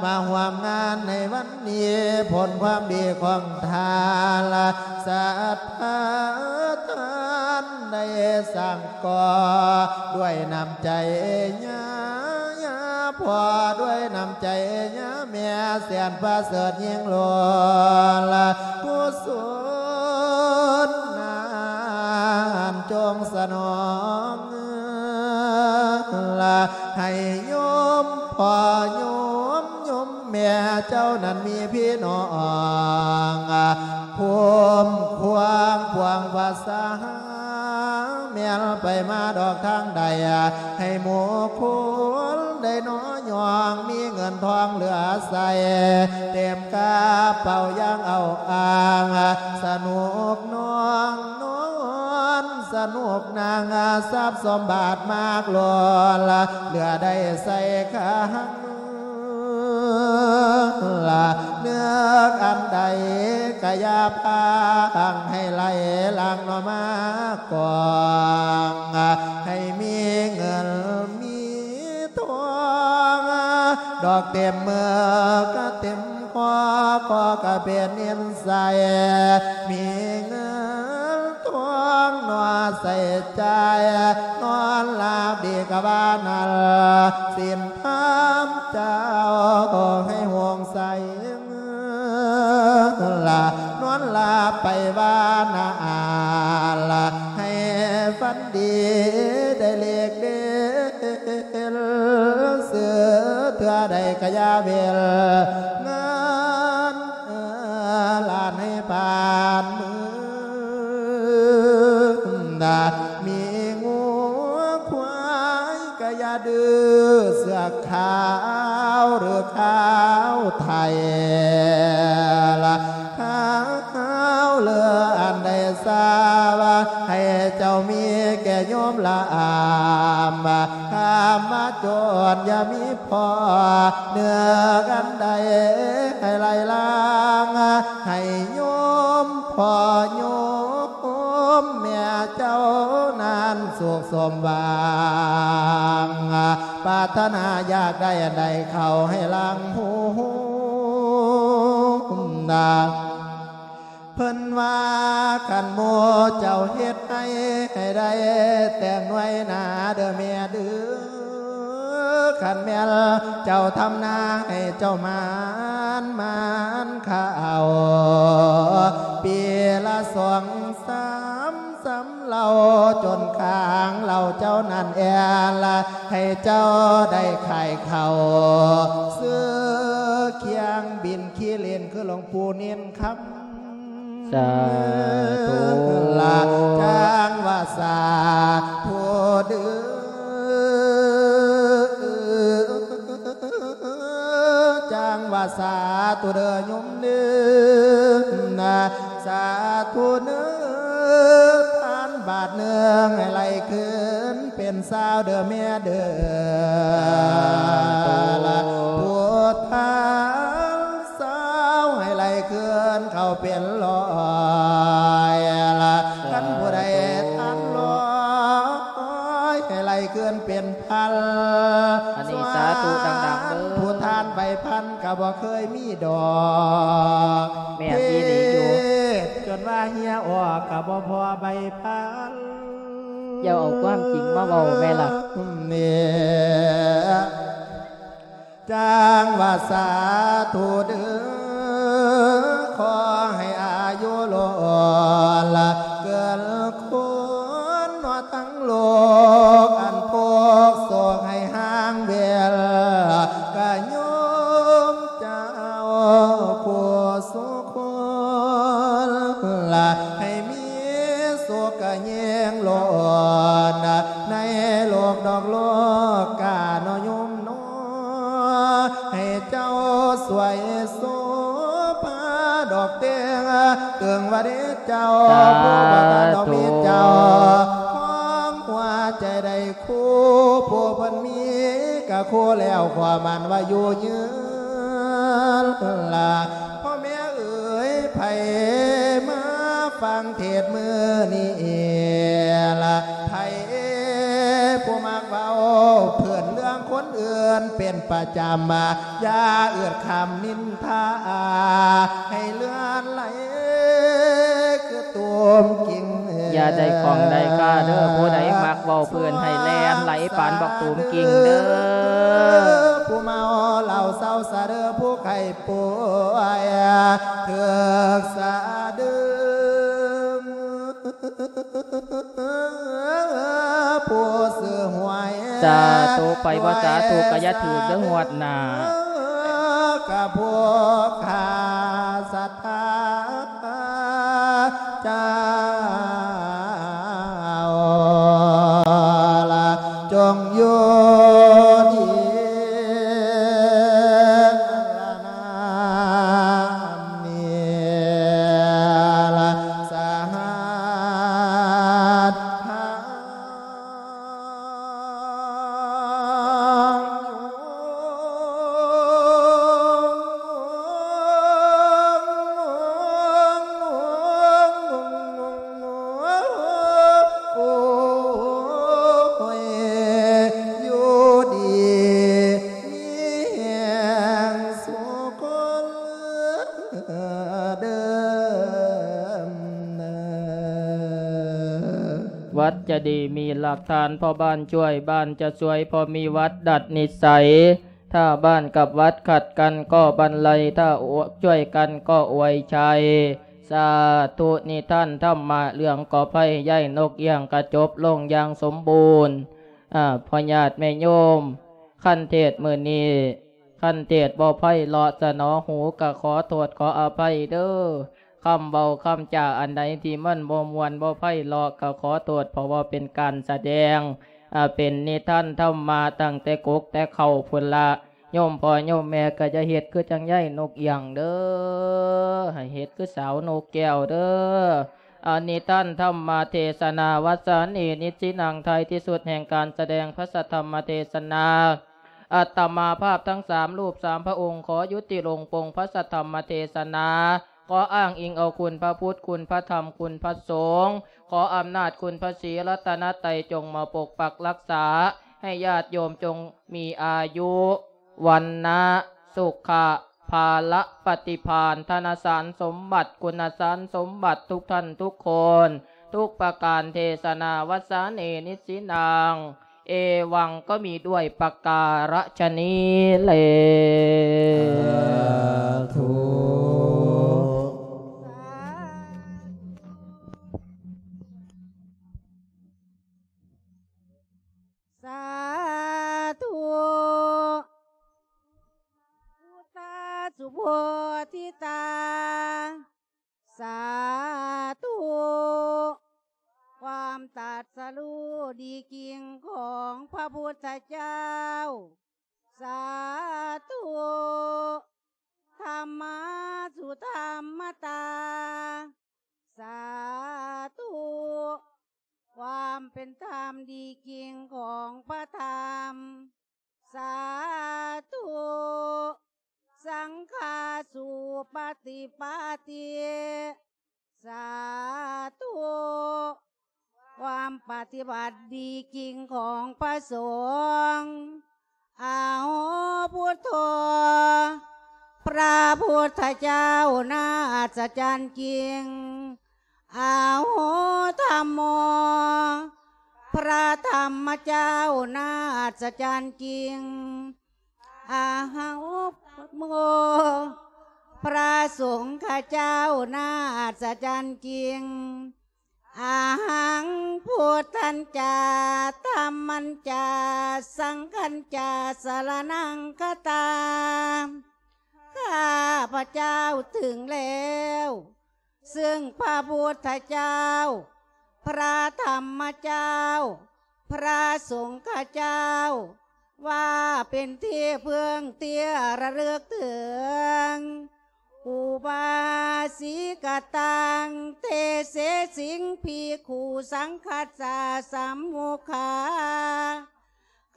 ມາຮ່ວມງານໃນວັນນີ້ ຜົນຄວາມດີຂອງທ່ານ ສັດທາທ່ານໄດ້ສ້າງກໍ່ ດ້ວຍນ້ຳໃຈຍາ ຍາພໍ່ ດ້ວຍນ້ຳໃຈຍາແມ່ ແສນປະເສີດຍິ່ງລ້ນ ກຸສົນນັ້ນຈົ່ງສະໜອງ ລະໃຫ້ໂຍມພໍ່ໂຍມໂຍມແມ່ເຈົ້ານັ້ນມີພີ່ນ້ອງ ຄຸ້ມຄວາງພວງພາສາ ແມ່ນໄປມາດອກທາງໃດ ໃຫ້ໝູ່ຄົນໄດ້ໜໍ່ຍອງ ມີເງິນທອງເຫຼືອໃຊ້ ເຕັມກະເປົາຢ່າງເອົາອ້າງ ສະໜຸກນອງນອນ ສະໜຸກນັ່ງ ຊັບສົມບັດມາກລົ້ນ ເຫຼືອໄດ້ໃຊ້ຄ້າງ ລະເລືອກອັນໃດກະຢ່າພາງ ໃຫ້ໄຫຼຫຼັງເນາະມາກອງ ໃຫ້ມີເງິນມີທອງ ດອກເຕັມມືກະເຕັມຄໍ ຂໍກະເປັນນິນໄສ ມີເງິນທອງເນາະໃຊ້ຈ່າຍ ນອນຫຼັບດີກະວ່ານັ້ນ ສິນທຳເຈົ້າໃຫ້ໂຮງໃສ ລະນອນຫຼັບໄປວ່ານາ ລະໃຫ້ຝັນດີໄດ້ເລກເດັ່ນ ຊື້ເທື່ອໃດກະຢ່າເວັນ ງານຫຼານໃຫ້ຜ່ານມື ນະ ມີງົວຄວາຍກະຢ່າດື້ ເຊືອກຂາວຫຼືຂາວໄທ ລະຂາວເຫຼືອອັນໃດຊາວ ໃຫ້ເຈົ້າມີແກ່ໂຍມລະອາມ ຄຳວ່າໂຈນຢ່າມີພໍ ເໜືອອັນໃດໃຫ້ໄຫຼລາງ ໃຫ້ໂຍມພໍ່ໂຍມແມ່ເຈົ້ານັ້ນສຸກສົມຫວັງ ປາດຖະໜາຢາກໄດ້ອັນໃດເຂົ້າໃຫ້ຫຼັງຫົນນາ ເພິ່ນວ່າຄັນໝູ່ເຈົ້າເຮັດໃຫ້ ໃຫ້ໄດ້ແຕ່ງໜ່ວຍໜາເດີແມ່ເດີ ຄັນແມ່ນເຈົ້າທຳນາໃຫ້ເຈົ້າໝານ ໝານຂ້າເອົາ ປີລະສອງສາມສຳເຫຼົ່າ ຈົນຂ້າງເຫຼົ່າເຈົ້ານັ້ນແອລະ ໃຫ້ເຈົ້າໄດ້ຂາຍເຂົ້າ ຊື້ຄຽງບິນຂີ້ຫຼິ້ນ ຄືຫຼວງປູ່ເນນຄຳ ສາທຸ ລະຈັ່ງວ່າສາທຸເດີ ຈັ່ງວ່າສາທຸເດີໂຍມເດີ ນະ ສາທຸເດີ ທານບາດໜຶ່ງໃຫ້ໄຫຼຄືນເປັນຊາວເດີແມ່ເດີ ລະພຸດທານຊາວໃຫ້ໄຫຼຄືນເຂົ້າເປັນຮ້ອຍ ລະຄັນຜູ້ໃດທານຮ້ອຍໃຫ້ໄຫຼຄືນເປັນພັນ ອັນນີ້ສາທຸດັງໆເດີ ຜູ້ທານໃບພັນກະບໍ່ເຄີຍມີດອກ ແມ່ນອີ່ຫຼີຢູ່ ເທດຈົນວ່າເຫື່ອອອກກະບໍ່ພໍໃບພັນ ຢ່າເອົາຄວາມຈິງມາເວົ້າແມ່ລະ ນີ້ ຈັ່ງວ່າສາທຸເດີ ຂໍໃຫ້ອາຍຸລົ້ນ ເກີນຄົນເນາະທັງໂລກ ອັນພວກໂສກໃຫ້ຫ່າງເວນ ກະໂຍມເຈົ້າຜູ້ສຸຄົນ ໃຫ້ມີສຸກກະຍິ່ງລົ້ນ ໃນໂລກດອກໂລກກາເນາະໂຍມເນາະ ໃຫ້ເຈົ້າສວຍໂສພາ ເຈົ້າ ສາທຸ ຜູ້ບໍ່ທັນດອກມີເຈົ້າ ຂອງຫົວໃຈໄດ້ຄູ່ ຜູ້ເພິ່ນມີກະຄູ່ແລ້ວ ຄວາມໝານວ່າຢູ່ຍືນລະ ພໍ່ແມ່ເອີຍ ໃຜມາຟັງເທດມື້ນີ້ລະ ໃຜຜູ້ມັກເວົ້າເພິ່ນເລື່ອງຄົນອື່ນເປັນປະຈຳ ຢ່າເອີດຄຳນິນ ຖ້າໃຫ້ເລືອດໄຫຼຄືຕູມກິ່ງ ຢ່າໄດ້ຂ້ອງໄດ້ຄາເດີ້ ຜູ້ໃດມັກເວົ້າເພິ່ນໃຫ້ແລ່ນໄຫຼປານບັກຕູມກິ່ງເດີ້ ຜູ້ເມົາເຫຼົ້າເຊົາຊະເດີ້ ຜູ້ໄຂ້ປ່ວຍຖືກສະດຶງ ຜູ້ຊື້ຫວຍ ສາທຸ ໄປບໍ່ສາທຸກະຢ່າຖືກເດີ້ງວດໜ້າ ກະພວກຂ້າສັດທາເຈົ້າລະ ຈົ່ງຢູ່ດີ ວັດຈະດີມີຫຼັກທານ ພໍ່ບ້ານຊ່ວຍບ້ານຈະຊ່ວຍ ພໍ່ມີວັດດັດນິໄສ ຖ້າບ້ານກັບວັດຂັດກັນກໍບັນໄລ ຖ້າຊ່ວຍກັນກໍອວຍໄຊ ສາທຸ ນິທານທຳມະເລື່ອງກໍໄພ ຍ້າຍນົກອຽງກະຈົບລົງຢ່າງສົມບູນ ອາ ພໍ່ຍາດແມ່ໂຍມ ຄັນເທດມື້ນີ້ ຄັນເທດບໍ່ໄພເລາະສະໜໍຫູ ກະຂໍໂທດຂໍອະໄພເດີ້ ຄຳເວົ້າຄຳຈາອັນໃດທີ່ມັນບໍ່ມ່ວນບໍ່ໄພເລາະ ກະຂໍໂທດ ເພາະວ່າເປັນການສະແດງ ອາ ເປັນນິທານທຳມະຕັ້ງແຕ່ກົກແຕ່ເຄົ້າພຸ້ນລະ ໂຍມພໍ່ໂຍມແມ່ກະຢ່າເຮັດຄືຈັ່ງຍາຍນົກອຽງເດີ້ ໃຫ້ເຮັດຄືສາວນົກແກ້ວເດີ້ ອາ ນິທານທຳມະເທສະນາ ວັດສານີ ນິດສິນັງ ທ້າຍທີ່ສຸດແຫ່ງການສະແດງພະສັດທຳມະເທສະນາ ອາດຕະມາພາບທັງສາມຮູບສາມພະອົງ ຂໍຍຸຕິລົງປົງພະສັດທຳມະເທສະນາ ຂໍອ້າງອີງເອົາຄຸນພະພຸດ ຄຸນພະທຳ ຄຸນພະສົງ ຂໍອຳນາດຄຸນພະສີລັດຕະນະໄຕ ຈົ່ງມາປົກປັກລັກສາ ໃຫ້ຍາດໂຍມຈົ່ງມີອາຍຸ ວັນນະ ສຸຂະ ພາລະ ປະຕິພານ ທະນະສານສົມບັດ ຄຸນນະສານສົມບັດ ທຸກທ່ານທຸກຄົນ ທຸກປະການ ເທສະນາ ວັດສານີ ນິດສິນັງ ເອວັງ ກໍມີດ້ວຍປະກາລະຊະນີ້ແລ. ສາທຸ ສາທຸ ພຸດທາສຸໂພທິຕາ ສາທຸ ຄວາມຕັດສະຮູ້ດີຈິງຂອງພະພຸດທະເຈົ້າ ສາທຸ ທຳມະສຸທຳມະຕາ ສາທຸ ຄວາມເປັນທຳດີຈິງຂອງພະທຳ ສາທຸ ສັງຄາສຸປະຕິປາຕິ ສາທຸ ຄວາມປະຕິບັດດີຈິງຂອງພະສົງ ອາໂຫ ພຸດໂທ ພະພຸດທະເຈົ້າໜ້າອັດສະຈັນຈິງ ອາໂຫ ທຳໂມ ພະທຳມະເຈົ້າໜ້າອັດສະຈັນຈິງ ອາໂຫ ໂມ ພະສົງຄະເຈົ້າໜ້າອັດສະຈັນຈິງ ອະຫັງ ພຸດທັນຈາ ທຳມັນຈາ ສັງຄັນຈາ ສະລະນັງຄະຕາ ຂ້າພະເຈົ້າເຖິງແລ້ວ ເຊິ່ງພະພຸດທະເຈົ້າ ພະທຳມະເຈົ້າ ພະສົງຄະເຈົ້າ ວ່າເປັນທີ່ເພິ່ງທີ່ລະລຶກເຖິງ ອຸບາສິກະຕັງ ເຕເສສິງ ພິກຂຸ ສັງຄັດສະ ສຳມຸຂາ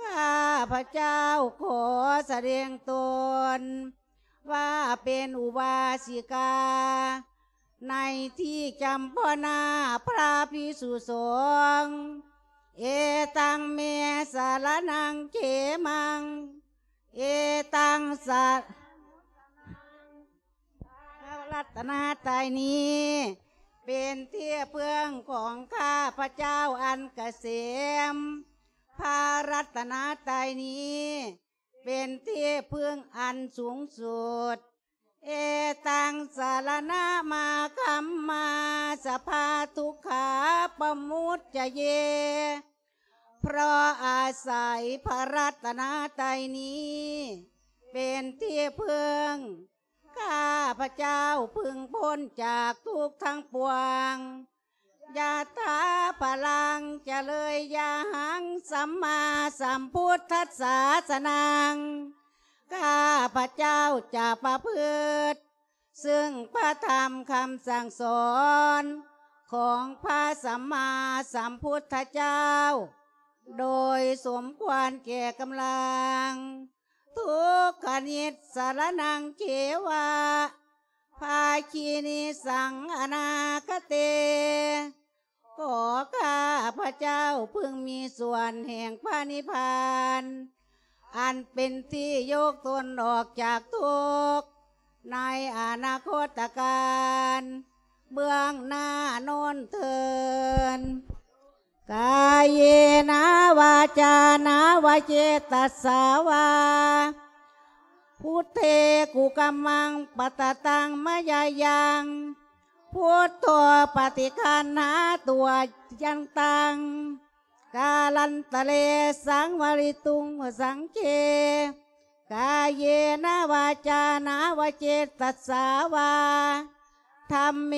ຂ້າພະເຈົ້າຂໍສະແດງຕົນວ່າເປັນອຸບາສິກາ ໃນທີ່ຈຳພອນາພະພິກສຸສົງ. ເອຕັງ ເມ ສະລະນັງ ເຂມັງ ເອຕັງ ສະ ພະລັດຕະນະໄຕນີ້ເປັນທີ່ເພິ່ງຂອງຂ້າພະເຈົ້າອັນກະເສມ. ພະລັດຕະນະໄຕນີ້ເປັນທີ່ເພິ່ງອັນສູງສຸດ. ເອຕັງ ສະລະນະມາຄັມມາ ສະພາທຸກຂາປະມຸດຈະເຍ. ເພາະອາໄສພະລັດຕະນະໄຕນີ້ເປັນທີ່ເພິ່ງ ຂ້າພະເຈົ້າເພິ່ງພົ້ນຈາກທຸກທັງປວງ. ຍະຖາພະລັງ ຈະເລີຍຍະຫັງ ສຳມາສຳພຸດທັດສາສະນັງ ຂ້າພະເຈົ້າຈະປະພຶດ ເຊິ່ງພະທຳຄຳສັ່ງສອນຂອງພະສຳມາສຳພຸດທະເຈົ້າ ໂດຍສົມຄວນແກ່ກຳລັງ. ທຸກຂະນິດສະລະນັງເຂວະ ພາຄີນິສັງອະນາຄະເຕ. ຂໍຂ້າພະເຈົ້າເພິ່ງມີສ່ວນແຫ່ງພະນິບພານ ອັນເປັນທີ່ຍົກຕົນອອກຈາກທຸກໃນອະນາຄົດຕະການເບື້ອງໜ້າໂນ້ນເທີນ. ກາເຍນະວາຈານະວະເຈຕະສາວາ ພຸດເທກຸກຳມັງປະຕະຕັງມະຍາຍັງ ພຸດໂທປະຕິຄັນນາຕົວຍັນຕັງ ກາລັນຕະເລສັງວະລິຕຸງວະສັງເຄ. ກາເຍນະວາຈານະວະເຈຕະສາວາ ທຳເມ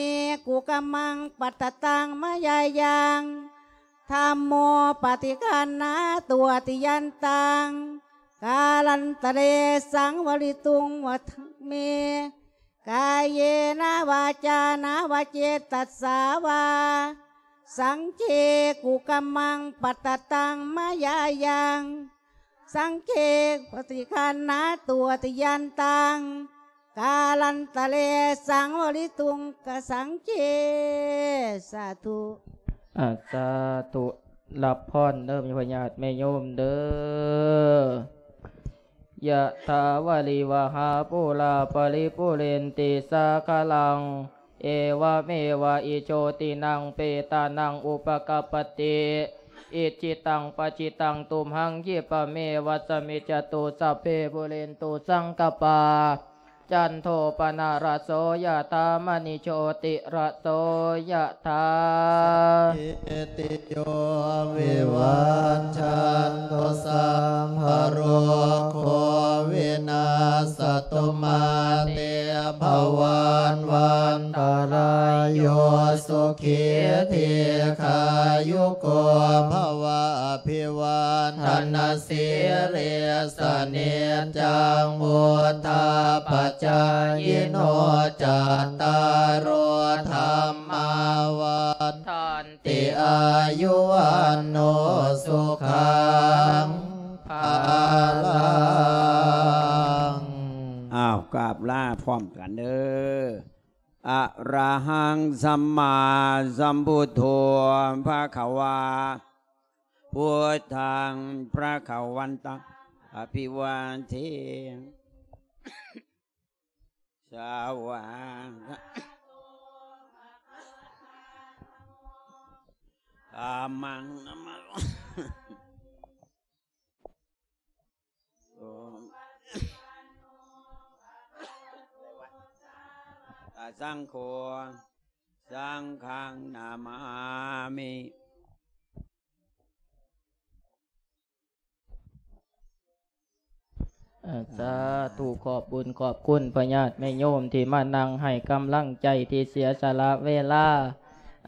ກຸກຳມັງປະຕະຕັງມະຍາຍັງ ທຳໂມປະຕິຄັນນາຕົວຕິຍັນຕັງ ກາລັນຕະເລສັງວະລິຕຸງວະທັງເມ. ກາເຍນະວາຈານະວະເຈຕະສາວາ ສັງເຄກຸກຳມັງປະຕະຕັງມະຍາຍັງ ສັງເຄປະຕິຄັນນາຕົວຕິຍັນຕັງ ກາລັນຕະເລສັງວະລິຕຸງກະສັງເຄ. ສາທຸ. ອາ ສາທຸ ຮັບພອນເດີ ຍາດແມ່ໂຍມເດີ. ຍະຖາວາລິວະຫາປູລາປະລິປູເຣນຕິສາຄະລັງ ເອວະເມວະ ອິໂຕ ທິນັງ ເປຕານັງ ອຸປະກັບປະຕິ ອິດຖິຕັງ ປັດຖິຕັງ ຕຸມຫັງ ຂິບປະເມວະ ສະມິດຈະຕຸ ສັບເພ ປູເຣນຕຸ ສັງກະປາ ຈັນໂທ ປະນະລະໂສ ຍະຖາ ມະນີ ໂຊຕິລະໂສ ຍະຖາ. ສາບພີຕິໂຍ ວິວັດຊັນຕຸ ສັບພະໂລໂຄ ວິນາສະຕຸ ມາເຕ ພະວັດວັນຕະລາໂຍ ສຸຂີ ດີຄາຍຸໂກ ພະວະ ອະພິວາທະນະ ສີລິສະນິດຈັງ ວຸດທາປະຈາຍິໂນ ຈັດຕາໂລ ທຳມາ ວັດທັນຕິ ອາຍຸ ວັນໂນ ສຸຂັງ ພະລັງ. ອ້າວ ກາບລາພ້ອມກັນເດີ. ອະລະຫັງ ສຳມາສຳພຸດໂທ ພະຄະວາ ພຸດທັງ ພະຄະວັນຕັງ ອະພິວາເທ ສະວາ ອາມັງ ນະມະ ສາສັງໂຄ ສັງຄັງນະມາມິ. ເອີ ສາທຸ ຂອບບຸນຂອບຄຸນພະຍາດແມ່ໂຍມທີ່ມານັ່ງໃຫ້ກຳລັງໃຈ ທີ່ເສຍສະຫຼະເວລາ